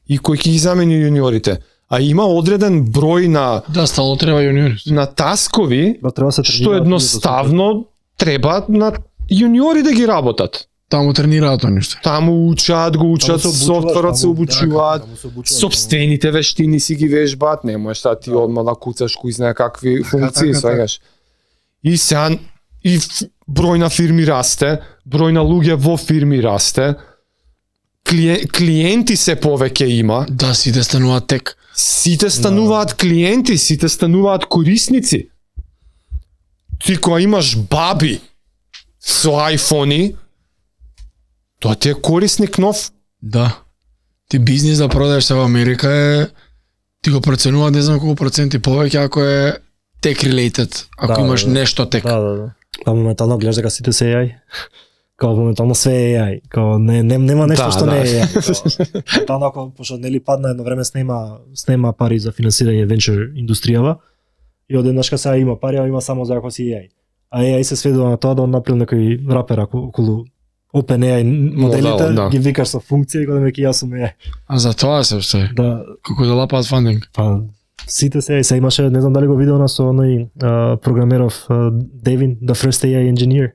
И кој ќе ги замени јуниорите? А има одреден број на стало треба јуниори. На таскови треба што едноставно треба на јуниори да ги работат. Таму тренираат нешто. Таму учат софтверот се обучуваат, сопствените вештини си ги вежбаат, не можеш да ти одма да куцаш кој знае какви функции свегаш. И сега и број на фирми расте, број на луѓе во фирми расте, клиенти се повеќе има. Да, сите стануваат тек. Сите стануваат клиенти, сите стануваат корисници. Ти кога имаш баби со айфони, тоа ти е корисник нов. Да. Ти бизнис да продадеш се во Америка е ти го проценуваат не знам колку проценти повеќе ако е tech related, ако имаш нешто тек. Да. Па моментално гледаш дека сите се AI. Као моментално све е AI. Као нема нешто што не е AI. Танако пошто нели падна едно време снема пари за финансирање венчур индустријава и одеднашка сега има пари, а има само за ако си AI. А AI се сведува на тоа да он направил некој рапер околу OpenAI моделите, да. ги викаш со функција и кога јас сум AI. А за тоа се уште. Да, Како да лапаат фандинг. па сите се имаше, не знам дали го видео на со оној програмеров Devin, the first AI engineer.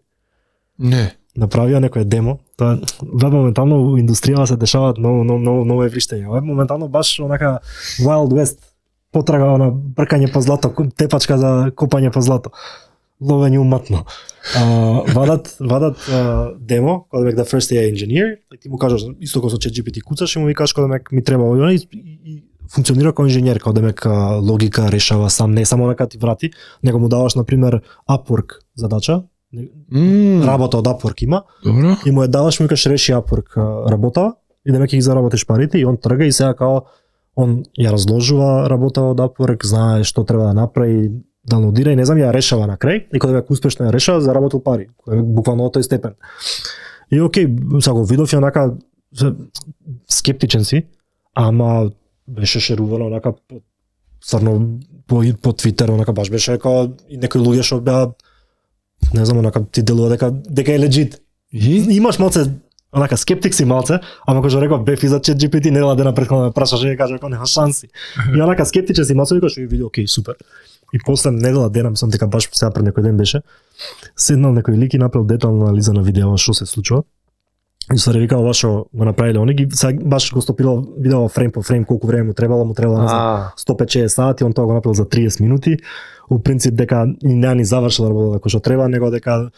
Не. Направија некој демо. Тоа веб моментално во индустријава се дешаваат ново евриштења. Веб моментално баш онака Wild West, потрага на бркање по злато, тепачка за копање по злато. Ловење уматно. Вадат демо, кога да the first AI engineer, и ти му кажеш исто како со ChatGPT куцаш и му викаш кога ми треба овој и функционира како инженер, кога логика решава сам, не само нека ти врати, него му даваш на пример Upwork задача, работа од Upwork има, Добро. и му ја даваш, му викаш реши Upwork работа и демек ги заработиш парите и он трга и сега као он ја разложува работа од Upwork, знае што треба да направи, даунлодира и не знам ја решава на крај и кога веќе успешно ја решава, заработил пари, буквално од тој степен. И окей, сега го видов и онака скептичен си, ама беше шерувано онака стварно по Твитер, онака баш беше како и некои луѓе што беа не знам, онака ти делува дека е легит. Имаш малце онака скептик си малце, ама кога реков беф и за ChatGPT недела дена пред кога ме прашаше и кажа дека нема шанси. И онака скептичен си малце викаш и види окей, супер. И после недела дена, мислам дека баш сега пред некој ден беше, седнал некој лик и направил детална анализа на видео што се случува. И се ревикал баш го направиле они ги сега баш го стопирал видео фрейм по фрейм колку време му требало не знам 150 сати, он тоа го направил за 30 минути. У принцип дека не ни завршил работа како што треба, него дека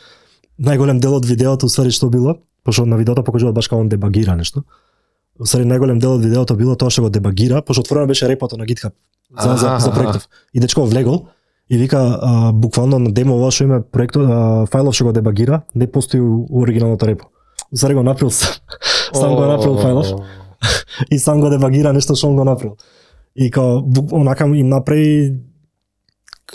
најголем дел од видеото усвари што било, пошто на видеото покажуваат баш како он дебагира нешто. Усвари најголем дел од видеото било тоа што го дебагира, пошто отворено беше репото на GitHub за проектов. И дечко влегол и вика буквално на демо ова што има проектот фајлов што го дебагира, не постои у оригиналното репо. Усвари го направил сам го направил фајлов и сам го дебагира нешто што он го направил. И као онака им направи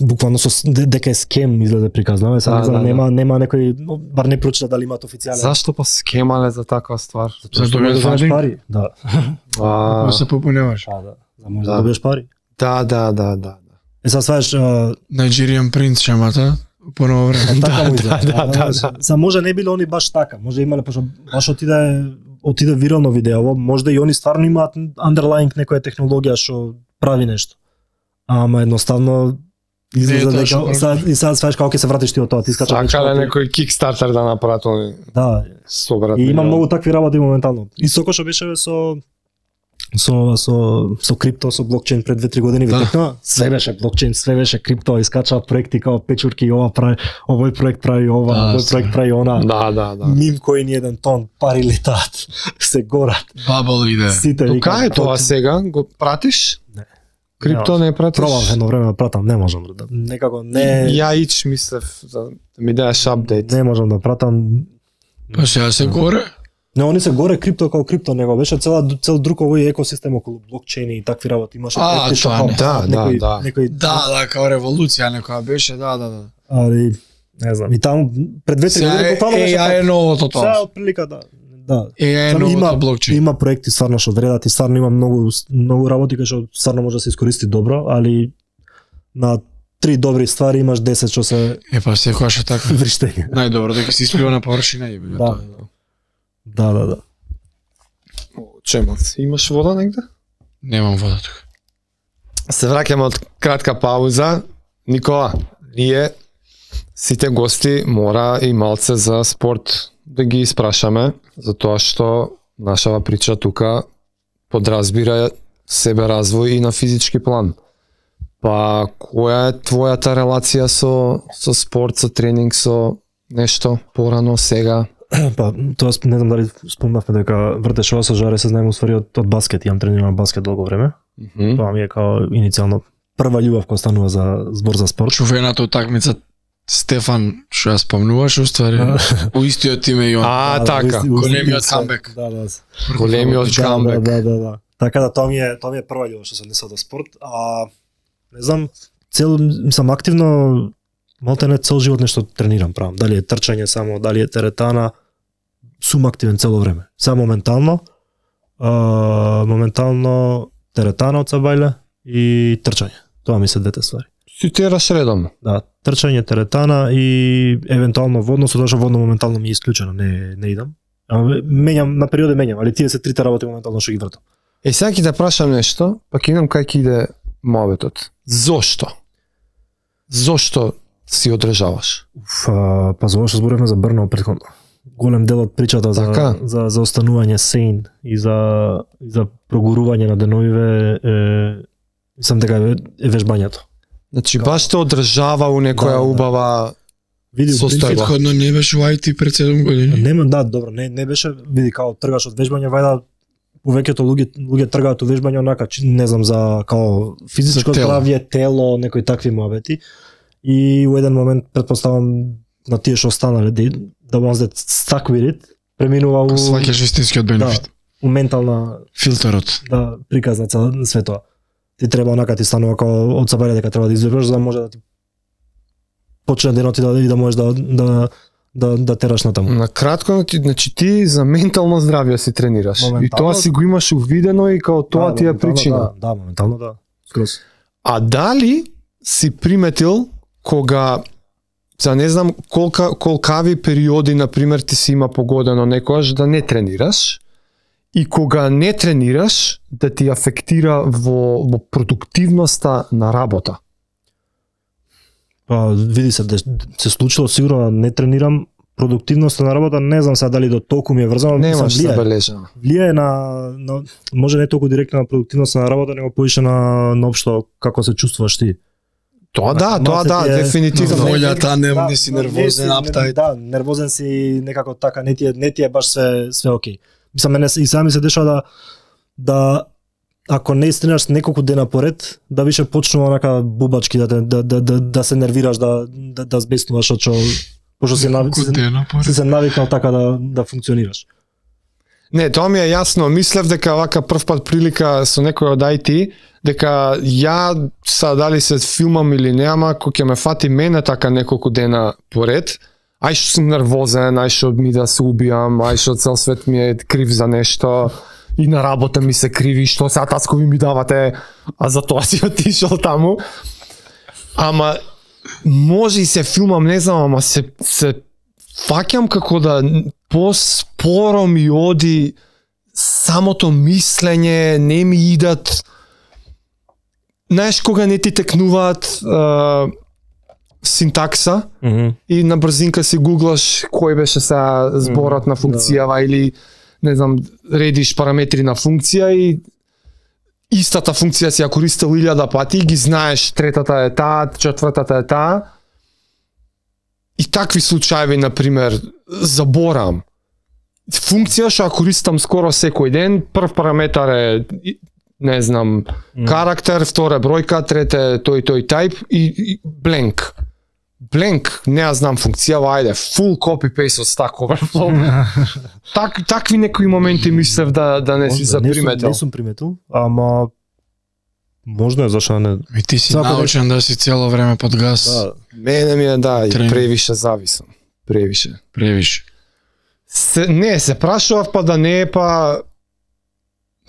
буквално со дека е скем изгледа приказнава, сега нема некој бар не прочита дали имаат официјален. Зашто па скемале за таква ствар? Зашто добиеш пари? Да. Да се попуневаш. За може да добиеш пари. Да. Сега сваеш Nigerian Prince шемата по ново време. Да. За може не биле они баш така, може имале пошто баш отиде вирално видео, може и они стварно имаат underlying некоја технологија што прави нешто. Ама едноставно излезе дека и сега сваеш како ќе се вратиш ти од тоа, ти скачаш. Сакале некој Kickstarter да направат они. Да. Собрат. И има многу такви работи моментално. Исто како што беше со крипто, со блокчейн пред 2-3 години витекна, све беше блокчейн, све беше крипто, искачаат проекти као печурки, ова прави, овој проект прави ова, овој проект прави она. Да. Мим кој ни еден тон, пари летаат, се горат. Бабл иде. Сите Тука е тоа сега, го пратиш? Не. Крипто не пратиш? Пробав едно време да пратам, не можам да. Некако не. Ја мислев да ми дадеш апдейт. Не можам да пратам. Па сега се горе. Не, они се горе крипто како крипто, него беше цел друг овој екосистем околу блокчейни и такви работи имаше. Да. Да, како револуција некоја беше, да. Али не знам, и таму пред 2-3 години буквално беше така. Е новото тоа. Сега отприлика да. Е новото блокчейн. Има проекти стварно што вредат и стварно има многу работи кои што стварно може да се искористи добро, али на 3 добри ствари имаш 10 што се па секогаш е така. вриштење. Најдобро дека се исплива на површина и Да. Да. Чемот, имаш вода негде? Немам вода тука. Се враќаме од кратка пауза. Никола, ние сите гости мора и малце за спорт да ги испрашаме, затоа што нашава прича тука подразбира себе развој и на физички план. Па која е твојата релација со спорт, со тренинг, со нешто порано сега? Па, тоа не знам дали спомнавме дека вртеш ова со жаре, се знаеме уствари од баскет, имам тренирано баскет долго време. Тоа ми е као иницијално прва љубов која станува за збор за спорт. Чувената утакмица Стефан, што ја спомнуваш уствари, у истиот име и он. Така. Големиот камбек. Да. Големиот камбек. Да. Така да тоа ми е прва љубов што се однесува до спорт, не знам, мислам активно малте цел живот нешто тренирам, правам. Дали е трчање само, дали е теретана, сум активен цело време. Само моментално теретана од сабајле и трчање. Тоа ми се двете ствари. Си тераш редовно. Да, трчање, теретана и евентуално водно, со тоа што водно моментално ми е исклучено, не идам. Менјам, на периоди менјам, али тие се трите работи моментално што ги вртам. Сега ќе те прашам нешто, па ќе видам кај ќе иде моветот. Зошто? Зошто си одржаваш? Па за ова што зборевме за Брно претходно. Голем дел од причата за останување сейн и за прогурување на деновиве мислам дека е вежбањето. Значи баш те одржава у некоја убава состојба. Претходно не беше у IT пред 7 години. Нема, да, добро, не беше, види као тргаш од вежбање, вајда повеќето луѓе тргаат од вежбање онака, не знам, за као физичко здравје, тело, некои такви муабети. И у еден момент предпоставам на тие што останале да once that stuck with it, преминува у сваќаш вистинскиот бенефит. Да, у ментална филтерот. Да, приказ на цело све тоа. Ти треба онака ти станува као од сабајле дека треба да извебраш за да може да ти почне денот и да можеш да тераш натаму. На кратко, значи ти за ментално здравје си тренираш. И тоа си го имаш увидено и као тоа ти е причина. Да, моментално да. Скроз. А дали си приметил кога за не знам колкави периоди на пример ти си има погодено некојаш да не тренираш и кога не тренираш да ти афектира во продуктивноста на работа? Па види се случило сигурно да не тренирам, продуктивноста на работа не знам сега дали до толку ми е врзано, немаш забележано. Влијае на може не толку директно на продуктивноста на работа, него поише на општо како се чувствуваш ти. Тоа да, дефинитивно. Волјата, не си нервозен, аптајт. Да, нервозен си некако така, не ти е баш све окей. Мислам, мене и сами се дешава да ако не истренираш неколку дена поред, да више почнува онака бубачки да се нервираш, да збеснуваш пошто се навикнал така да функционираш. Не, тоа ми е јасно. Мислев дека вака прв пат прилика со некој од IT, дека ја дали се филмам или нема, кој ќе ме фати мене така неколку дена поред, ај што сум нервозен, ај што ми да се убијам, ај што цел свет ми е крив за нешто, и на работа ми се криви, што сега таскови ми давате, а за тоа си отишол таму. Ама може и се филмам, не знам, ама се фаќам како да поспоро ми оди самото мислење, не ми идат. Знаеш кога не ти текнуваат синтакса и на брзинка си гуглаш кој беше сега зборот на функцијава или не знам, редиш параметри на функција и истата функција си ја користил 1000 пати, ги знаеш, третата е таа, четвртата е таа. И такви случаи, на пример, заборам. Функција што ја користам скоро секој ден, прв параметар е, не знам, карактер, втора бројка, трета тој тип и blank. Blank, не ја знам функцијава, ајде, full copy-paste од Stack Overflow. Такви некои моменти мислев да не си заприметил. Не сум приметил, ама можно е, зашто не. И ти си научен да си цело време под газ. Да. Мене ми е, да, и превише зависам. Превише. Se прашував па да не е па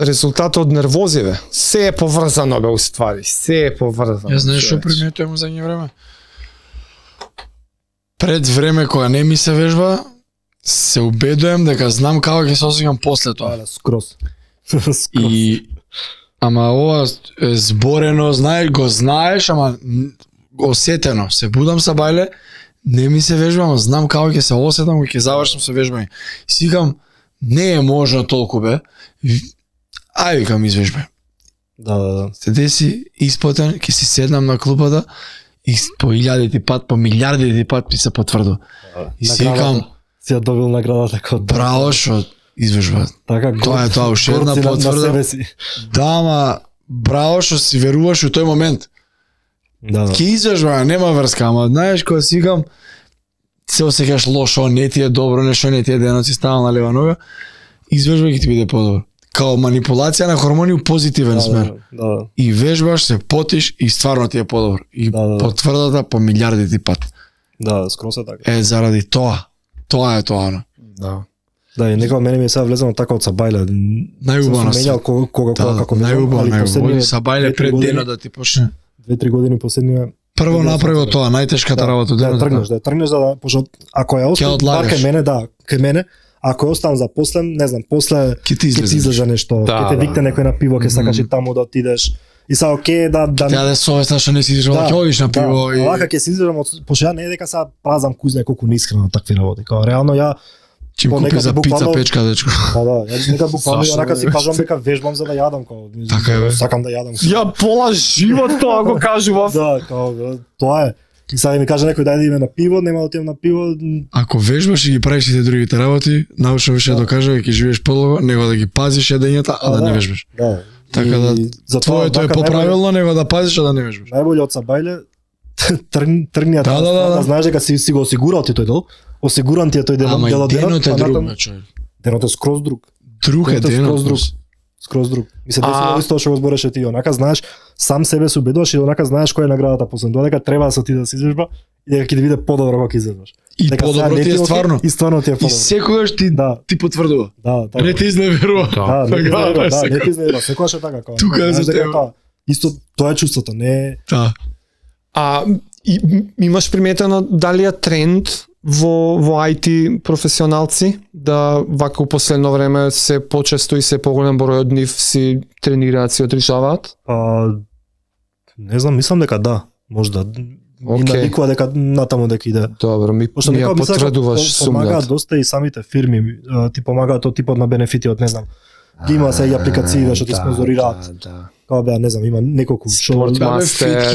резултатот од нервозиве. Се е поврзано бе уствари, се е поврзано. Ја знаеш што приметувам за едно време? Пред време кога не ми се вежба, се убедувам дека знам како ќе се осеќам после тоа. Скроз. Ама ова е зборено, знаеш, ама осетено. Се будам са бајле, не ми се вежбам, знам како ќе се осетам, кога ќе завршам со вежбање. Сигам, не е можно толку бе. Ај викам извежбај. Да. Се деси испотен, ќе си седнам на клупата и по 1000 пат, по милиарди пат ми се потврдо. И си викам, си ја добил наградата како браво што извежба. Така, тоа е тоа, уште една потврда. Да, ама браво што си веруваш у тој момент. Да. Ке извежба, нема врска, ама знаеш кога си викам, се осеќаш лошо, не ти е добро, нешто не ти е денот си ставал на лева нога, извежба ќе ти биде подобро. Као манипулација на хормони у позитивен смер. Да. И вежбаш, се потиш и стварно ти е подобро. И потврдата по милиарди пат. Да, скроз е така. Е, заради тоа. Тоа е тоа. Да. Да, и некоја мене ми е сега влезено така од Сабајле. Најубава менјал кога како најубава. Сабајле пред денот да ти почне. 2-3 години последнија Прво направи тоа, најтешката работа. Да тргнеш за да, пошто ако ја оставиш кај мене, кај мене, ако ја оставам за после, не знам, после ќе ти излезе нешто, ќе те викне некој на пиво, ќе сакаш и таму да отидеш. И са окей да Тя да совесна што не си издржала, ќе одиш на пиво и Овака ќе си издржам, пошто ја не е дека сега празам кузне колку неискрено такви работи. Као реално ја Чим купи за пица печка, дечко. Да, ја нека буквално онака си кажам дека вежбам за да јадам, као. Така е, сакам да јадам. Ја пола живот тоа го кажував. Да, као тоа е. И сега ми каже некој дај да идеме на пиво, нема да отидам на пиво. Ако вежбаш и ги правиш сите другите работи, научно више докажа дека ќе живееш подолго, него да ги пазиш едењата, а да не вежбаш. Да. Така да твоето е поправилно, него да пазиш, а да не вежбаш. Најбоље од Сабајле тргни да. Знаеш дека си го осигурал ти тој дел. Осигуран ти е тој дел Ама денот. денот е друг, човек. Денот е скроз друг. Друг е денот. Скроз друг. И се десува исто што го збореше ти, онака знаеш, сам себе се убедуваш и онака знаеш која е наградата после тоа, дека треба да се отиде да се изложба и дека ќе ти биде подобро кога ќе излезеш. И подобро ти е стварно. И стварно ти е подобро. И секогаш ти потврдува. Да, така. Не те изневерува. Да, не ти изневерува, секогаш е така. Тука е за тебе. Исто тоа е чувството, не. Да. Имаш приметено дали е тренд во IT професионалци да вака у последно време се почесто и се поголем број од нив си тренираат, си одржаваат? Не знам, мислам дека да, можда. И навикува дека натаму дека иде. Добро, ми ја потврдуваш сумњата. Помагаат доста и самите фирми, ти помагаат од типот на бенефити од не знам. Ги има се и апликации што ти спонзорираат. Као беа, не знам, има неколку Спортмастер,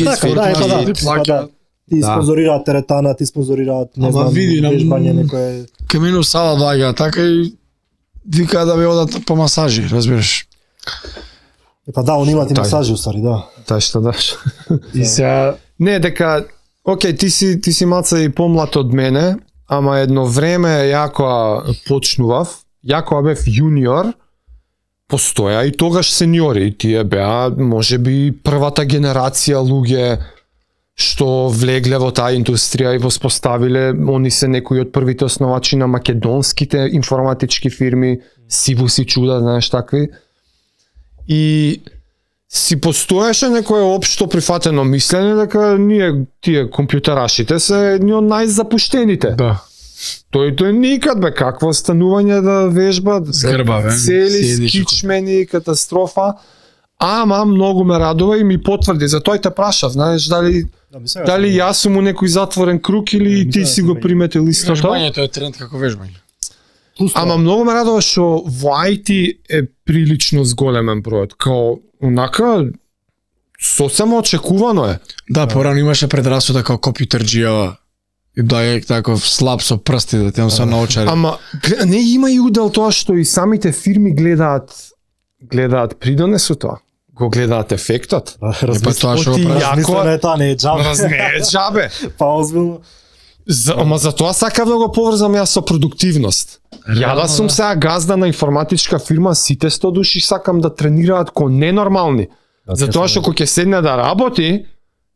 ти спонзорираат теретана, ти спонзорираат не знам, вежбање некое. Кај мене сала доаѓа така и вика да бе одат по масажи, разбираш. Па да, он имат и масажи устари, да. Та што даш. И сега не дека окей, ти си малце и помлад од мене, ама едно време ја кога почнував, ја кога бев јуниор, постоја и тогаш сениори, и тие беа можеби првата генерација луѓе што влегле во таа индустрија и воспоставиле, они се некои од првите основачи на македонските информатички фирми, Сибус и Чуда, знаеш такви. И си постоеше некое општо прифатено мислење дека ние тие компјутерашите се едни од најзапуштените. да. Тој никад бе, какво станување да вежба, Згрба, бе. цели скичмени, катастрофа. Ама многу ме радува и ми потврди, за тој те прашав, знаеш дали јас сум у некој затворен круг или ти си го приметил истото. Вежбањето е тренд како вежбање. Ама многу ме радува што во IT е прилично зголемен бројот, као онака сосема очекувано е. Да, порано имаше предрасуда како компјутерџија. И дај таков слаб со прсти да тем се научари. Ама не има и удел тоа што и самите фирми гледаат придонесу тоа. Го гледаат ефектот. Тоа што Размислено е тоа, не е џабе. Не е џабе. Па озбилно. Ама за тоа сакав да го поврзам јас со продуктивност. Ја да сум сега газда на информатичка фирма, сите 100 души сакам да тренираат ко ненормални. Затоа што кога ќе седне да работи,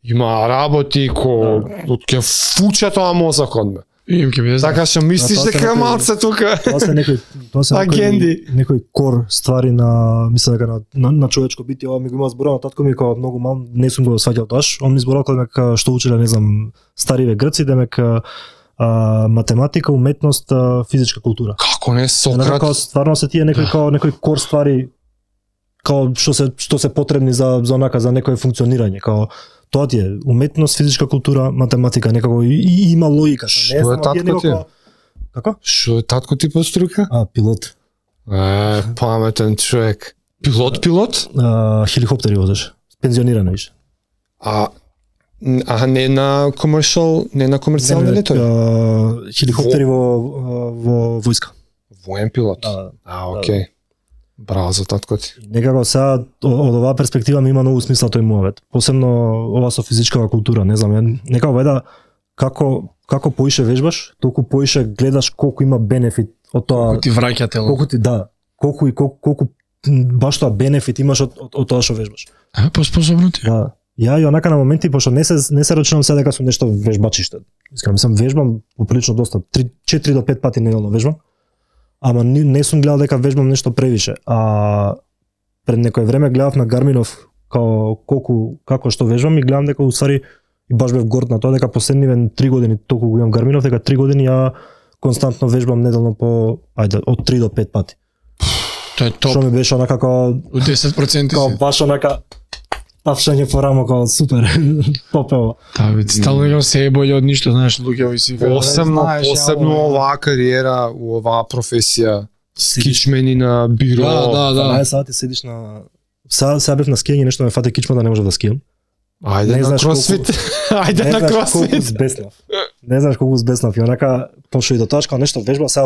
има работи ко ќе фуче тоа мозокот ме. Им ќе биде. Така што мислиш дека малце тука. Тоа се некои кор ствари на мислам дека на човечко битие, ова ми го има зборено татко ми кога многу мал, не сум го сваќал тоаш. Он ми зборал дека што учеле, не знам, стариве грци, дека математика, уметност, физичка култура. Како не Сократ? Стварно се тие некои кор ствари као што се потребни за онака за некое функционирање, као тоа ти е уметност, физичка култура, математика, некако и има логика. Што е татко ти? Како? Што е татко ти по струка? Пилот. Паметен човек. Пилот? Хеликоптери возеш. Пензиониран више. Не на комерцијални летови? Хеликоптери во војска. Воен пилот? Окей. Браво за татко ти. Некако сега од оваа перспектива ми има многу смисла тој муавет. Посебно ова со физичкава култура, не знам, некако вајда како поише вежбаш, толку поише гледаш колку има бенефит од тоа. Колку ти враќа тело. Колку баш тоа бенефит имаш од тоа што вежбаш. Поспособно ти. Да. Ја и онака на моменти, пошто не се рачунам сега дека сум нешто вежбачиште. Искрено, мислам вежбам поприлично доста, 4 до 5 пати неделно вежбам. Ама не сум гледал дека вежбам нешто превише. Пред некој време гледав на Гарминов како што вежбам и гледам дека усари И баш бев горд на тоа дека последниве 3 години толку го имам Гарминов, дека 3 години ја константно вежбам неделно по од 3 до 5 пати. Тоа е топ. Што ми беше онака како У 10% како си. баш онака тапшање по рамо како супер попева. Да, вид, стално играм се е боле од ништо, знаеш, луѓе си Посебно оваа кариера, у оваа професија, скичмени на биро. Да. 12 сати седиш на сега бев на скијање, нешто ме фате кичма да не можев да скијам. Ајде Не на знаеш кросфит. Ајде Не на знаеш колку кросфит. збеснав. Не знаеш колку збеснав и онака пошо и до тачка нешто вежба, сега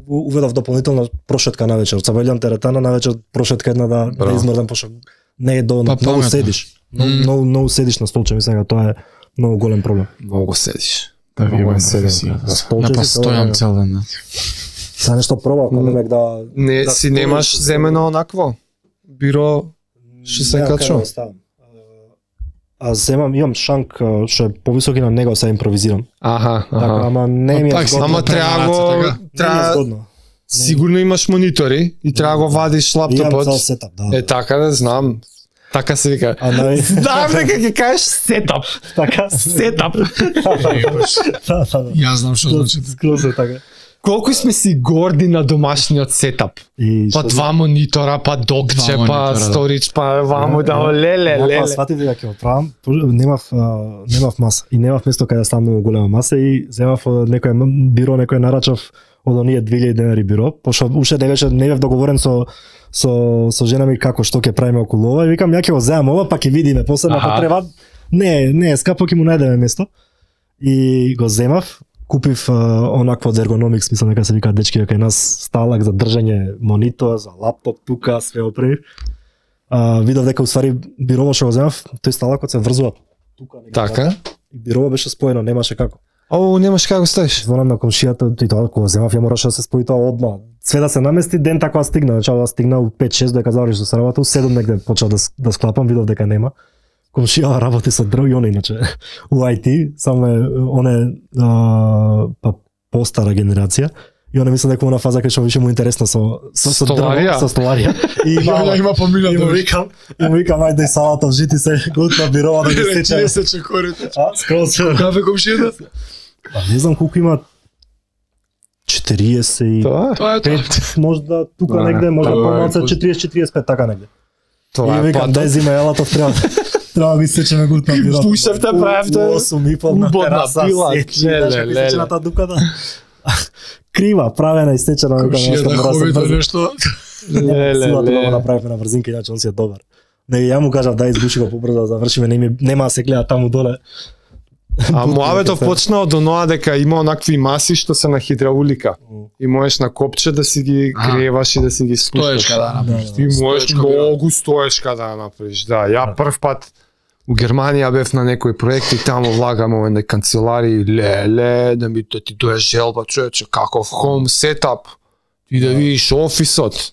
уведов дополнително прошетка навечер. Цабелјам теретана навечер прошетка една да измрдам пошо не е доволно. Па, Многу паметно. седиш. Многу седиш на столче, мислам дека тоа е многу голем проблем. Многу седиш. Да, ви имам седим. На Ја столче па си стојам цел ден. Сега нешто пробав, кога да Не да си стоиш, немаш да земено онакво. Биро што се Немам качува. каде да ставам. А имам шанк што е повисок и на него се импровизирам. Аха, Така, аха. ама не ми е Пак си згодно. Ама треба го така. Не ми е треба згодно. сигурно имаш монитори и треба го вадиш Имам цел лаптопот. сетап, да. Е така да знам. Така се вика. А на Знам дека ќе кажеш сетап. така Сетап. да. Јас знам што значи. Скроз е така. Колку сме си горди на домашниот сетап. И Па 2 монитора, па докче, Два па монитора, да. сторич, па ваму да леле. Ја сватив дека ќе го правам, немав маса и немав место каде да ставам многу голема маса и земав од некој биро, некој нарачав од оние 2000 денари биро, пошто уште не бев договорен со жена ми како што ќе правиме околу ова и викам ја ќе го земам ова па ќе видиме после Аха. ако треба. Не, скапо ќе му најдеме место. И го земав, купив онакво од Ergonomics, мислам дека се вика дечки кај нас сталак за држање монитор, за лаптоп тука, све оправив. Видов дека уствари бирово што го земав, тој сталакот се врзува тука некаде. Така. И бирово беше споено, немаше како. О, немаш како ставиш. Звонам на комшијата, тој тоа кога земав ја мораше да се спои тоа одма. Све да се намести, ден така стигна, начало да стигна у 5-6 дека заврши со работа, у 7 негде почнав да склапам, видов дека нема. Комшија работи со дрв и он иначе у IT, само е оне па постара генерација. И она мисля дека она фаза кај што више му интересно со Столарија? со столарија. И Има помилјон и му викам, ајде салатов жити се готва бирова да ги сече. се чекорите. Скроз. Кафе комшијата? Па не знам колку има 40 и Тоа е. Тоа е тоа. 5, можда тука Да, негде, можда тоа е помалку поз- 40-45 така негде. Тоа И е викам, дај патот. зима елатов треба да ги сечеме гутна бира. Пушевте правевте. 8,5 на Убавна тераса, пила. сечи, Леле, знаеш како леле. сечена таа дуката. Крива, правена и сечена, викам, Комшија нешто да мора да се хоби до брза. нешто. Силата да го Леле. направивме на брзинка, иначе он си е добар. Не, ја му кажав да избуши го побрзо да завршиме, нема да се гледа таму доле. А муабетов почна од оноа дека има онакви маси што се на хидраулика. И можеш на копче да си ги греваш и да си ги спушташ. Стоечка да направиш. И можеш Стоечка бира. многу стоечка да ја направиш. Да, ја прв пат у Германија бев на некој проект и таму влагаме во едни канцелари, леле, да ти дое желба, човече, каков home setup. И да видиш офисот.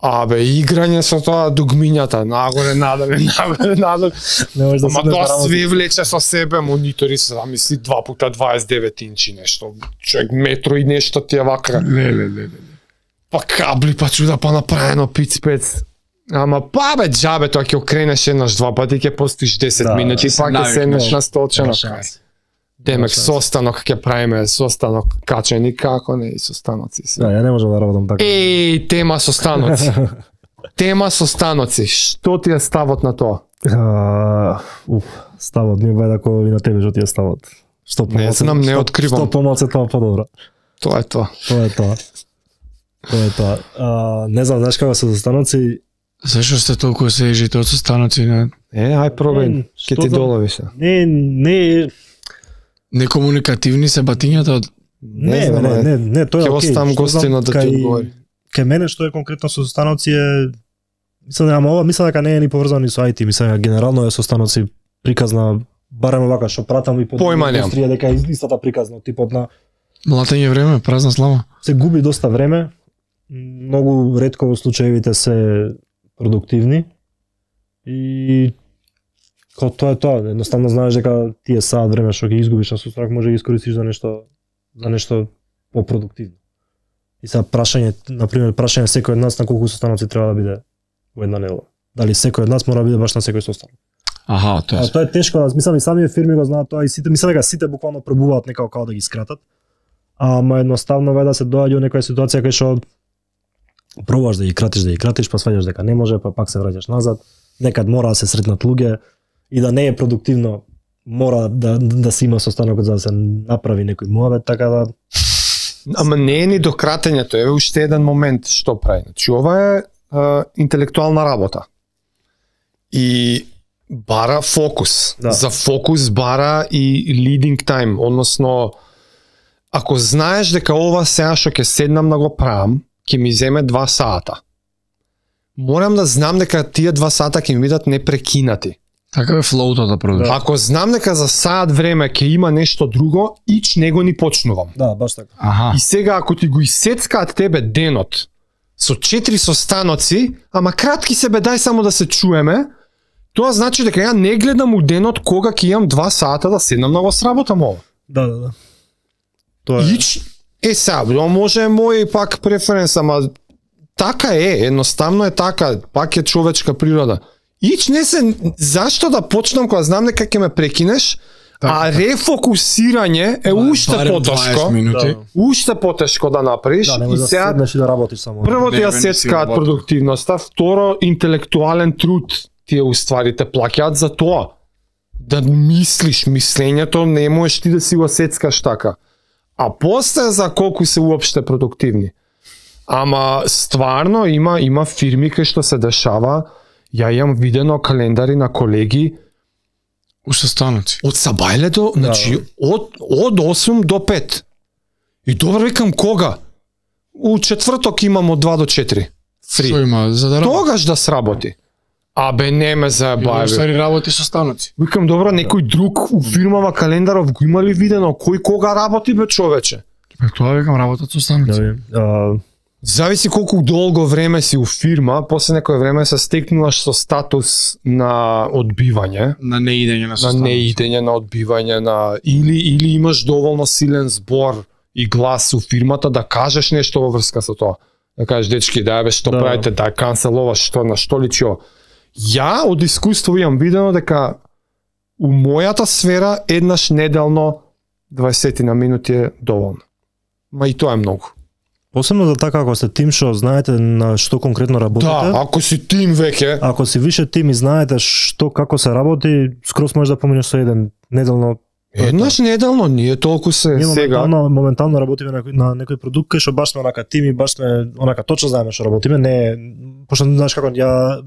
Абе, играње со тоа дугмињата, нагоре, надоле, нагоре, надоле. Не можеш да Ама седнеш тоа на работа. све влече со себе, монитори се, замисли 2x29 инчи нешто, човек метро и нешто ти е вака. Леле. Па кабли, па чуда, па направено пиц-пец. Ама па бе, джабе, тоа ќе окренеш еднаш два пати, ќе постоиш 10 Да, минути, ќе се па ќе навикнеш. седнеш на столче на Нема крај. шанс. Демек, шанс. состанок ќе правиме, состанок качен и како не, и состаноци се. Да, ја не можам да работам така. Еј, тема состаноци. Тема состаноци, што ти е ставот на тоа? Ставот ми бај ако и на тебе што ти е ставот. Што Не помалку- знам, не што- откривам. Што помалку тоа подобро. Тоа е тоа. Тоа е тоа. Тоа е тоа. Не знам, знаеш како се застаноци, Зашо сте толку се ежите од состаноци? Ај пробај, Не, ќе што ти знам. долови се. не Некомуникативни се батињата од Не, знам, не, тоа е Ќе окей. оставам Што знам, гостина да ти кај- одговори. Кај мене што е конкретно со состаноци е мислам дека не е ни поврзано ни со IT, мислам дека генерално е состаноци приказна барем вака што пратам и по Појма немам. индустрија дека е истата приказна типот на млатење време, празна слава. се губи доста време. Многу ретко во случаевите се продуктивни и како тоа е тоа, едноставно знаеш дека тие саат време што ќе изгубиш на сострак може да ги искористиш за нешто попродуктивно. И сега прашање секој од нас на колку состаноци треба да биде во една недела. Дали секој од нас мора да биде баш на секој состанок? Аха, тоа е. Тоа е тешко, мислам и самите фирми го знаат тоа и сите, мислам дека сите буквално пробуваат некако како да ги скратат. Ама едноставно да се доаѓа во некоја ситуација кај што пробуваш да ги кратиш, па сваѓаш дека не може, па пак се враќаш назад. Некад мора да се сретнат луѓе и да не е продуктивно, мора да се има состанокот за да се направи некој муабет, така да. Ама не е ни до кратењето, еве уште еден момент што прави. Значи ова е интелектуална работа. И бара фокус. Да. За фокус бара и leading time, односно ако знаеш дека ова сега што ќе седнам да го правам, ќе ми земе 2 сата. Морам да знам дека тие 2 сата ќе ми бидат непрекинати. Така е флоутот да продолжи. Ако знам дека за саат време ќе има нешто друго, него ни почнувам. Да, баш така. Аха. И сега ако ти го исецкаат тебе денот со 4 состаноци, ама кратки се дај само да се чуеме, тоа значи дека ја не гледам у денот кога ќе имам 2 сата да седнам да го сработам ова. Да. Тоа е. Сега, може мој пак преференс, ама така е, едноставно е така, пак е човечка природа. Не се, зашто да почнам кога знам дека ќе ме прекинеш, а рефокусирање е уште потешко. Да. Уште потешко да направиш Да, и сега седнеш и да работиш само. прво ти ја Не сецкаат си продуктивноста, второ интелектуален труд тие уствари те плаќаат за тоа. Да мислиш, мислењето не можеш ти да си го сецкаш така. А после за колку се уопште продуктивни. Ама стварно има фирми кај што се дешава, ја имам видено календари на колеги Уште станоци. од сабајле до, значи од 8 до 5. И добро викам кога? У четврток имам од 2 до 4. Што Фри. има за да работи? Тогаш да сработи. Абе не ме заебај. Стари работи со станоци. Викам добро, некој друг у фирмава календаров го има ли видено кој кога работи бе човече? Тоа викам работат со станоци. Зависи колку долго време си у фирма, после некое време се стекнуваш со статус на одбивање, На неидење на на состаноци. неидење, на одбивање, на или имаш доволно силен збор и глас у фирмата да кажеш нешто во врска со тоа. Да кажеш дечки, да бе што Да. правите, да канцеловаш, што на што личи ова. Ја од искуство имам видено дека у мојата сфера еднаш неделно 20 на минути е доволно. Ма и тоа е многу. Посебно за така ако сте тим што знаете на што конкретно работите. Да, ако си тим веќе, Ако си више тим и знаете што како се работи, скроз можеш да поминеш со еден неделно. еднаш неделно, ние толку се Ние сега. моментално работиме на некој продукт кај што баш сме онака тим и баш сме онака точно знаеме што работиме, не пошто знаеш како ја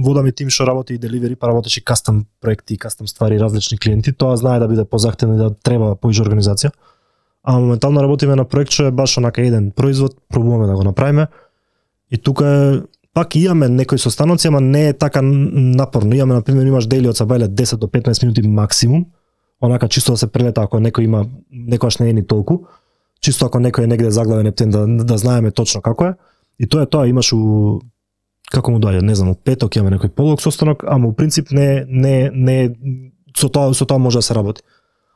водам и тим што работи и деливери, па работиш и кастом проекти, кастом ствари, различни клиенти, тоа знае да биде позахтено и да треба поише организација. А моментално работиме на проект што е баш онака еден производ, пробуваме да го направиме. И тука е пак имаме некои состаноци, ама не е така напорно. Имаме на пример имаш дели од сабајле 10 до 15 минути максимум. Онака чисто да се прелета ако некој има некојаш не е ни толку. Чисто ако некој е негде заглавен ептен да знаеме точно како е. И тоа е тоа, имаш у како му доаѓа, не знам, у петок имаме некој полог состанок, ама у принцип не со тоа може да се работи.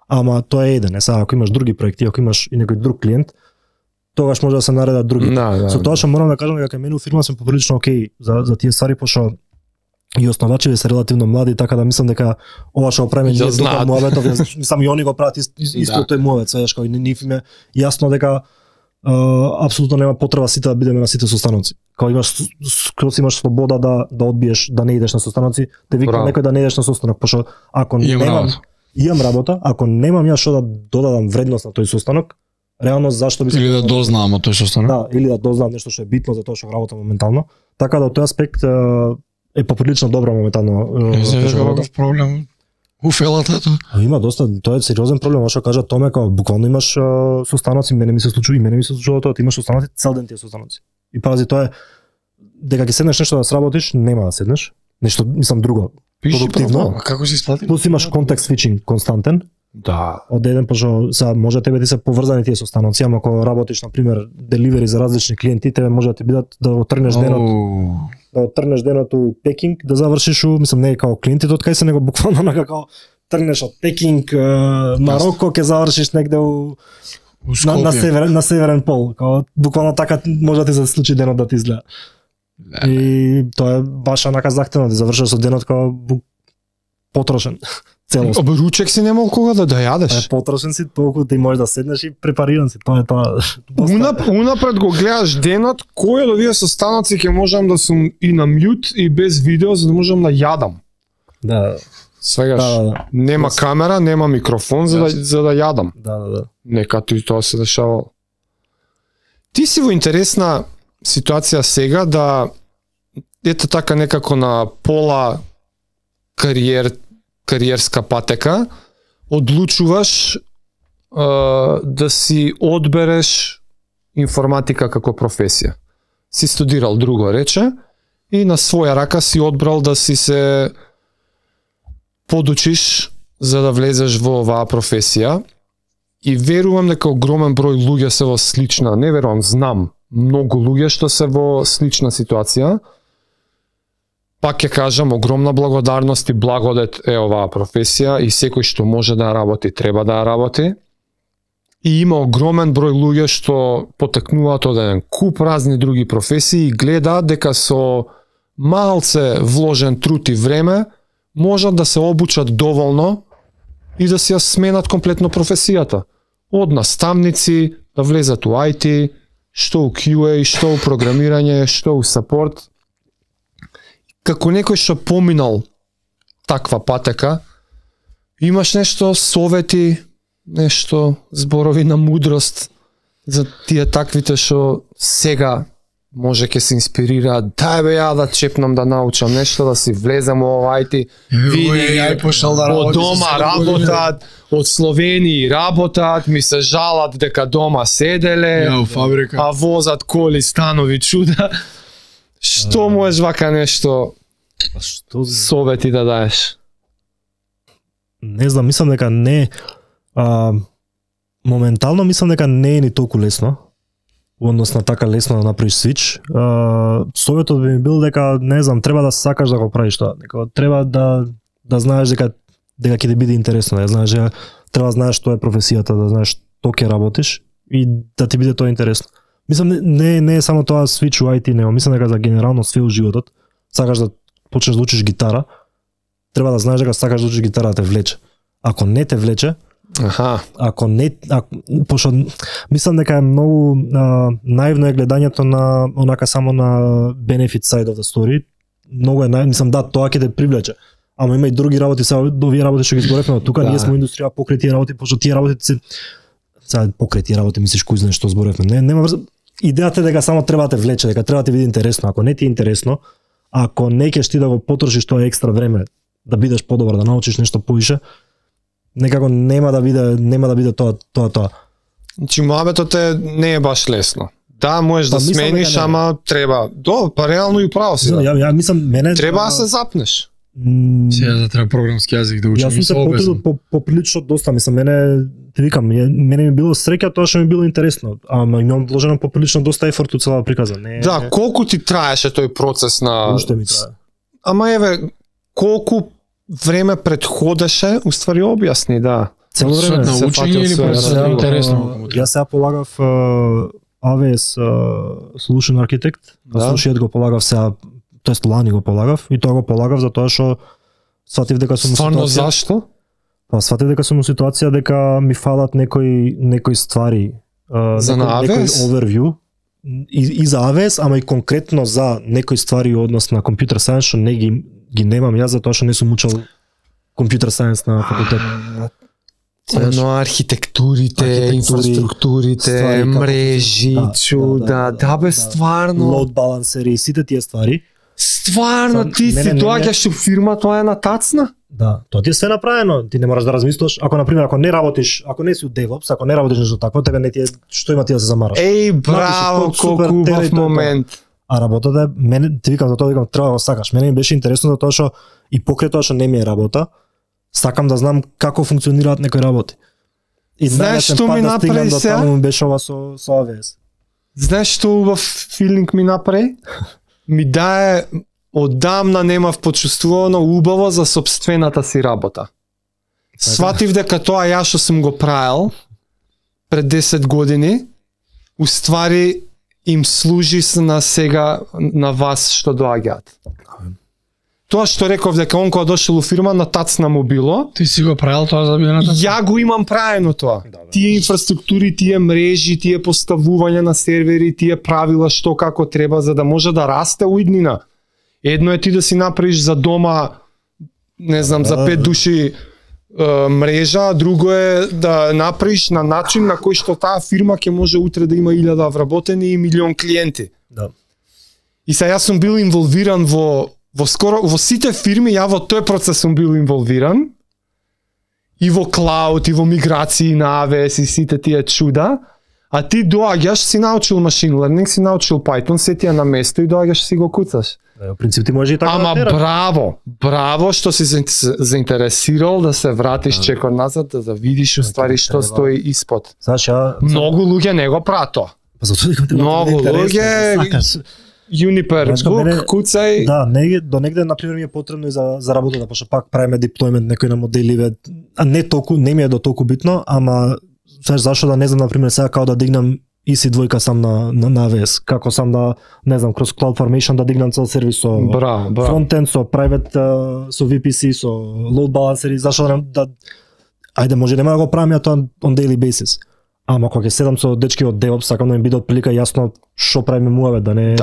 Ама тоа е еден, сега ако имаш други проекти, ако имаш и некој друг клиент, тогаш може да се наредат други. Да. Со тоа што морам да кажам дека мене у фирма сме поприлично окей за тие ствари, пошто и основачите се релативно млади, така да мислам дека ова што го правиме ние знаат. муабетов, мислам и они го прават исто тој муабет, сведеш кој нив им е јасно дека апсолутно нема потреба сите да бидеме на сите состаноци. Кога имаш слобода да одбиеш, да не идеш на состаноци, те вика Браво. некој да не идеш на состанок, пошто ако имам работа, ако немам ја што да додадам вредност на тој состанок, реално зашто би се Или да дознаам од тој состанок. Да, или да дознам нешто што е битно за тоа што работам моментално. Така да од тој аспект е поприлично добро моментално. Не се тоа што века работам. каков проблем у фелатато. Има доста, тоа е сериозен проблем, што кажа Томе, како буквално имаш состаноци, мене ми се случува тоа, ти имаш состаноци, цел ден тие состаноци. И пази тоа е дека ќе седнеш нешто да сработиш, нема да седнеш. Нешто мислам друго. Продуктивно. А како се исплати? Плюс имаш контекст свичинг константен. Да. Од еден пошто сега може тебе ти се поврзани тие состаноци, ама ако работиш на пример деливери за различни клиенти, тебе може да ти бидат да отрнеш денот у Пекинг, да завршиш у, мислам не е како клиентите од кај се, него буквално на како тргнеш од Пекинг, Мароко, ќе завршиш негде на северен пол. Као буквално така може да ти се случи денот да ти изгледа. И тоа е баш онака захтено да завршиш со денот како потрошен. Целост. Ручек си немал кога да јадеш. Потрошен си толку ти можеш да седнеш и препариран си. Тоа е тоа. Унапред го гледаш денот, кој од овие состаноци ќе можам да сум и на мјут и без видео за да можам да јадам. Да. Свегаш, нема камера, нема микрофон за да јадам. Да. Нека тоа се дешавало. Ти си во интересна ситуација сега да ето така некако на пола кариерска патека одлучуваш да си одбереш информатика како професија. Си студирал друго рече и на своја рака си одбрал да си се подучиш за да влезеш во оваа професија и верувам дека огромен број луѓе се во слична, не верувам, знам многу луѓе што се во слична ситуација. Пак ќе кажам, огромна благодарност и благодет е оваа професија и секој што може да ја работи, треба да ја работи. И има огромен број луѓе што потекнуваат од еден куп разни други професии и гледаат дека со малце вложен труд и време можат да се обучат доволно и да си ја сменат комплетно професијата. Од наставници да влезат у IT, што у QA, што у програмирање, што у сапорт. Како некој што поминал таква патека, имаш нешто совети, нешто зборови на мудрост за тие таквите што сега може ќе се инспирираат, дај бе ја да чепнам да научам нешто, да си влезам во IT, види, од дома работат, од Словенија работат, ми се жалат дека дома седеле, а возат коли, станови, чуда. Што можеш вака нешто совети да даеш? Не знам, мислам дека не моментално мислам дека не е ни толку лесно. Односно така лесно да направиш свич. Советот би ми бил дека не знам, треба да сакаш да го правиш тоа. Дека треба да знаеш дека ќе ти биде интересно, да знаеш дека треба да знаеш што е професијата, да знаеш што ќе работиш и да ти биде тоа интересно. Мислам не е само тоа свич у IT, него мислам дека за генерално све у животот, сакаш да почнеш да учиш гитара, треба да знаеш дека сакаш да учиш гитара да те влече. Ако не те влече, ако не, пошто мислам дека е многу наивно е гледањето на онака само на benefit side of the story. Многу е мислам да тоа ќе те привлече. Ама има и други работи, сега овие работи што ги зборевме, тука ние сме индустрија покрај тие работи, пошто тие работи се сега покрај тие работи мислиш кој знае што зборевме. Нема идејата е дека само треба да те влече, дека треба да ти биде интересно. Ако не ти е интересно, ако не ќе ти да го потрошиш тоа екстра време да бидеш подобар, да научиш нешто повише, некако нема да биде тоа. Значи муабетот не е баш лесно. Да, можеш да смениш, ама треба. Па реално и право си. Ја мислам треба да се запнеш. Сега да треба програмски јазик да учам. Јас сум се потрудил поприлично доста, мислам, ти викам, мене ми било среќа тоа што ми било интересно, ама имам вложено поприлично доста ефорт у цела приказа. Да, колку ти траеше тој процес на Уште ми трае. Ама еве, колку време предходеше, уствари објасни, да. Цело време на учење или просто интересно? Јас сега полагав AWS Solution Architect, слушајот го полагав сега, тоест лани го полагав и тоа го полагав затоа што сватив дека сум Стварно зашто? Па сватив дека сум во ситуација дека ми фалат некои ствари за на AWS? Некој overview и за AWS, ама и конкретно за некои ствари однос на computer science што не ги немам јас затоа што не сум учел computer science на факултет. Но архитектурите, инфраструктурите, мрежи, чуда, да бе стварно. Load balanceri и сите тие ствари. Стварно ти си доаѓаш у фирма, тоа е натацна? Да, тоа ти е све направено, ти не мораш да размислуваш. Ако на пример ако не работиш, ако не си у DevOps, ако не работиш нешто такво, тебе не ти е што има ти да се замараш. Еј, браво, колку убав момент. А работата е, мене ти викам за тоа, викам треба да го сакаш. Мене ми беше интересно затоа што и покрај тоа што не ми е работа, сакам да знам како функционираат некои работи. И знаеш што ми направи сега? Таму ми беше ова со AWS. Знаеш што убав филинг ми направи? Ми дае одамна немав почувствувано убаво за сопствената си работа. Сватив дека тоа ја што сум го правил пред 10 години, уствари им служи на сега на вас што доаѓаат. Тоа што реков дека он кога дошол у фирма на тацна му било, Ти си го правил тоа за било на ја го имам праено тоа. Тие инфраструктури, тие мрежи, тие поставување на сервери, тие правила што како треба за да може да расте уиднина. Едно е ти да си направиш за дома, не знам, за 5 души мрежа, друго е да направиш на начин на кој што таа фирма ќе може утре да има 1000 вработени и милион клиенти. Да. И сега јас сум бил инволвиран во сите фирми, ја во тој процес сум бил инволвиран. И во клауд, и во миграции на AWS и сите тие чуда. А ти доаѓаш, си научил machine learning, си научил Python, се ти е на место и доаѓаш си го куцаш. Да, во принцип ти може и така. Ама да браво што си заинтересирал да се вратиш чекор назад, да видиш уствари што стои испод. Знаеш, Многу луѓе не го прават тоа. Па затоа викам Многу луѓе Juniper Book, куцај. Да, до негде на пример ми е потребно и за работата, пошто пак правиме деплојмент некои на моделиве, а не толку, не ми е до толку битно, ама знаеш зашто да не знам на пример сега како да дигнам EC2 сам на AWS, како сам да не знам кроз CloudFormation да дигнам цел сервис со фронтенд, со private со VPC, со load balanceri, зашто да ајде може нема да го правам ја тоа on daily basis. Ама кога ќе седам со дечки од DevOps, сакам да ми биде отприлика јасно што правиме муаве, да не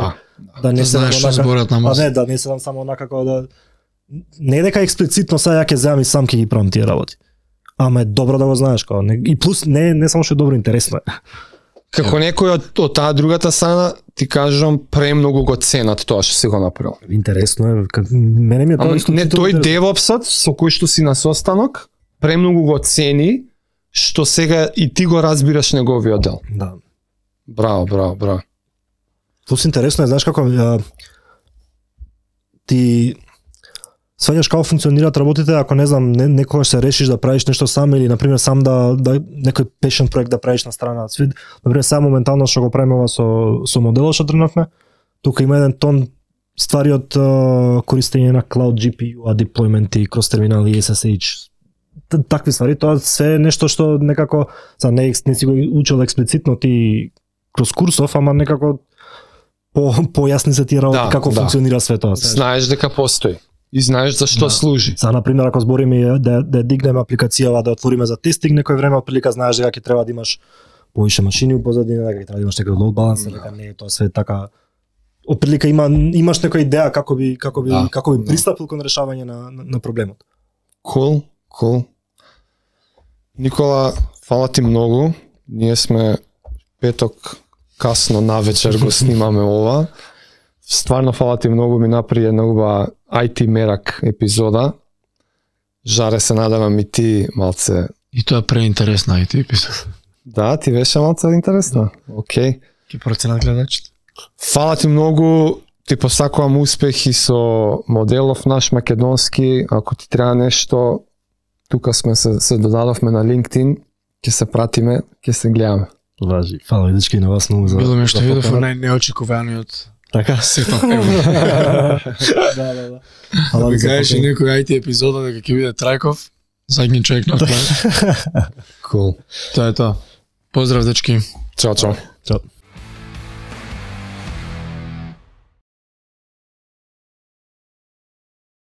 не знаеш што зборат на маса. Не, да не седам само онака како да не е дека експлицитно сега ја ќе земам и сам ќе ги правам тие работи. Ама е добро да го знаеш како и плюс не само што е добро, интересно е. Како некој од таа другата страна, ти кажам, премногу го ценат тоа што си го направил. Интересно е, мене ми е тоа исто. Не тој DevOps-от со кој што си на состанок, премногу го цени што сега и ти го разбираш неговиот дел. Да. Браво. Плюс интересно е, знаеш како ти сваѓаш како функционираат работите, ако не знам, некогаш се решиш да правиш нешто сам или на пример сам да некој passion проект да правиш на страна. На пример само моментално што го правиме ова со моделот што тренавме, тука има еден тон ствари од користење на Cloud GPU, деплојменти, кроз терминали SSH, такви ствари, тоа се е нешто што некако не си го учил експлицитно ти кроз курсов, ама некако појасни се тие работи како функционира светот. Знаеш дека постои и знаеш за што служи. За на пример ако збориме да дигнеме апликацијава, да отвориме за тестинг некој време, отприлика знаеш дека ќе треба да имаш повише машини во позадина, дека ќе треба да имаш некој load balancer, дека не е тоа све така. Отприлика имаш некоја идеја како би пристапил кон решавање на проблемот. Cool. Никола, фала ти многу. Ние сме петок касно навечер го снимаме ова. Стварно фала ти многу, ми направи една убава IT мерак епизода. Жаре, се надевам и ти малце. И тоа преинтересна IT епизода. Да, ти беше малце интересно. Океј. Ке проценат гледачите. Фала ти многу, ти посакувам успехи со моделов наш македонски. Ако ти треба нешто, тука сме се додадовме на LinkedIn, ќе се пратиме, ќе се гледаме. Важи. Фала и дечки на вас многу за. Било ме што видов најнеочекуваниот. Така сетов. Да. Да ми кажеш некој IT епизода дека ќе биде Трајков, задни човек на план. Cool. Тоа е тоа. Поздрав дечки. Чао. Чао.